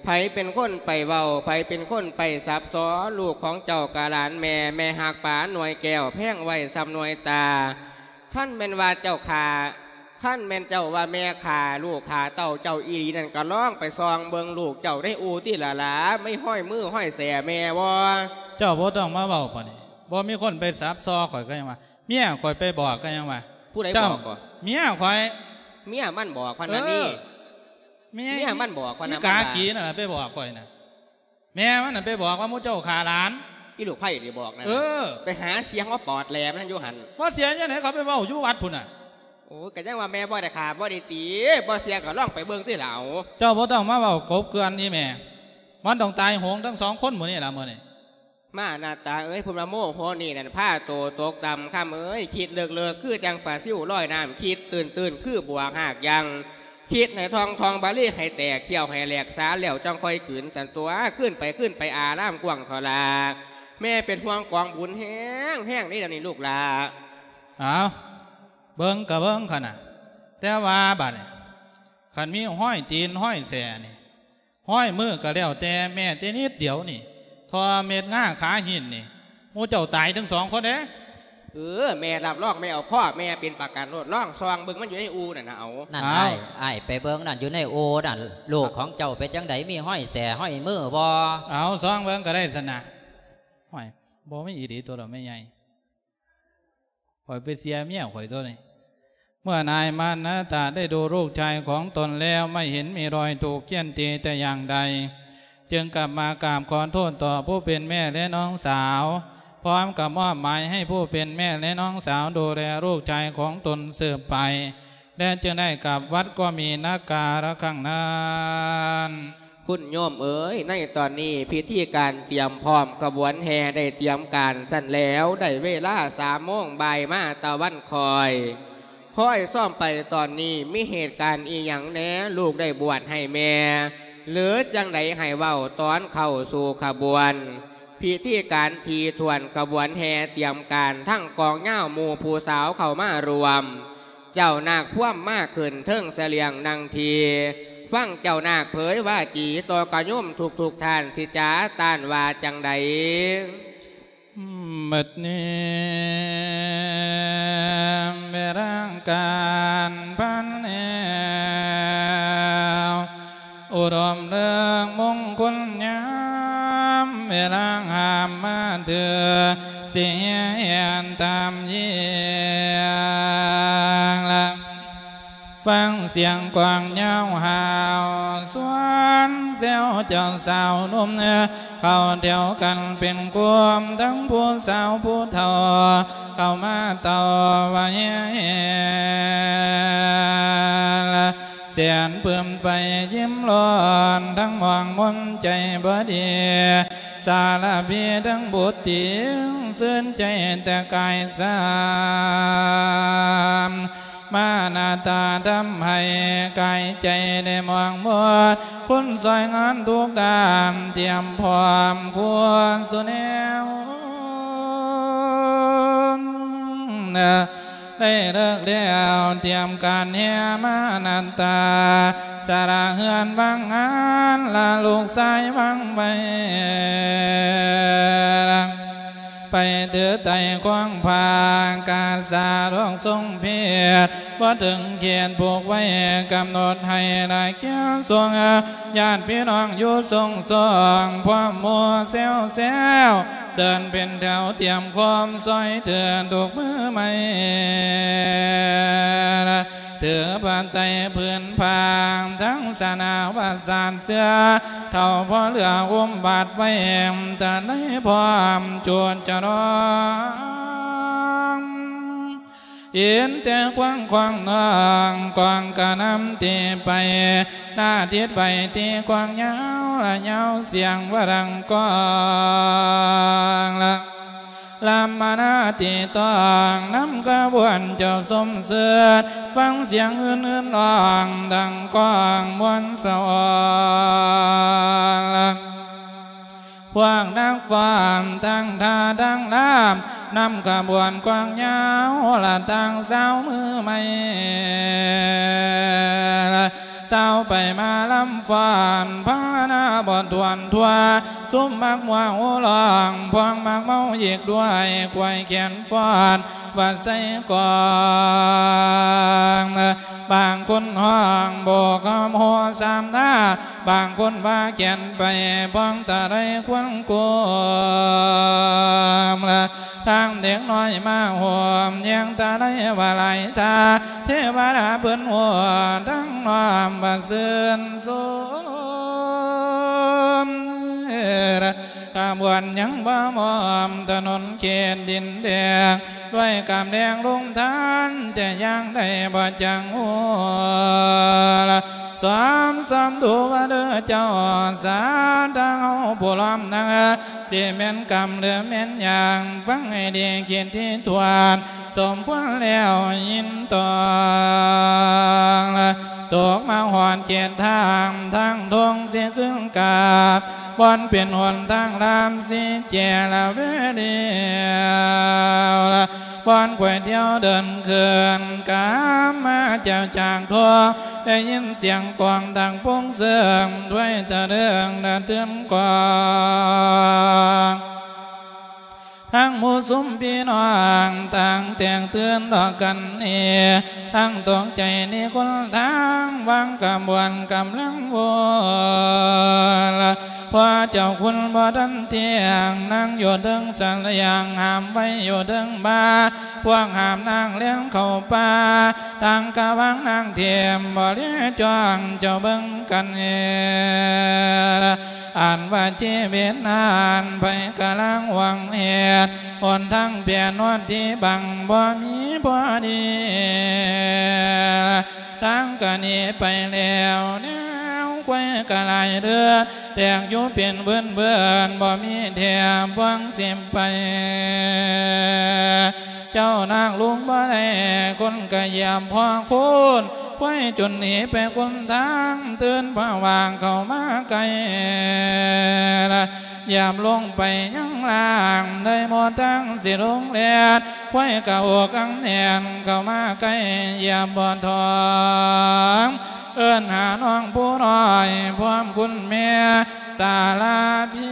ໃຜເປັນຄົນໄປເວົ້າ ໃຜເປັນຄົນໄປສັບສໍ ລູກຂອງເຈົ້າກະຫຼານແມ່ ແມ່ຮັກປານໜ່ວຍແກ້ວ ແພງໄວ້ສ່ຳໜ່ວຍຕາ ຄັນແມ່ນວ່າເຈົ້າຂ້າ ຄັນແມ່ນເຈົ້າວ່າແມ່ຂ້າລູກຂ້າເຕົ້າເຈົ້າອີ່ຫຼີນັ້ນ ກໍລອງໄປສ່ອງເບິ່ງລູກເຈົ້າໃນອູ່ຕິລະຫຼາ ມີຮອຍມືຮອຍແສແມ່ບໍ່? ເຈົ້າບໍ່ຕ້ອງມາເວົ້າປານນີ້ ບໍ່ມີຄົນໄປສັບສໍຂ້ອຍກໍຍັງວ່າ ເມຍຂ້ອຍໄປບອກກໍຍັງວ່າ. ຜູ້ໃດບອກ? ເມຍຂ້ອຍ. ເມຍມັນບອກພະນະນີ້. ເອີ ເມຍ ເມຍມັນບອກພະນະ ອີກາກີນັ້ນລະໄປບອກຂ້ອຍນະ. ແມ່ມັນນັ້ນໄປບອກວ່າໝູ່ເຈົ້າຂ້າຫຼານ. ອີລູກໃຜໄດ້ບອກນັ້ນ? ເອີ ໄປຫາສຽງເອົາປອດແຫຼມນັ້ນຢູ່ຫັ້ນ. ບໍ່ເສຍຈັ່ງໃດ ເຂົາໄປເວົ້າຢູ່ວັດພຸ້ນນະ. ໂອ້ຍ ກໍຍັງວ່າແມ່ບໍ່ໄດ້ຂ້າບໍ່ໄດ້ຕີ ບໍ່ເຊື່ອກໍລອງໄປເບິ່ງຕິລະເອົາ. ເຈົ້າບໍ່ຕ້ອງມາເວົ້າກົບເກື່ອນອີ່ແມ່ ມັນຕ້ອງຕາຍໂຫງທັງສອງຄົນໝູ່ນີ້ລະມື້ນີ້. ມານາຕາເອີຍ ພຸ້ນວ່າໂມໂຫນີ້ນັ້ນພາໂຕຕົກຕ່ຳ ຄຳເອີຍ ຄິດເລິກໆ ຄືຈັ່ງປາຊິວລອຍນ້ຳ ຄິດຕື່ນໆ ຄືບວກຮາກຍັງ ຄິດໃຫ້ທ່ອງທ່ອງບາລີໃຫ້ແຕກ ຄ້ຽວໃຫ້ແຫຼກສາແລ້ວຈັ່ງຄ່ອຍກືນ ຊັ້ນຕົວະ ຄືນໄປ ຄືນໄປອາລາມກວ້າງເຖາະລາ ແມ່ເປັນຫ່ວງກອງບຸນແຮງແຮງເດ້ດຽວນີ້ລູກຫຼ້າ. ເອົາ ເບິ່ງກະເບິ່ງຂະນະ ແຕ່ວ່າບາດນີ້ ຄັນມີຮອຍຕີນຮອຍແສ້ນີ້ ຮອຍມືກໍແລ້ວແຕ່ ແມ້ແຕ່ນິດດຽວນີ້ ທໍ່ເມັດງາຂາຫີນນີ້ ໝູ່ເຈົ້າຕາຍທັງສອງຄົນເດ້. ເອີ ແມ່ຮັບຮອງ ແມ່ເອົາຂໍ້ ແມ່ເປັນປະກັນໂລດ ລອງສ່ອງເບິ່ງ ມັນຢູ່ໃນອູ່ນັ້ນນະ ເອົາ. ນັ້ນ ເອົາ ອ້າຍ ອ້າຍໄປເບິ່ງນັ້ນ ຢູ່ໃນອູ່ນັ້ນ ລູກຂອງເຈົ້າເປັນຈັ່ງໃດ ມີຮອຍແສ້ຮອຍມືບໍ່? ເອົາ ສ່ອງເບິ່ງກໍໄດ້ຊັ້ນນະ. ຫ້ວຍ ບໍ່ມີອີ່ຫຼີຕົວະແມ່ໃຫຍ່. ຂ້ອຍໄປເສຍເມຍຂ້ອຍຕົວະນີ້. ເມື່ອນາຍມານາຕາໄດ້ດູລູກຊາຍຂອງຕົນແລ້ວ ໄມ່ເຫັນມີຮອຍຖືກຄຽນຕີແຕ່ຢ່າງໃດ ຈຶ່ງກັບມາກາບຂໍໂທດຕໍ່ຜູ້ເປັນແມ່ ແລະ ນ້ອງສາວ ພ້ອມກັບມອບໝາຍໃຫ້ຜູ້ເປັນແມ່ ແລະ ນ້ອງສາວດູແລລູກຊາຍຂອງຕົນສືບໄປ ແລະ ຈຶ່ງໄດ້ກັບວັດກໍມີນາກາລະຄັ້ງນັ້ນ. ຄຸນໂຍມເອີຍ ໃນຕອນນີ້ພິທີການຕຽມພ້ອມຂະບວນແຫ່ໄດ້ຕຽມການຊັ້ນແລ້ວ ໄດ້ເວລາສາມໂມງບ່າຍມາຕາວັນຄ່ອຍ. ຄ່ອຍຊອມໄປຕອນນີ້ ມີເຫດການອີ່ຫຍັງແດ່ ລູກໄດ້ບວດໃຫ້ແມ່ ຫຼື ຈັ່ງໃດໃຫ້ເວົ້າຕອນເຂົ້າສູ່ຂະບວນ. ພິທີການຖີ່ຖ້ວນຂະບວນແຫ່ຕຽມການ ທັງກອງຍາວໝູ່ຜູ້ສາວເຂົ້າມາຮ່ວມ ເຈົ້ານາກພວມມາຂຶ້ນເທິງສະຫຼຽງນັ່ງທີ່ ຟັງເຈົ້ານາກເຜີຍວາຈີຕໍ່ກະໂຍມທຸກໆທ່ານ ຊິຈາຕ້ານວ່າຈັ່ງໃດ. ບັດນີ້ ເວລາການພັນແອວ ອຸດົມເລິກມົງຄຸນຍາມ ເວລາຫາມມາເທື່ອ ຊິແຫ່ແຫ່ນຕາມຢຽງລະ ຟັງສຽງກວາງຍາວຫາວ ຊວນແຊວເຈົ້າສາວໜຸ່ມ ເຂົ້າແຖວກັນເປັນກຸ່ມ ທັງຜູ້ສາວຜູ້ເຖົ້າ ເຂົ້າມາເຕົ້າວ່າແຫ່ແຫ່ລະ ແສນປຶ້ມໄປຍິ້ມຮ້ອນ ທັງມ່ວງມົນໃຈບໍ່ດີ ສາລະພີທັງບຸດຕິງ ຊື່ນໃຈແຕ່ກາຍສາມ ມານາຕາທຳໃຫ້ກາຍໃຈໄດ້ມ່ວງມົນ ຄົນຊ່ອຍງານທຸກດ້ານ ຕຽມພ້ອມຄົວສູ່ແນວ ໄດ້ເລີກແລ້ວຕຽມການແຫ່ມານາຕາ ສະຫຼະເຮືອນວາງງານ ລາລູກຊາຍວາງໄວ້ ໄປຖືໄຕ້ຂວາງພາກາສາດອກຊົງເພດ ບໍ່ເຖິງເຂດຜູກໄວ້ກຳນົດໃຫ້ລະແກ່ສົງ ຍາດພີ່ນ້ອງຢູ່ຊົງຊອງ ພວມໝູ່ແຊວແຊວ ເດີນເປັນແຖວຕຽມຄວາມຊ່ອຍເຫຼືອທຸກມື້ໃໝ່ ຖືພາໄຕຜືນຜ້າທັງສະໜາວາສານເສືອ ເທົ່າພໍ່ເຫຼືອອຸມບາດໄວ້ ຕະໄນພ້ອມຈູດຈະລອງ ເຫັນແຕ່ຄວັນຂອງນ້ອງ ກອງກະນຳຕີໄປ ໜ້າຕິດໄປຕີກອງຍາວລະຍາວສຽງວ່າດັງກອງລະ ລຳມະນາຕີຕ້ອງ ນຳຂະບວນເຈົ້າສົມເສີດ ຟັງສຽງອື່ນໆຮ້ອງ ດັ່ງກອງມ່ວນສະອອນລະ ພວກນັກຟ້ອນທັງທ່າທັງລາມ ນຳຂະບວນກອງຍາວລະຕັ້ງຊາວມືໃໝ່ລະ ຊາວໄປມາລຳຟ້ອນ ພັນລະນາບໍ່ຖ້ວນທົ່ວ ຊຸມມັກມົວໂຫ່ຮ້ອງ ພວງມັກເມົາອີກດ້ວຍ ກວຍແຂນຟ້ອນວ່າໃສ່ກອງ ບາງຄົນຮ້ອງໂບກຫອມໂຮສາມນາ ບາງຄົນວ່າແຂນໄປ ພອງຕະໄລຄວັນໂກມລະ ທາງເດັກນ້ອຍມາໂຮມ ແຍງຕະໄລວ່າຫຼາຍທ່າ ເທວະດາເພິ່ນໂຫ ທັງນ້ອມວ່າຊື່ນຊົມ ຂະບວນຍັງບໍ່ມອມ ຖະໜົນເຂດດິນແດງ ດ້ວຍກາມແດງລົງທານ ແຕ່ຢ່າງໃດບໍ່ຈັງໂຫລະ ສອມສອມດູວ່າເດີເຈົ້າ ສາທາເຮົາຜູ້ລ້ອມໜ້າ ຊິແມ່ນກຳ ຫຼື ແມ່ນຫຍັງ ຟັງໃຫ້ດີ ຄິດທີ່ຖ້ວນ ສົມຄວນແລ້ວຍິນຕອງລະ ຕົກມາຮອດເຂດທາງ ທາງທົ່ງຊິຂຶ້ນກາບ ບ່ອນເປັນຫົນທາງລາມຊິແຈລະເວດຽວລະ ບ່ອນຂ້ອຍທ່ຽວເດີນເຄື່ອນ ກາມາເຈົ້າຈາກທົ່ວ ໄດ້ຍິນສຽງກອງດັງໂປ່ງເສີງ ດ້ວຍຕະເລິງນະຕື່ນກອງ ທັງໝູ່ຊຸມພີ່ນ້ອງ ຕ່າງແຕກຕື່ນດອກກັນເອ ທັງຕົກໃຈໜີຄົນທາງ ວາງກະບວນກຳລັງໂຫລະ ພວກເຈົ້າຄຸນບໍ່ທັນທ່ຽງ ນາງຢູ່ເທິງສະລະຫຍັງ ຫາມໄວ້ຢູ່ເທິງບ່າ ພວກຫາມນາງແລ່ນເຂົ້າປ່າ ຕ່າງກະວາງນາງເທມ ບໍ່ເລຈ້ອງເຈົ້າເບິ່ງກັນເອ ອັນວ່າຊີວິດນັ້ນ ໃຜກະລາງຫວັງເຫດ ຫົນທາງແປນອດທີ່ບັງ ບໍ່ມີພໍດີ ທາງກະໜີໄປແລ້ວ ແນວຄວາຍກະຫຼາຍເລືອດ ແຕກຢູ່ເປັນເບືອນໆ ບໍ່ມີແຖບຫວັງຊິໄປ ເຈົ້ານາງລຸງບໍ່ໄດ້ ຄົນກະຢຽບພໍໂຄນ ຄວາຍຈົນໜີໄປຄົນທາງ ຕື່ນພະຫວ່າງເຂົ້າມາໃກ້ ຢາບລົງໄປຍັງລ່າງ ໄດ້ໝົດທາງຊິລົງແລ່ນ ຄວາຍກະອົກອັງແໜ້ນ ເຂົ້າມາໃກ້ຢາບບໍ່ຖອງ ເອີ້ນຫານ້ອງຜູ້ນ້ອຍ ພ້ອມຄຸນແມ່ ສາລະພິ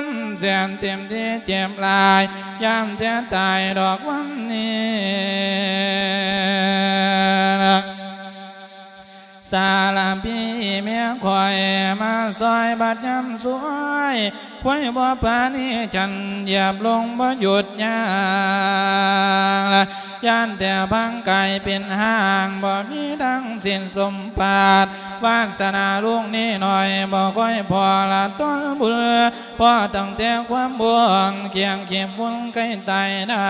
ນ ແສນເຕັມທີ່ເຈັບຫຼາຍ ຢ້ານແທ້ຕາຍດອກວັນນີ້ ສາລະພີແມ່ຂ້ອຍມາຊ່ອຍບັດຍາມສວຍ ຄວາຍບໍ່ປານີສັນ ຢາບລົງບໍ່ຢຸດຍາງລະ ຢ້ານແຕ່ພັງກາຍເປັນຮ່າງ ບໍ່ມີທັງສິ້ນສົມປາດ ວາດສະໜາລູກນີ້ໜ້ອຍ ບໍ່ຄ່ອຍພໍລະຕົ້ນບຸນ ພໍຕັ້ງແຕ່ຄວາມບວງ ກຽງເຂບຝຸ່ນໃກ້ຕາຍນາ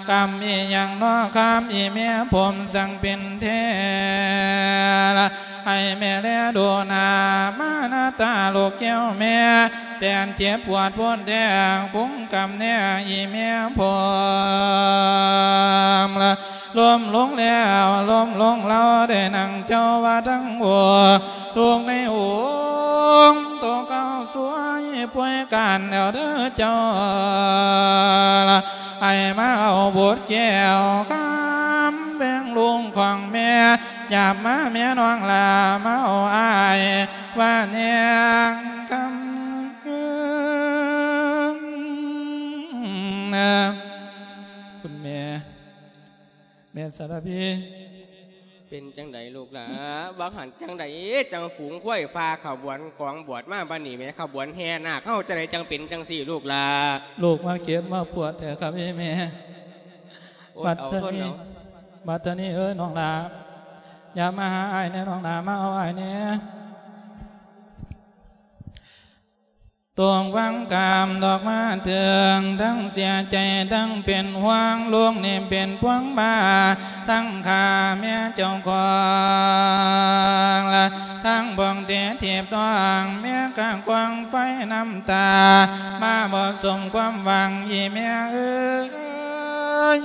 ກຳອີ່ຫຍັງນໍ ຄຳອີ່ແມ່ຜົມ ຈັ່ງເປັນແທ້ລະ ໃຫ້ແມ່ແລດູໜ້າ ມາໜ້າຕາລູກແກ້ວແມ່ ແສນເຈັບປວດໂພດແທ້ ປຸງກຳແນ່ອີ່ແມ່ຜົມລະ ລົ້ມລົງແລ້ວ ລົ້ມລົງລາວ ໄດ້ນັ່ງເຈົ້າວ່າທັງໂອ ທຸກໃນອົງໂຕເກົ່າສວຍປ່ວຍການແລ້ວເດີເຈົ້າລະ ໃຫ້ມາເອົາບົດແກ້ວຄຳແບ່ງລຸງຂອງແມ່ ຢາບມາແມ່ນ້ອງຫຼ້າ ມາເອົາອ້າຍວ່າແນງຄຳ ສາລະພີ ເປັນຈັ່ງໃດລູກຫຼາ? ວ່າຫັ້ນຈັ່ງໃດ ຈັ່ງຝູງຄວາຍຟ້າຂະບວນກອງບວດມາບັດນີ້ແໝ ຂະບວນແຫ່ນາກເຮົາຈັ່ງໃດ ຈັ່ງເປັນຈັ່ງຊີ້ລູກຫຼາ? ລູກມາເຈັບມາປວດແທ້ຄັບອີ່ແມ່. ໂອ້ຍ ບັດ ເອົາ ເທົ່ານີ້ ທົນເອົາ ບັດເທົ່ານີ້ເອີຍນ້ອງຫຼ້າ ຢ່າມາຫາອ້າຍແດ່ນ້ອງຫຼ້າ ມາເອົາອ້າຍແດ່. ຕົກວັງກາມດອກມາເຖິງ ທັງເສຍໃຈທັງເປັນຫ່ວງ ລູກນີ້ເປັນພວງບາ ທັງຂ້າແມ່ເຈົ້າຂອງລະ ທັງພວງເຕະຖີບນ້ອງ ແມ່ກະຄວັງໄຟນ້ຳຕາ ມາບໍ່ສົມຄວາມຫວັງ ອີ່ແມ່ເອີ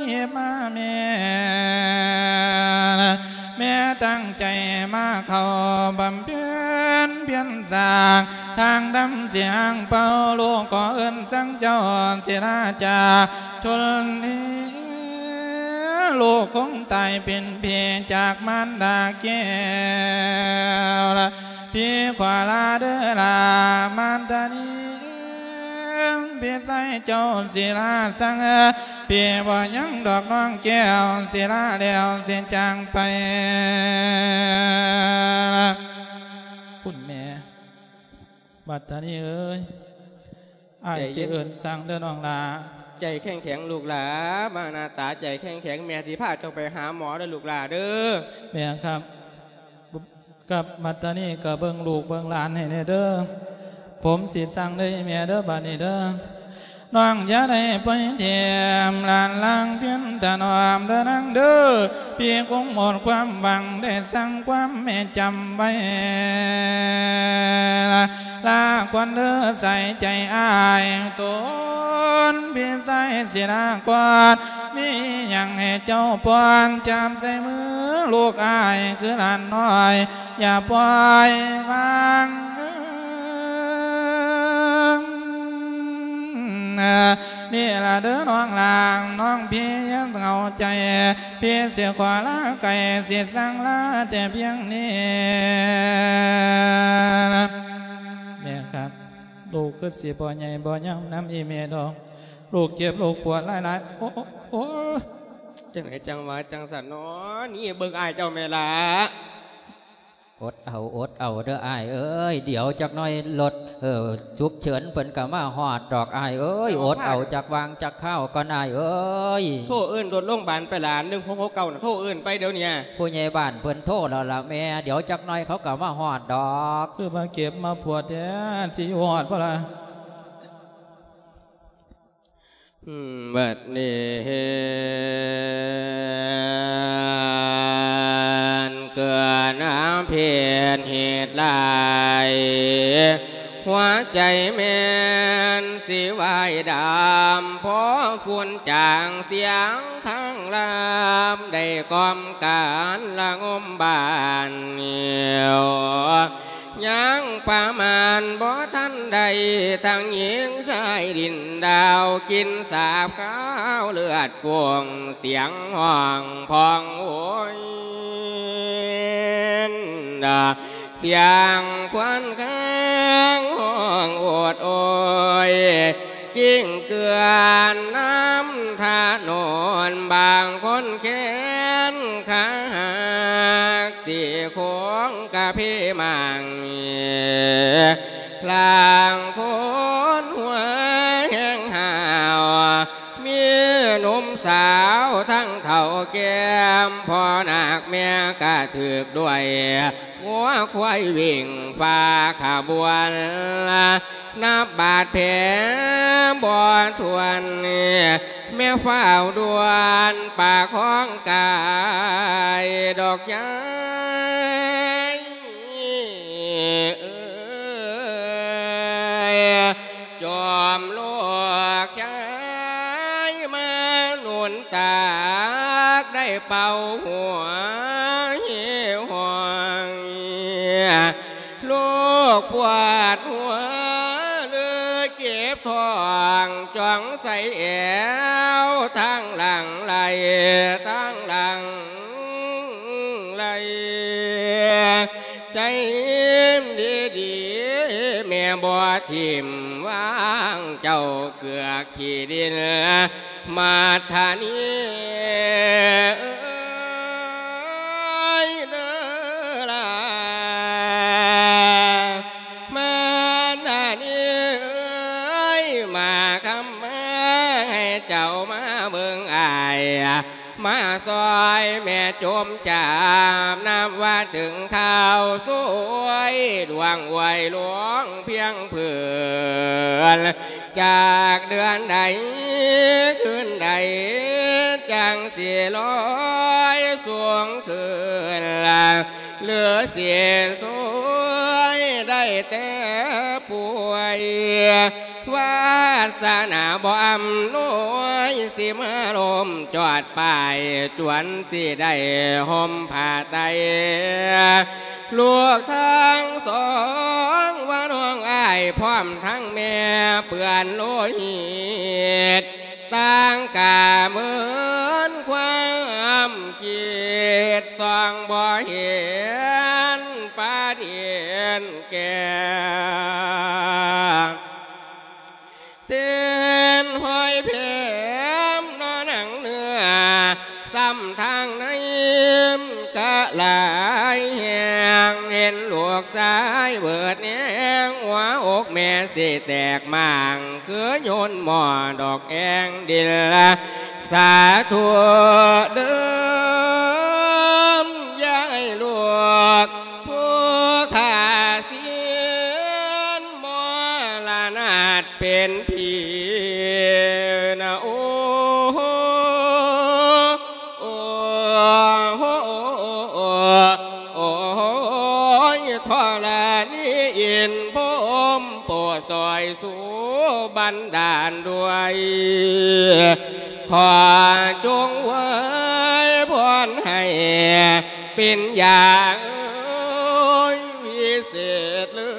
ຍ ມາແມ່ລະ ແມ່ຕັ້ງໃຈມາເຂົ້າບຳເພັນພຽນສ້າງ ທາງດຳສຽງເປົ່າ ລູກຂໍເອີ້ນສັງເຈົ້າສິລາຈາຊົນນີ້ ລູກຄົງຕາຍເປັນເພຈາກມານດາແກ້ວລະ ພີ່ຂໍລາເດີລາມານຕານີ ພີ່ຊາຍເຈົ້າສິລາສັງ ພີ່ບໍ່ຍັງດອກນ້ອງແກ້ວສິລາແລ້ວຊິຈາງໄປລະ ຄຸນແມ່. ບັດຕານີເອີຍ ອ້າຍ ໃຈເຢັນ ຊິເອີ້ນສັງເດີນ້ອງຫຼ້າ ໃຈແຂງໆ ລູກຫຼ້າ ມາໜ້າຕາໃຈແຂງໆ ແມ່ຊິພາເຈົ້າໄປຫາໝໍເດີລູກຫຼ້າເດີ. ແມ່ນຄັບ ກັບບັດຕານີກໍເບິ່ງລູກເບິ່ງຫຼານໃຫ້ແດ່ເດີ ຜົມຊິສັງເດີແມ່ເດີ ບັດນີ້ເດີ. ນ້ອງຢ່າໄດ້ປ່ອຍຖິ້ມຫຼານລາງພຽນຖະໜອມເດີນາງເດີ ພີ່ຄົງໝົດຄວາມຫວັງໄດ້ສັ່ງຄວາມແມ່ຈຳໄວ້ລະ ລາກ່ອນເດີສາຍໃຈອ້າຍ ຕົນພີ່ຊາຍສິລາກ່ອນ ມີຫຍັງໃຫ້ເຈົ້າປ້ອນ ຈັບໃສ່ມືລູກອ້າຍຄືຫຼານນ້ອຍ ຢ່າປ່ອຍວາງ. ນີ້ລະເດີນ້ອງຫຼ້າ ນ້ອງພີ່ຢ່າເຫງົາໃຈ ພີ່ຊິຂໍລາໄກ ຊິສັ່ງລາແຕ່ພຽງນີ້ນະ. ແມ່ຄັບ ລູກຄືຊິບໍ່ໃຫຍ່ບໍ່ຍາວນຳອີ່ແມ່ດອກ ລູກເຈັບລູກປວດຫຼາຍໆ ໂອ້ ໂອ້ ໂອ້ ຈັ່ງໃດຈັ່ງວ່າຈັ່ງຊັ້ນເນາະ ນີ້ເບິ່ງອ້າຍເຈົ້າແມ່ຫຼ້າ. ອົດເອົາ ອົດເອົາເດີອ້າຍເອີຍ ດຽວຈັກໜ້ອຍລົດ ເອີ ສຸກເສີນເພິ່ນກໍມາຮອດດອກອ້າຍເອີຍ ເອົາ ອົດເອົາ ພາ ຈັກຫວ່າງຈັກຄາວກ່ອນອ້າຍເອີຍ. ໂທເອີ້ນລົດໂລງບານໄປຫຼ້າ ໜຶ່ງຫົກຫົກເກົ້ານະ ໂທເອີ້ນໄປດຽວນີ້. ຜູ້ໃຫຍ່ບ້ານເພິ່ນໂທແລ້ວລະແມ່ ດຽວຈັກໜ້ອຍເຂົາກໍມາຮອດດອກ. ຄືມາເຈັບມາປວດແທ້ ຊິຢູ່ຮອດບໍ່ລະ? ບັດນີ້ເຫັນເກີດອາເພດເຫດຮ້າຍ ຫົວໃຈແມ່ນຊິວາຍດຳ ພໍຝຸ່ນຈາງສຽງຄາງລາມ ໄດ້ກ່ອມການລະງົມບ້ານ ຍັງປະມານບໍ່ທັນໄດ້ ທັງຍິງຊາຍດິນດາວ ກິ່ນສາບຄາວເລືອດຟົງ ສຽງຮ້ອງພ້ອງໂຫຍ ສຽງຄວັນຄາງຮ້ອງໂອດໂອຍ ກິ້ງເກືອນນ້ຳຖະໜົນ ບາງຄົນແຂນຂາຫັກ ຊິໂຄງກະເພໝັງ ລາງຄົນຫົວແຮງຫ້າວ ມີໜຸ່ມສາວທັງເຖົ້າແກ່ມ ພໍ່ນາກແມ່ກະຖືກດ້ວຍ ງົວຄວາຍວິ່ງຟ້າຂະບວນ ນັບບາດແຜບໍ່ຖ້ວນ ແມ່ຟ້າວດ່ວນປະຄອງກາຍດອກຍາຍເອີຍ ຈອມລູກຊາຍມາໜູນຕາກ ໄດ້ເປົ່າຫົວຫິວຫ້ອງ ລູກປວດຫົວຫຼືເຈັບທ້ອງ ຈ່ອງໃສ່ແອວ ທາງຫຼັງໄຫຼ ທາງຫຼັງໄຫຼ ໃຈດີໆ ແມ່ບໍ່ຖິ້ມວາງເຈົ້າ ເກືອກຂີ້ດິນມາທານີ. ມາຄຳມາໃຫ້ເຈົ້າມາເບິ່ງອ້າຍ ມາຊ່ອຍແມ່ຈົມຈາບ ນັບວ່າເຖິງຄາວສວຍ ດວງອວຍຫຼວງພຽງເພີນ ຈາກເດືອນໃດຄືນໃດ ຈັ່ງຊິລອຍສູງຂຶ້ນ ຫຼືຊິສວຍໄດ້ແຕ່ປ່ວຍ ວາສະໜາບໍ່ອຳນວຍ ຊິມາລົ້ມຈອດປ້າຍ ຈວນຊິໄດ້ຫົ່ມຜ້າໄຕ ລູກທັງສອງວ່ານ້ອງອ້າຍ ພ້ອມທັງແມ່ເປື້ອນໂລຫິດ ຕ່າງກະເມີນຄວາມຄິດ ສ່ອງບໍ່ເຫັນປາດິນແກ້ ເສັ້ນຮອຍແຜມນອໜັງເນື້ອ ຊ້ຳທາງໃນກະຫຼາຍແຮງ ເຫັນລູກຊາຍເບີດແຮງ ຫົວອົກແມ່ຊິແຕກໝ້າງ ຄືໂຍນໝໍ້ດອກແອງດິນ ສາທຸເດີ ຢ່າໃຫ້ລູກຜູ້ຂ້າສິນ ມໍລະນາດເປັນຜີນະ ໂອ້ ໂອ້ ໂອ້ ໂອ້ ໂອ້ຍ ທໍລະນີອິນພົມ ໂປດຊ່ອຍ ສູ່ບັນດານດ້ວຍ ຂໍຈົ່ງອວຍພອນໃຫ້ເປັນຢາເອີຍ ວິເສດເລີ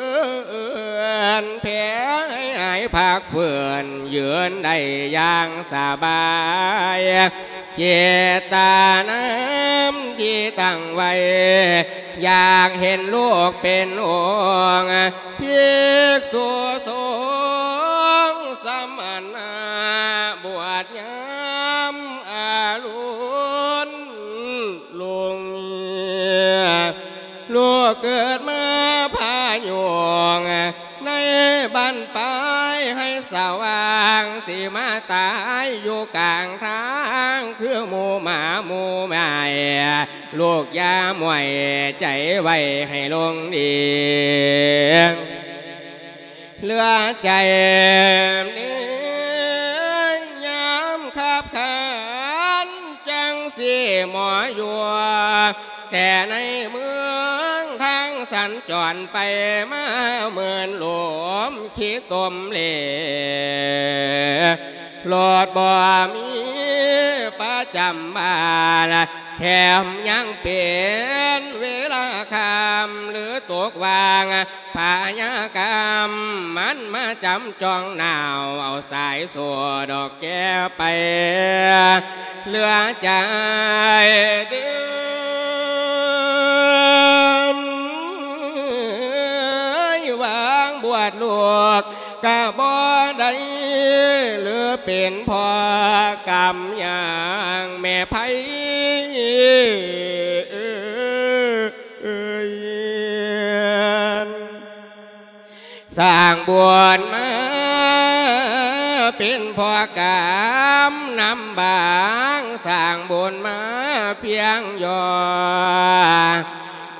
ນແຜ່ໃຫ້ຫາຍພັກເພີນ ຢືນໄດ້ຢ່າງສະບາຍ ເຈດຕະນາທີ່ຕັ້ງໄວ້ ຢາກເຫັນລູກເປັນອົງ ພິກສຸສົງສະມະນະ ບວດຍາມອາລຸນລຸງ ລູກເກີດມາພາຍຸງ ໃນບັ້ນປາຍໃຫ້ສະຫວ່າງ ຊິມາຕາຍຢູ່ກາງທາງ ຄືໝູ່ໝາໝູ່ໝາຍ ລູກຢ່າມ້ວຍໃຈໄວ້ໃຫ້ລົງດີ ເຫຼືອໃຈນີ້ຍາມຂັບຂັນ ຈັ່ງຊິໝໍຢູ່ ແຕ່ໃນເມືອງທາງສັນຈອນໄປມາ ໝື່ນລົມຂີ້ຕົມເຫຼ ລົດບໍ່ມີປະຈຳບ້ານ ແຖມຍັງເປັນເວລາຄ່ຳ ຫຼືຕົກຫວ່າງພະຍາກຳ ມັນມາຈຳຈ້ອງໜາວ ເອົາສາຍໂສ້ດອກ ແກ່ໄປເຫຼືອໃຈເດີມ ວາງບວດລູກກະບໍ່ໄດ້ ຫຼືເປັນພໍ່ກຳຍາງແມ່ໄພ ເອີຍ ສ້າງບຸນມາເປັນພໍ່ກຳນຳບາງ ສ້າງບຸນມາພຽງຍໍ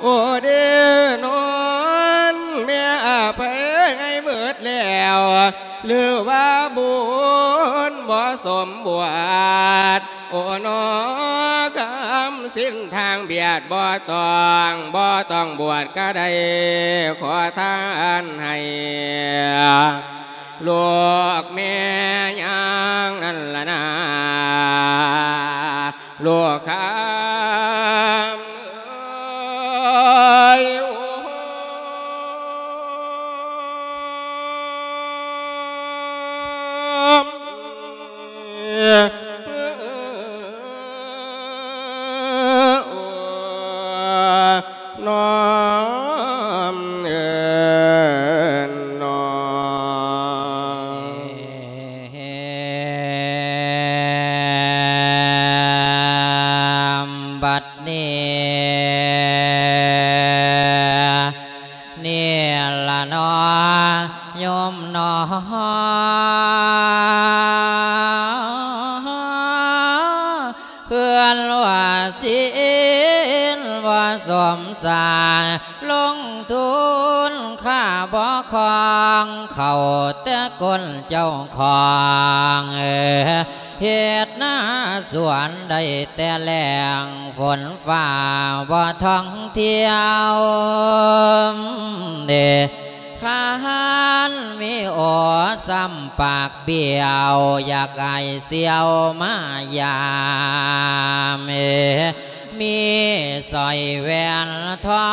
ໂອເດນອນແມ່ອະໄພໃຫ້ໝົດແລ້ວ ຫຼືວ່າບຸນບໍ່ສົມບວດ ໂອນອ ຄຳສິນທາງບຽດບໍ່ຕ້ອງ ບໍ່ຕ້ອງບວດກະໄດ້ ຂໍທານໃຫ້ລູກແມ່ຍ່າງນັ້ນລະນາ ລູກຄຳເອີຍ ໂອ ນ້ອມເອີນນ້ອມ ບັດນີ້ ນີ້ລະເນາະ ໂຍມໜໍ ເພື່ອນວ່າສິນບໍ່ສົມສາງ ລົງທຶນຂ້າບໍ່ຄອງ ເຂົ້າແຕ່ກົ້ນເຈົ້າຂອງ ເຮັດນາສວນໄດ້ແຕ່ແລ້ງ ຝົນຟ້າບໍ່ທ່ອງທ່ຽວ ເດ ຄັນມີໂອຊ້ຳປາກບ້ຽວ ຢາກອ້າຍສ່ຽວມາຢາມ ມີສ້ອຍແຫວນທອ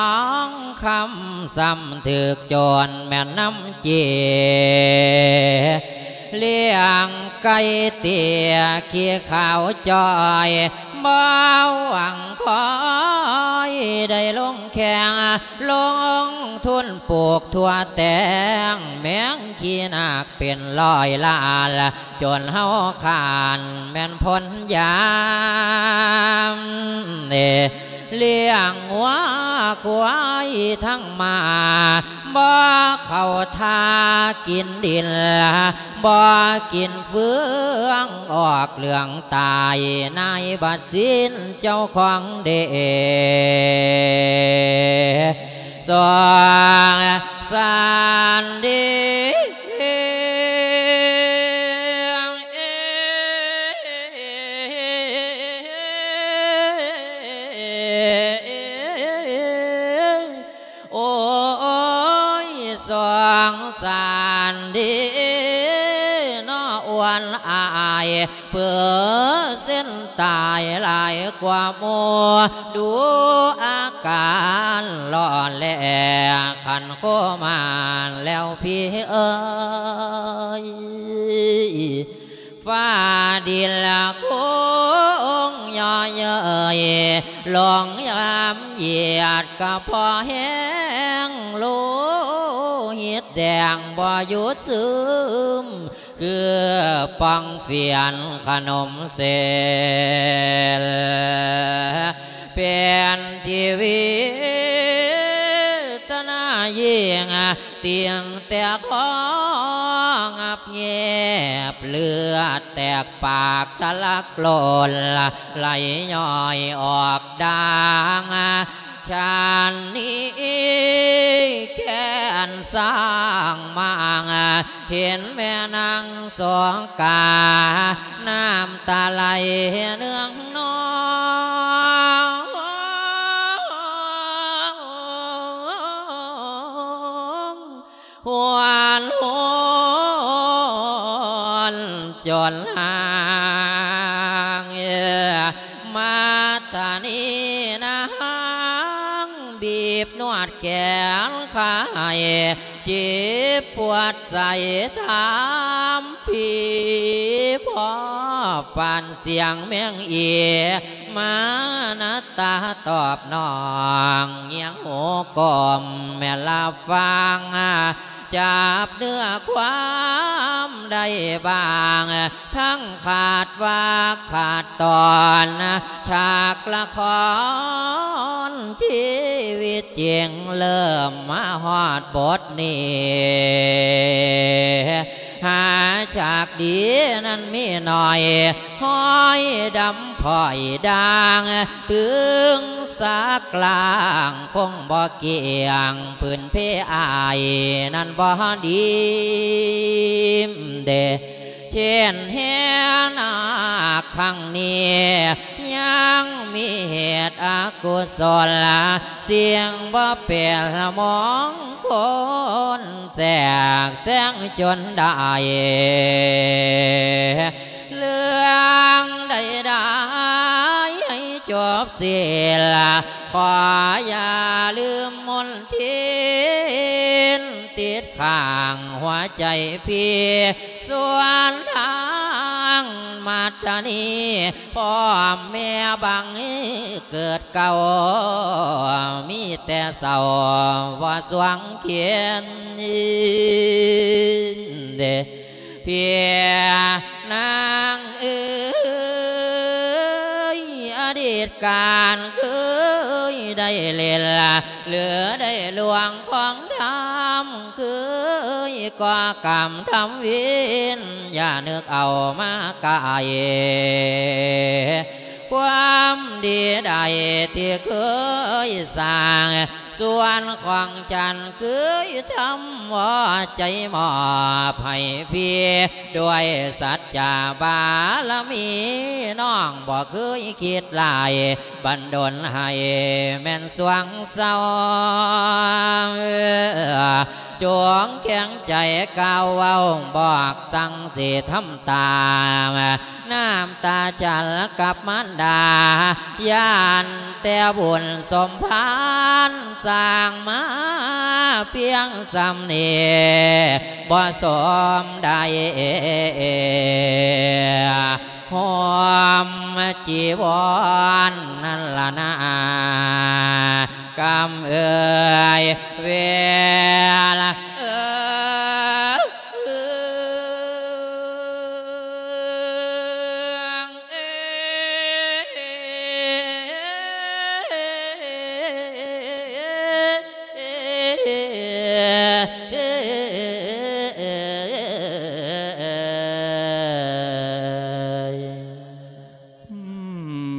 ງຄຳ ຊ້ຳຖືກໂຈນແມ່ນນຳເຈ ລ້ຽງໄກ່ເຕ້ຍ ຂີ້ຂາວຈ່ອຍ ບໍ່ຫວັງຄອຍໄດ້ລົງແຂ່ງ ລົງທຶນປູກຖົ່ວແຕງ ແມງຂີ້ນາກເປັນຮ້ອຍລ້ານ ຈົນເຮົາຄ້ານແມ່ນພົນຢາມ ລ້ຽງງົວຄວາຍທັງມ້າ ບໍ່ເຂົ້າທ່າກິນດິນ ບໍ່ກິນເຟືອງ ອອກເລື່ອງຕາຍ ນາຍບັດສິນເຈົ້າຂອງເດ ສອງສານດີ ໂອ້ຍ ສົງສານເດເນາະ ອວນອາຍ ເປີເຊັນຕາຍຫຼາຍກວ່າໝູ່ ດູອາການຫຼໍ່ແຫຼ ຄັນໂຄມານແລ້ວພີ່ເອີຍ ຟ້າດິນລະຄົງຍໍເຍີ້ຍ ຫຼວງຍາມຢຽດກະພໍແຮງ ໂລຫິດແດງບໍ່ຢຸດຊຶມ ຄືປ່ອງຟຽນຂະໜົມເສນ ເປັນທີ່ເວທະນາຍິ່ງ ຕັ້ງແຕ່ຄໍງັບແງບ ເລືອດແຕກປາກທະລັກໂລນ ໄຫຼຍ້ອຍອອກດ່າງ ຊາດນີ້ແຄ້ນສ້າງມາງ ເຫັນແມ່ນາງສົງກາ ນ້ຳຕາໄຫຼເນືອງນອງ ຫົວໂນນຈົນຫາງ ມາດຕານີນາງ ບີບນວດແຂນຂາໃຫ້ ເຈັບປວດໃສຖາມພີ້ ພໍປານສຽງແມງອີ ມານະຕາຕອບນ້ອງ ງຽງຫູກົ້ມແມ່ນລາບຟັງ ຈັບເນື້ອຄວາມໄດ້ບ້າງ ທັງຂາດວາກຂາດຕອນ ສາກລະຄອນ ຊີວິດຈິງເລີ່ມມາຮອດບົດນີ້ ຫາຈາກດີນັ້ນມີໜ້ອຍ ຫ້ອຍດຳພ້ອຍດ່າງ ຕຶງສາກລ້າງຄົງບໍ່ກ້ຽງ ພື້ນເພອ້າຍນັ້ນບໍ່ດີເດ ເຊັ່ນແຫ່ນາກຄັ້ງນີ້ ຍັງມີເຫດອະກຸສົນ ສິ່ງບໍ່ເປັນມອງຄົນ ແຊກແຊງຈົນໄດ້ ເລື່ອງໃດໆໃຫ້ຈົບສິ້ນ ຂໍຢ່າລືມມົນທິນ ຕິດຂ້າງຫົວໃຈພີ່ ສ່ວນທາງມາດຕານີ ພໍ່ແມ່ບັງເກີດເກົ່າ ມີແຕ່ເສົ້າບໍ່ສວງຂຽນເດ ເພຍນາງເອີຍ ອະດີດການເຄີຍໄດ້ຫຼິ້ນ ຫຼືໄດ້ລ່ວງຂອງທຳຄື ເອີຍ ກໍກຳທຳວິນ ຢ່ານຶກເອົາມາກາຍ ຄວາມດີໃດທີ່ເຄີຍສ້າງ ສ່ວນຂອງສັນເຄີຍທຳ ເອົາໃຈມອບໃຫ້ພີ່ ດ້ວຍສັດຈະບາລະມີ ນ້ອງບໍ່ເຄີຍຄິດຫຼາຍ ບັນດົນໃຫ້ແມ່ນສວ່າງເຊົາ ຈົ່ງແຂງໃຈກ່າວເວົ້າ ບອກຕັ້ງຊິທຳຕາມ ນ້ຳຕາຈັນກັບມານດາ ຢ້ານແຕ່ບຸນສົມພານ ສ້າງມາພຽງສ່ຳນີ້ ບໍ່ສົມໄດ້ ຫົ່ມຈີວອນນັ້ນລະນາ ກຳເອີຍ ເວລາເອີຍ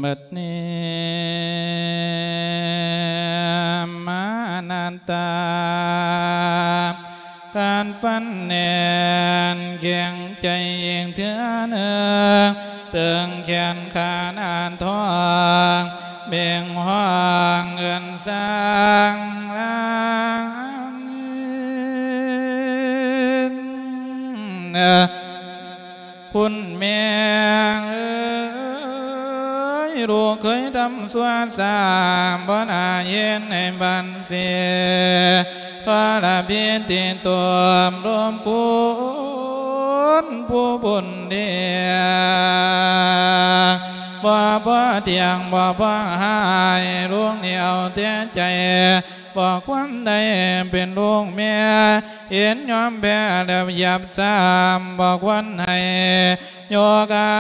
ບັດນີ້ມານັດຕາ ກັດຟັນແໜ້ນແຂງໃຈອີກເທື່ອໜຶ່ງ ຕຶງແຂນຂານອານທອງ ເບັ່ງຮ້ອງເອີ້ນສາງລາງ ຄຸນແມ່ເອີຍ ລູກເຄີຍທຳຊົ່ວຊ້ຳ ບໍ່ໜ້າເຮັດໃຫ້ບັນເສຍ ທອລະພິດຕິຕົມລົບຄຸນຜູ້ບຸນເດ ບໍ່ພໍທ່ຽງ ບໍ່ພໍຮ້າຍ ລູກນີ້ເອົາແຕ່ໃຈ ບໍ່ຄວນໄດ້ເປັນລູກແມ່ ເຫັນຍອມແພ້ແລ້ວຫຍາບຊ້ຳ ບໍ່ຄວນໃຫ້ຍົກອາ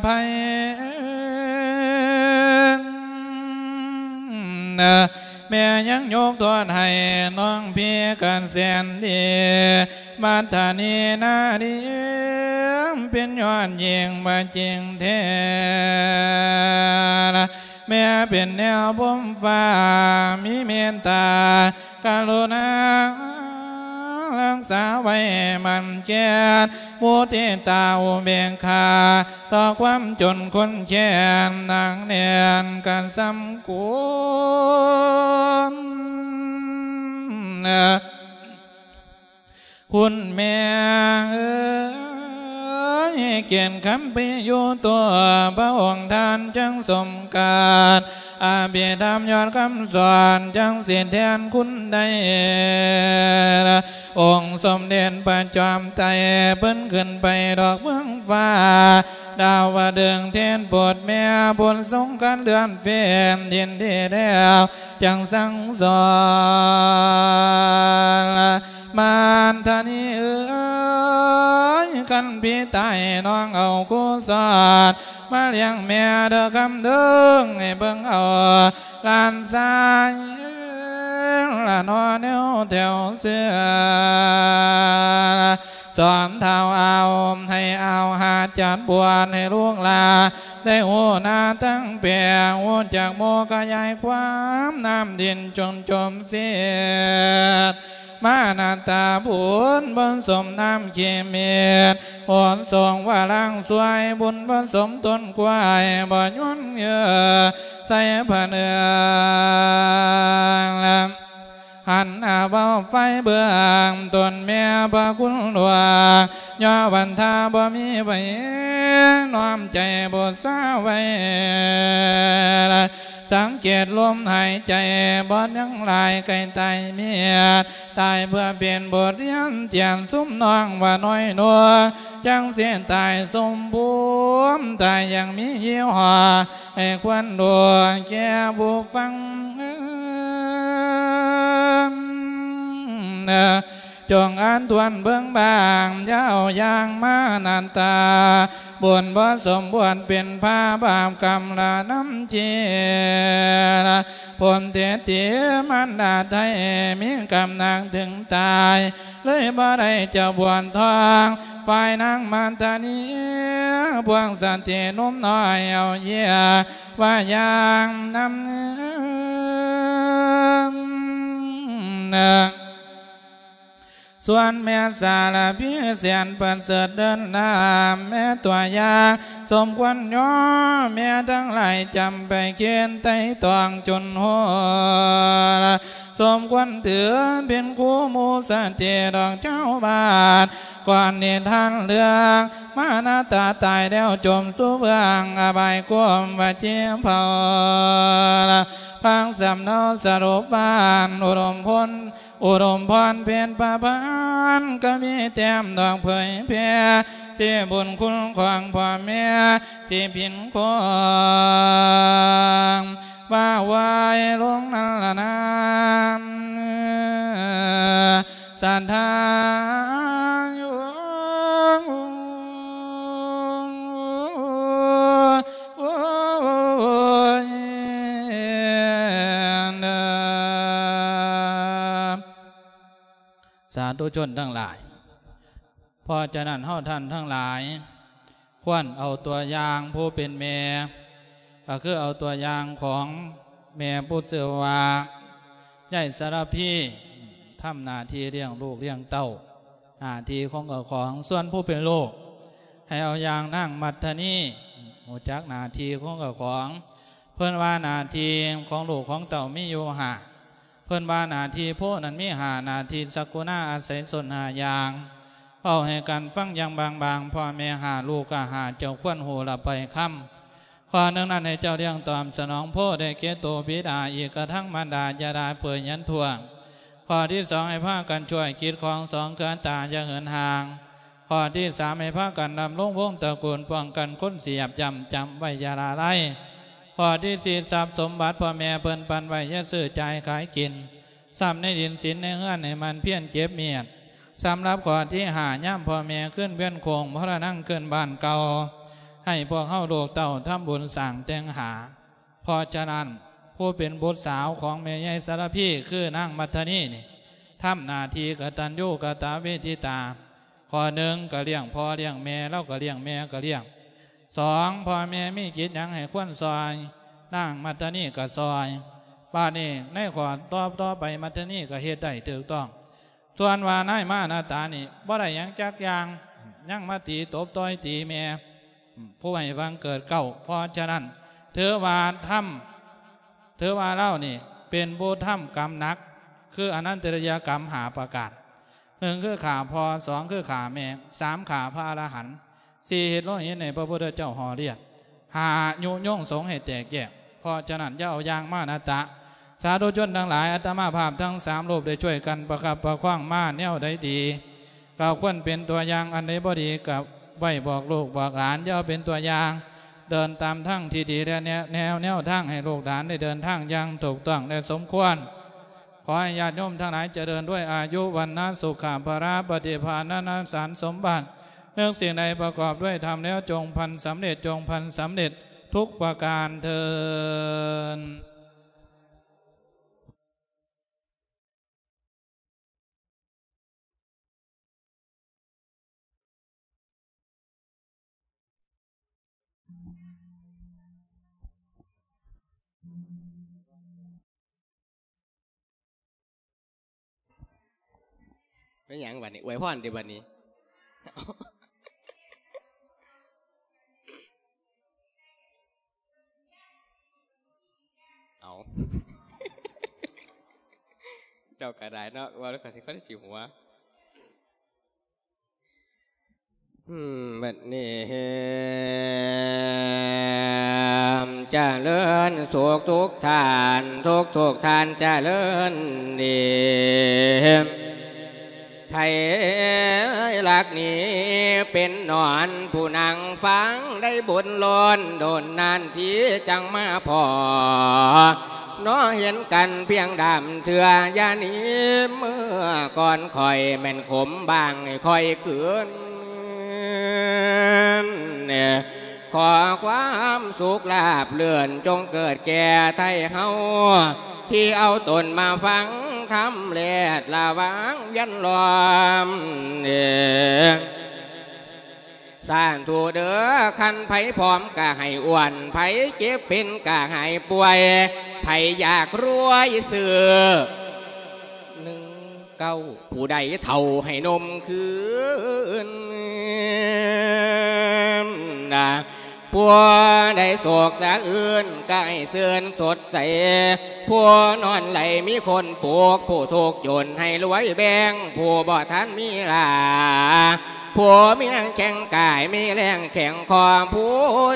ໄພ ແມ່ຍັງຍົກໂທດໃຫ້ນ້ອງພີ່ກະແສນດີ ມັດທະນີນາລີ ເປັນຍອດຍິ່ງວ່າຈິງແທ້ ແມ່ເປັນແນວພົມຟ້າ ມີເມດຕາກະລຸນາ ຮັກສາໄວ້ໝັ້ນແກ່ນ ມຸທິຕາອຸເບກຂາ ຕໍ່ຄວາມຈົນຄົນແຄ້ນ ໜັກແໜ້ນກະສ່ຳກຸນ ຄຸນແມ່ເອີຍ ກຽດຄຳພິຍຸໂຕ ພະອົງທ່ານຈັ່ງສົມການ ອະພິທຳຍອດຄຳສອນ ຈັ່ງສິດແທນຄຸນໄດ້ ອົງສົມເດັດພະຈອມໄຕ ເພິ່ນຂຶ້ນໄປດອກເມືອງຟ້າ ດາວະດຶງເທດໂປດແມ່ ບຸນສົງການເດືອນເປັນ ຍິນດີແລ້ວຈັ່ງສັ່ງສອນ ມານທະນີເອີຍ ຄັນພີ່ຕາຍນ້ອງເອົາຄູສອນ ມາລ້ຽງແມ່ເດີຄຳເດີງ ໃຫ້ເບິ່ງເອົາຫຼານຊາຍ ລະນໍແນວແຖວເຊື່ອ ສອນທ້າວອາວ ໃຫ້ອາວຫາຈັດບວດໃຫ້ລູກຫຼານ ໄດ້ຮູ້ໜ້າຕັ້ງແປງ ຮູ້ຈັກໂມຂະຫຍາຍຄວາມ ນ້ຳດິນຈົງຈົມເສດ ມານາຕາບຸນບໍ່ສົມນ້ຳຂີ້ເມັດ ໂຫດສົງວ່າລ້າງຊ່ວຍ ບຸນບໍ່ສົມຕົ້ນກ້ວຍ ບໍ່ຍວນເຫຍື່ອໃສ່ພະເໜືອ ຫັນອາເບົາໄຟເບື້ອງຕົ້ນແມ່ພະຄຸນຫຼວງ ຍໍວັນທາບໍ່ມີໃຜ ນ້ອມໃຈບູຊາໄວ້ ສັງເກດລົມຫາຍໃຈ ບອດຍັງຫຼາຍໃກ້ຕາຍເມດ ຕາຍເພື່ອເປັນບົດຮຽນ ຈຽນຊຸມນ້ອງວ່ານ້ອຍໜວງ ຈັ່ງຊິຕາຍສົມພູມ ຕາຍຢ່າງມີຍີ່ຫໍ້ ໃຫ້ຄວນຮູ້ແກ່ຜູ້ຟັງ ເອີ ຈົ່ງອ່ານທວນເບິ່ງບ້າງ ຢ່າເອົາຢ່າງມານານຕາ ບຸນບໍ່ສົມບວດເປັນພາບາບກຳລະນຳເຈ ຜົນເທດທີ່ມານດາໄທ ມີກຳໜັກເຖິງຕາຍ ເລີຍບໍ່ໄດ້ເຈົ້າບວນທອງ ຝ່າຍນາງມັດທະນີ ພວກສະຕີໜຸ່ມນ້ອຍເອົາເຢຍວ່າຢ່າງນຳ ສ່ວນແມ່ສາລະພີແສນປະເສີດເລີດລ້ຳ ແມ່ຕົວຢ່າງສົມຄວນຍໍ ແມ່ທັງຫຼາຍຈຳໄປຄິດໄຕ່ຕອງຈົນຮູ້ ສົມຄວນຖືເປັນຄູ່ໝູ່ສະເຕດອກເຈົ້າບ້ານ ກ່ອນນິທານເລື່ອງມານາຕາຕາຍແລ້ວຈົມສູ່ເບື້ອງອະບາຍກົມວ່າເຈັບເຜົາ ພັງສຳເນົາສະຫຼຸບບ້ານ ອຸດົມພົນ ອຸດົມພອນເພັນປະພັນ ກະມີແຕ້ມດອກເຜີຍແຜ່ ຊິບຸນຄຸນຂອງພໍ່ແມ່ ຊິພິນຄວາມວ່າໄວລົງນັ້ນລະນາ ສະຖານ ສາທຸຊົນທັງຫຼາຍ ເພາະສະນັ້ນເຮົາທ່ານທັງຫຼາຍ ຄວນເອົາຕົວຢ່າງຜູ້ເປັນແມ່ ກໍຄືເອົາຕົວຢ່າງຂອງແມ່ຜູ້ຊື່ວ່າ ຍາຍສາລະພີ ທຳໜ້າທີ່ລ້ຽງລູກລ້ຽງເຕົ້າ ໜ້າທີ່ຂອງເຈົ້າຂອງ ສ່ວນຜູ້ເປັນລູກ ໃຫ້ເອົາຢ່າງນາງມັດທະນີ ຮູ້ຈັກໜ້າທີ່ຂອງເຈົ້າຂອງ ເພິ່ນວ່າໜ້າທີ່ຂອງລູກຂອງເຕົ້າມີຢູ່ຫ້າ ເພິ່ນວ່າໜ້າທີ່ໂພນັ້ນມີຫ້າໜ້າທີ່ ສັກກຸນາອາໄສຊົນຫ້າຢ່າງ ເວົ້າໃຫ້ກັນຟັງຢ່າງບາງໆ ພໍ່ແມ່ຫ້າ ລູກກໍຫ້າ ເຈົ້າຄວນຮູ້ລະໄປຄຳ ຂໍ້ໜຶ່ງນັ້ນໃຫ້ເຈົ້າລ້ຽງຕອບສະໜອງໂພ ໄດ້ແກ່ໂຕບິດາ ອີກກະທັງມານດາ ຢ່າໄດ້ເປີຍຍັນທວງ ຂໍ້ທີສອງ ໃຫ້ພາກັນຊ່ວຍກິດຂອງສອງເຄືອຕາ ຢ່າເຫີນຫ່າງ ຂໍ້ທີສາມ ໃຫ້ພາກັນດຳລົງວົງຕະກູນ ປ້ອງກັນຄົນສຽບ ຢ້ຳຈຳໄວ້ຢ່າລະໄລ ຂໍ້ທີສີ່ ຊັບສົມບັດພໍ່ແມ່ເພິ່ນປັນໄວ້ ຢ່າຊື້ຈ່າຍຂາຍກິນ ຊັບໃນດິນສິນໃນເຮືອນໃຫ້ໝັ່ນພຽນເກັບມຽນ ສຳລັບຂໍ້ທີຫ້າ ຍາມພໍ່ແມ່ຄືນວຽນໂຄ້ງ ມໍລະນັງຄືນບ້ານເກົ່າ ໃຫ້ພວກເຮົາລູກເຕົ້າທຳບຸນສ້າງແຕ່ງຫາ ເພາະສະນັ້ນ ຜູ້ເປັນບຸດສາວຂອງແມ່ໃຫຍ່ສາລະພີ ຄືນາງມັດທະນີນີ້ ທຳໜ້າທີ່ກະຕັນຍູກະຕະເວທິຕາ ຂໍ້ໜຶ່ງກະລ້ຽງພໍ່ລ້ຽງແມ່ ລາວກະລ້ຽງແມ່ກະລ້ຽງ ສອງ ພໍ່ແມ່ມີກິດຫຍັງໃຫ້ຄວນຊ່ອຍ ນາງມັດທະນີກະຊ່ອຍ ບາດນີ້ໃນຂໍ້ຕໍ່ໆໄປ ມັດທະນີກະເຮັດໄດ້ຖືກຕ້ອງ ສ່ວນວ່ານາຍມານາຕານີ້ບໍ່ໄດ້ຫຍັງຈັກຢ່າງ ຍັງມາຕີຕົບຕ່ອຍຕີແມ່ ຜູ້ໃຫ້ບັງເກີດເກົ້າ ເພາະສະນັ້ນ ຖືວ່າທຳ ຖືວ່າລາວນີ້ເປັນຜູ້ທຳກຳໜັກ ຄືອະນັນຕະລິຍະກຳຫ້າປະການ ໜຶ່ງຄືຂ້າພໍ່ ສອງຄືຂ້າແມ່ ສາມຂ້າພະອະລະຫັນ ສີ່ເຮັດໂລຫິດໃຫ້ພະພຸດທະເຈົ້າຫໍ່ລຽດ ຫ້າຍຸຍົງສົງໃຫ້ແຕກແຍກ ເພາະສະນັ້ນຢ່າເອົາຢ່າງມານາຕະ ສາທຸຊົນທັງຫຼາຍ ອາດຕະມາພາບທັງສາມຮູບໄດ້ຊ່ວຍກັນປະຄັບປະຄອງມາແນວໃດດີ ກໍຄວນເປັນຕົວຢ່າງ ອັນໃດບໍ່ດີກໍໄວ້ບອກລູກບອກຫຼານ ຢ່າເອົາເປັນຕົວຢ່າງ ເດີນຕາມທາງທີ່ດີ ແລະແນ ແນວ ແນວທາງໃຫ້ລູກຫຼານໄດ້ເດີນທາງຢ່າງຖືກຕ້ອງ ແລະ ສົມຄວນ. ຂໍໃຫ້ຍາດໂຍມທັງຫຼາຍຈະເລີນດ້ວຍອາຍຸ ວັນນະ ສຸຂະ ພະລະ ປະຕິພານ ນະ ສານສົມບັດ ນຶກສິ່ງໃດປະກອບດ້ວຍທຳແລ້ວ ຈົ່ງພັນສຳເລັດ ຈົ່ງພັນສຳເລັດທຸກປະການເທີ້ນ. ແມ່ນຫຍັງບັດນີ້? ອວຍພອນຕິບັດນີ້? ເອົາ ເຈົ້າກໍໄດ້ເນາະ ເວົ້າແລ້ວກໍຊິ ກໍຊິຫົວ. ອືມ ບັດນີ້ຈະເລີນສຸກທຸກທ່ານ ທຸກໆທ່ານຈະເລີນດີ ໃຜລັກນີ້ເປັນໜອນ ຜູ້ນັ່ງຟັງໄດ້ບຸນລ້ອນ ດົນນານທີຈັ່ງມາພໍ້. ເນາະ ເຫັນກັນພຽງດາມເທື່ອ ຢ່າໜີເມືອກ່ອນຂ້ອຍ ແມ່ນຂົມບາງໃຫ້ຂ້ອຍກືນ. ຂໍຄວາມສຸກລາບເລື່ອນ ຈົ່ງເກີດແກ່ໄທເຮົາ ທີ່ເອົາຕົນມາຟັງທຳ ແລດລະຫວ່າງວຽນລ້ອມ. ສາທຸເດີ ຄັນໃຜພ້ອມກະໃຫ້ອວນ ໃຜເຈັບເປັນກະຫາຍປ່ວຍ ໃຜຢາກລວຍຊື້ໜຶ່ງເກົ້າ ຜູ້ໃດເຖົ້າໃຫ້ໜຸ່ມຄືນ. ຜູ້ໃດໂສກສະອື່ນກະໃຫ້ຊື່ນສົດໃສ ຜູ້ນອນໄຫຼມີຄົນປຸກ ຜູ້ທຸກຈົນໃຫ້ລວຍແບ່ງ ຜູ້ບໍ່ທັນມີລາ ຜູ້ມີແຮງແຂງກາຍ ມີແຮງແຂງຄໍ ຜູ້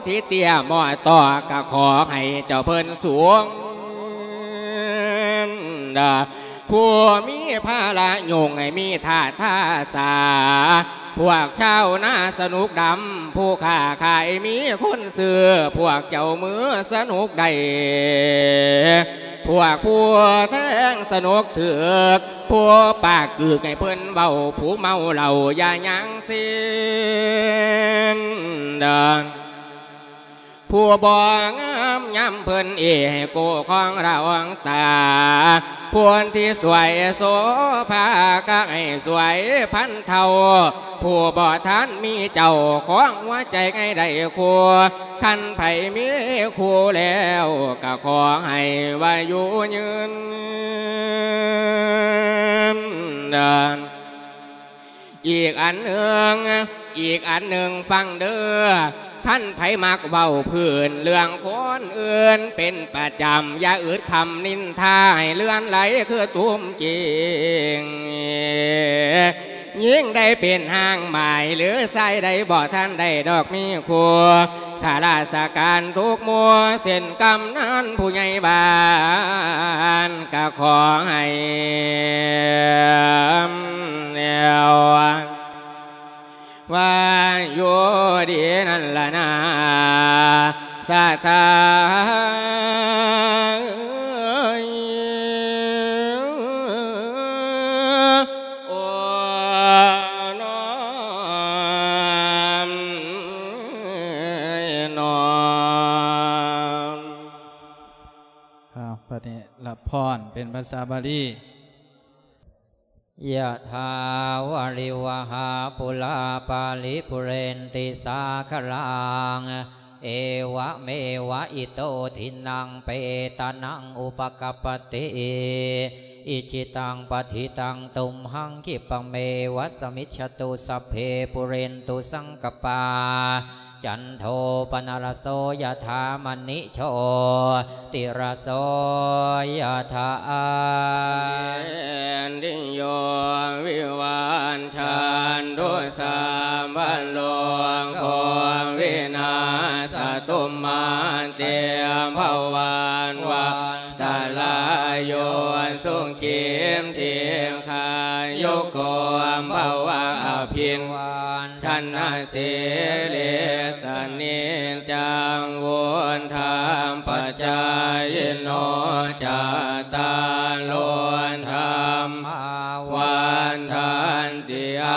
ທີ່ເຕ້ຍໝໍ້ຕໍ່ ກໍຂໍໃຫ້ເຈົ້າເພິ່ນສູງ. ຜູ້ມີພາລະຫຍຸ້ງໃຫ້ມີທ່າທ່າສາ ພວກຊາວນາສະໜຸກດຳ ຜູ້ຄ້າຂາຍມີຄົນຊື້ ພວກເຈົ້າມືສະໜຸກໄດ້ ພວກຜູ້ແທງສະໜຸກຖືກ ຜູ້ປາກກືກໃຫ້ເພິ່ນເວົ້າ ຜູ້ເມົາເຫຼົ້າຢ່າຍັງເສັ້ນ. ຜູ້ບໍ່ງາມຍາມເພິ່ນເອ ໃຫ້ກູ້ຄອງລະອອງຕາ ຜູ້ທີ່ສວຍໂສພາກະໃຫ້ສວຍພັນເທົ່າ ຜູ້ບໍ່ທັນມີເຈົ້າຂອງຫົວໃຈໃຫ້ໄດ້ຄູ່ ຄັນໃຜມີຄູ່ແລ້ວກະຂໍໃຫ້ອາຍຸຍືນ. ອີກອັນໜຶ່ງ ອີກອັນໜຶ່ງຟັງເດີ ຄັນໃຜມັກເວົ້າພື້ນເລື່ອງຄົນອື່ນເປັນປະຈຳ ຢ່າອຶດຄຳນິນທາໃຫ້ເລື່ອນໄຫຼຄືຕຸ່ມຈີງ ຍິງໄດ້ເປັນຮ່າງໝາຍ ຫຼືຊາຍໃດບໍ່ທັນໄດ້ດອກມີຄູ່ ຂ້າລາຊະການທຸກໝູ່ ເຊັ່ນກຳນັນຜູ້ໃຫຍ່ບ້ານ ກະຂໍໃຫ້ແນວວ່າຢູ່ດີນັ້ນລະນາ ສະຖາເອີຍ. ໂອ້ ນ້ອມ ນ້ອມ. ອ້າວ ບັດນີ້ຮັບພອນເປັນພາສາບາລີ. ຍະຖາວາລິວະຫາປູລາປາລິປູເຣນຕິສາຄະລັງ ເອວະເມວະອິໂຕທິນັງເປຕານັງອຸປະກັບປະຕິ ອິດທິຕັງປະທິຕັງຕຸມຫັງຂິບປະເມວະສະມິດຊະຕຸ ສັບເພປູເຣນຕຸສັງກະປາ ຈັນໂທປະນະລະໂສຍະຖາ ມະນິ ໂຊຕິລະໂສຍະຖາ ເຕນຕິໂຍວິວັດຊັນຕຸ ສັບພະໂລໂຄວິນາສະຕຸ ມາເຕພະວັດວັນຕະລາໂຍ ສຸຂີທິຄາຍຸໂກພະວະ ອະພິວັດທະນະ ສິລິສະນິຈຈັງ ວຸດທາປະຈາຍິໂນ ຈັດຕາໂລ ທຳມາວັດທັນຕິ ອ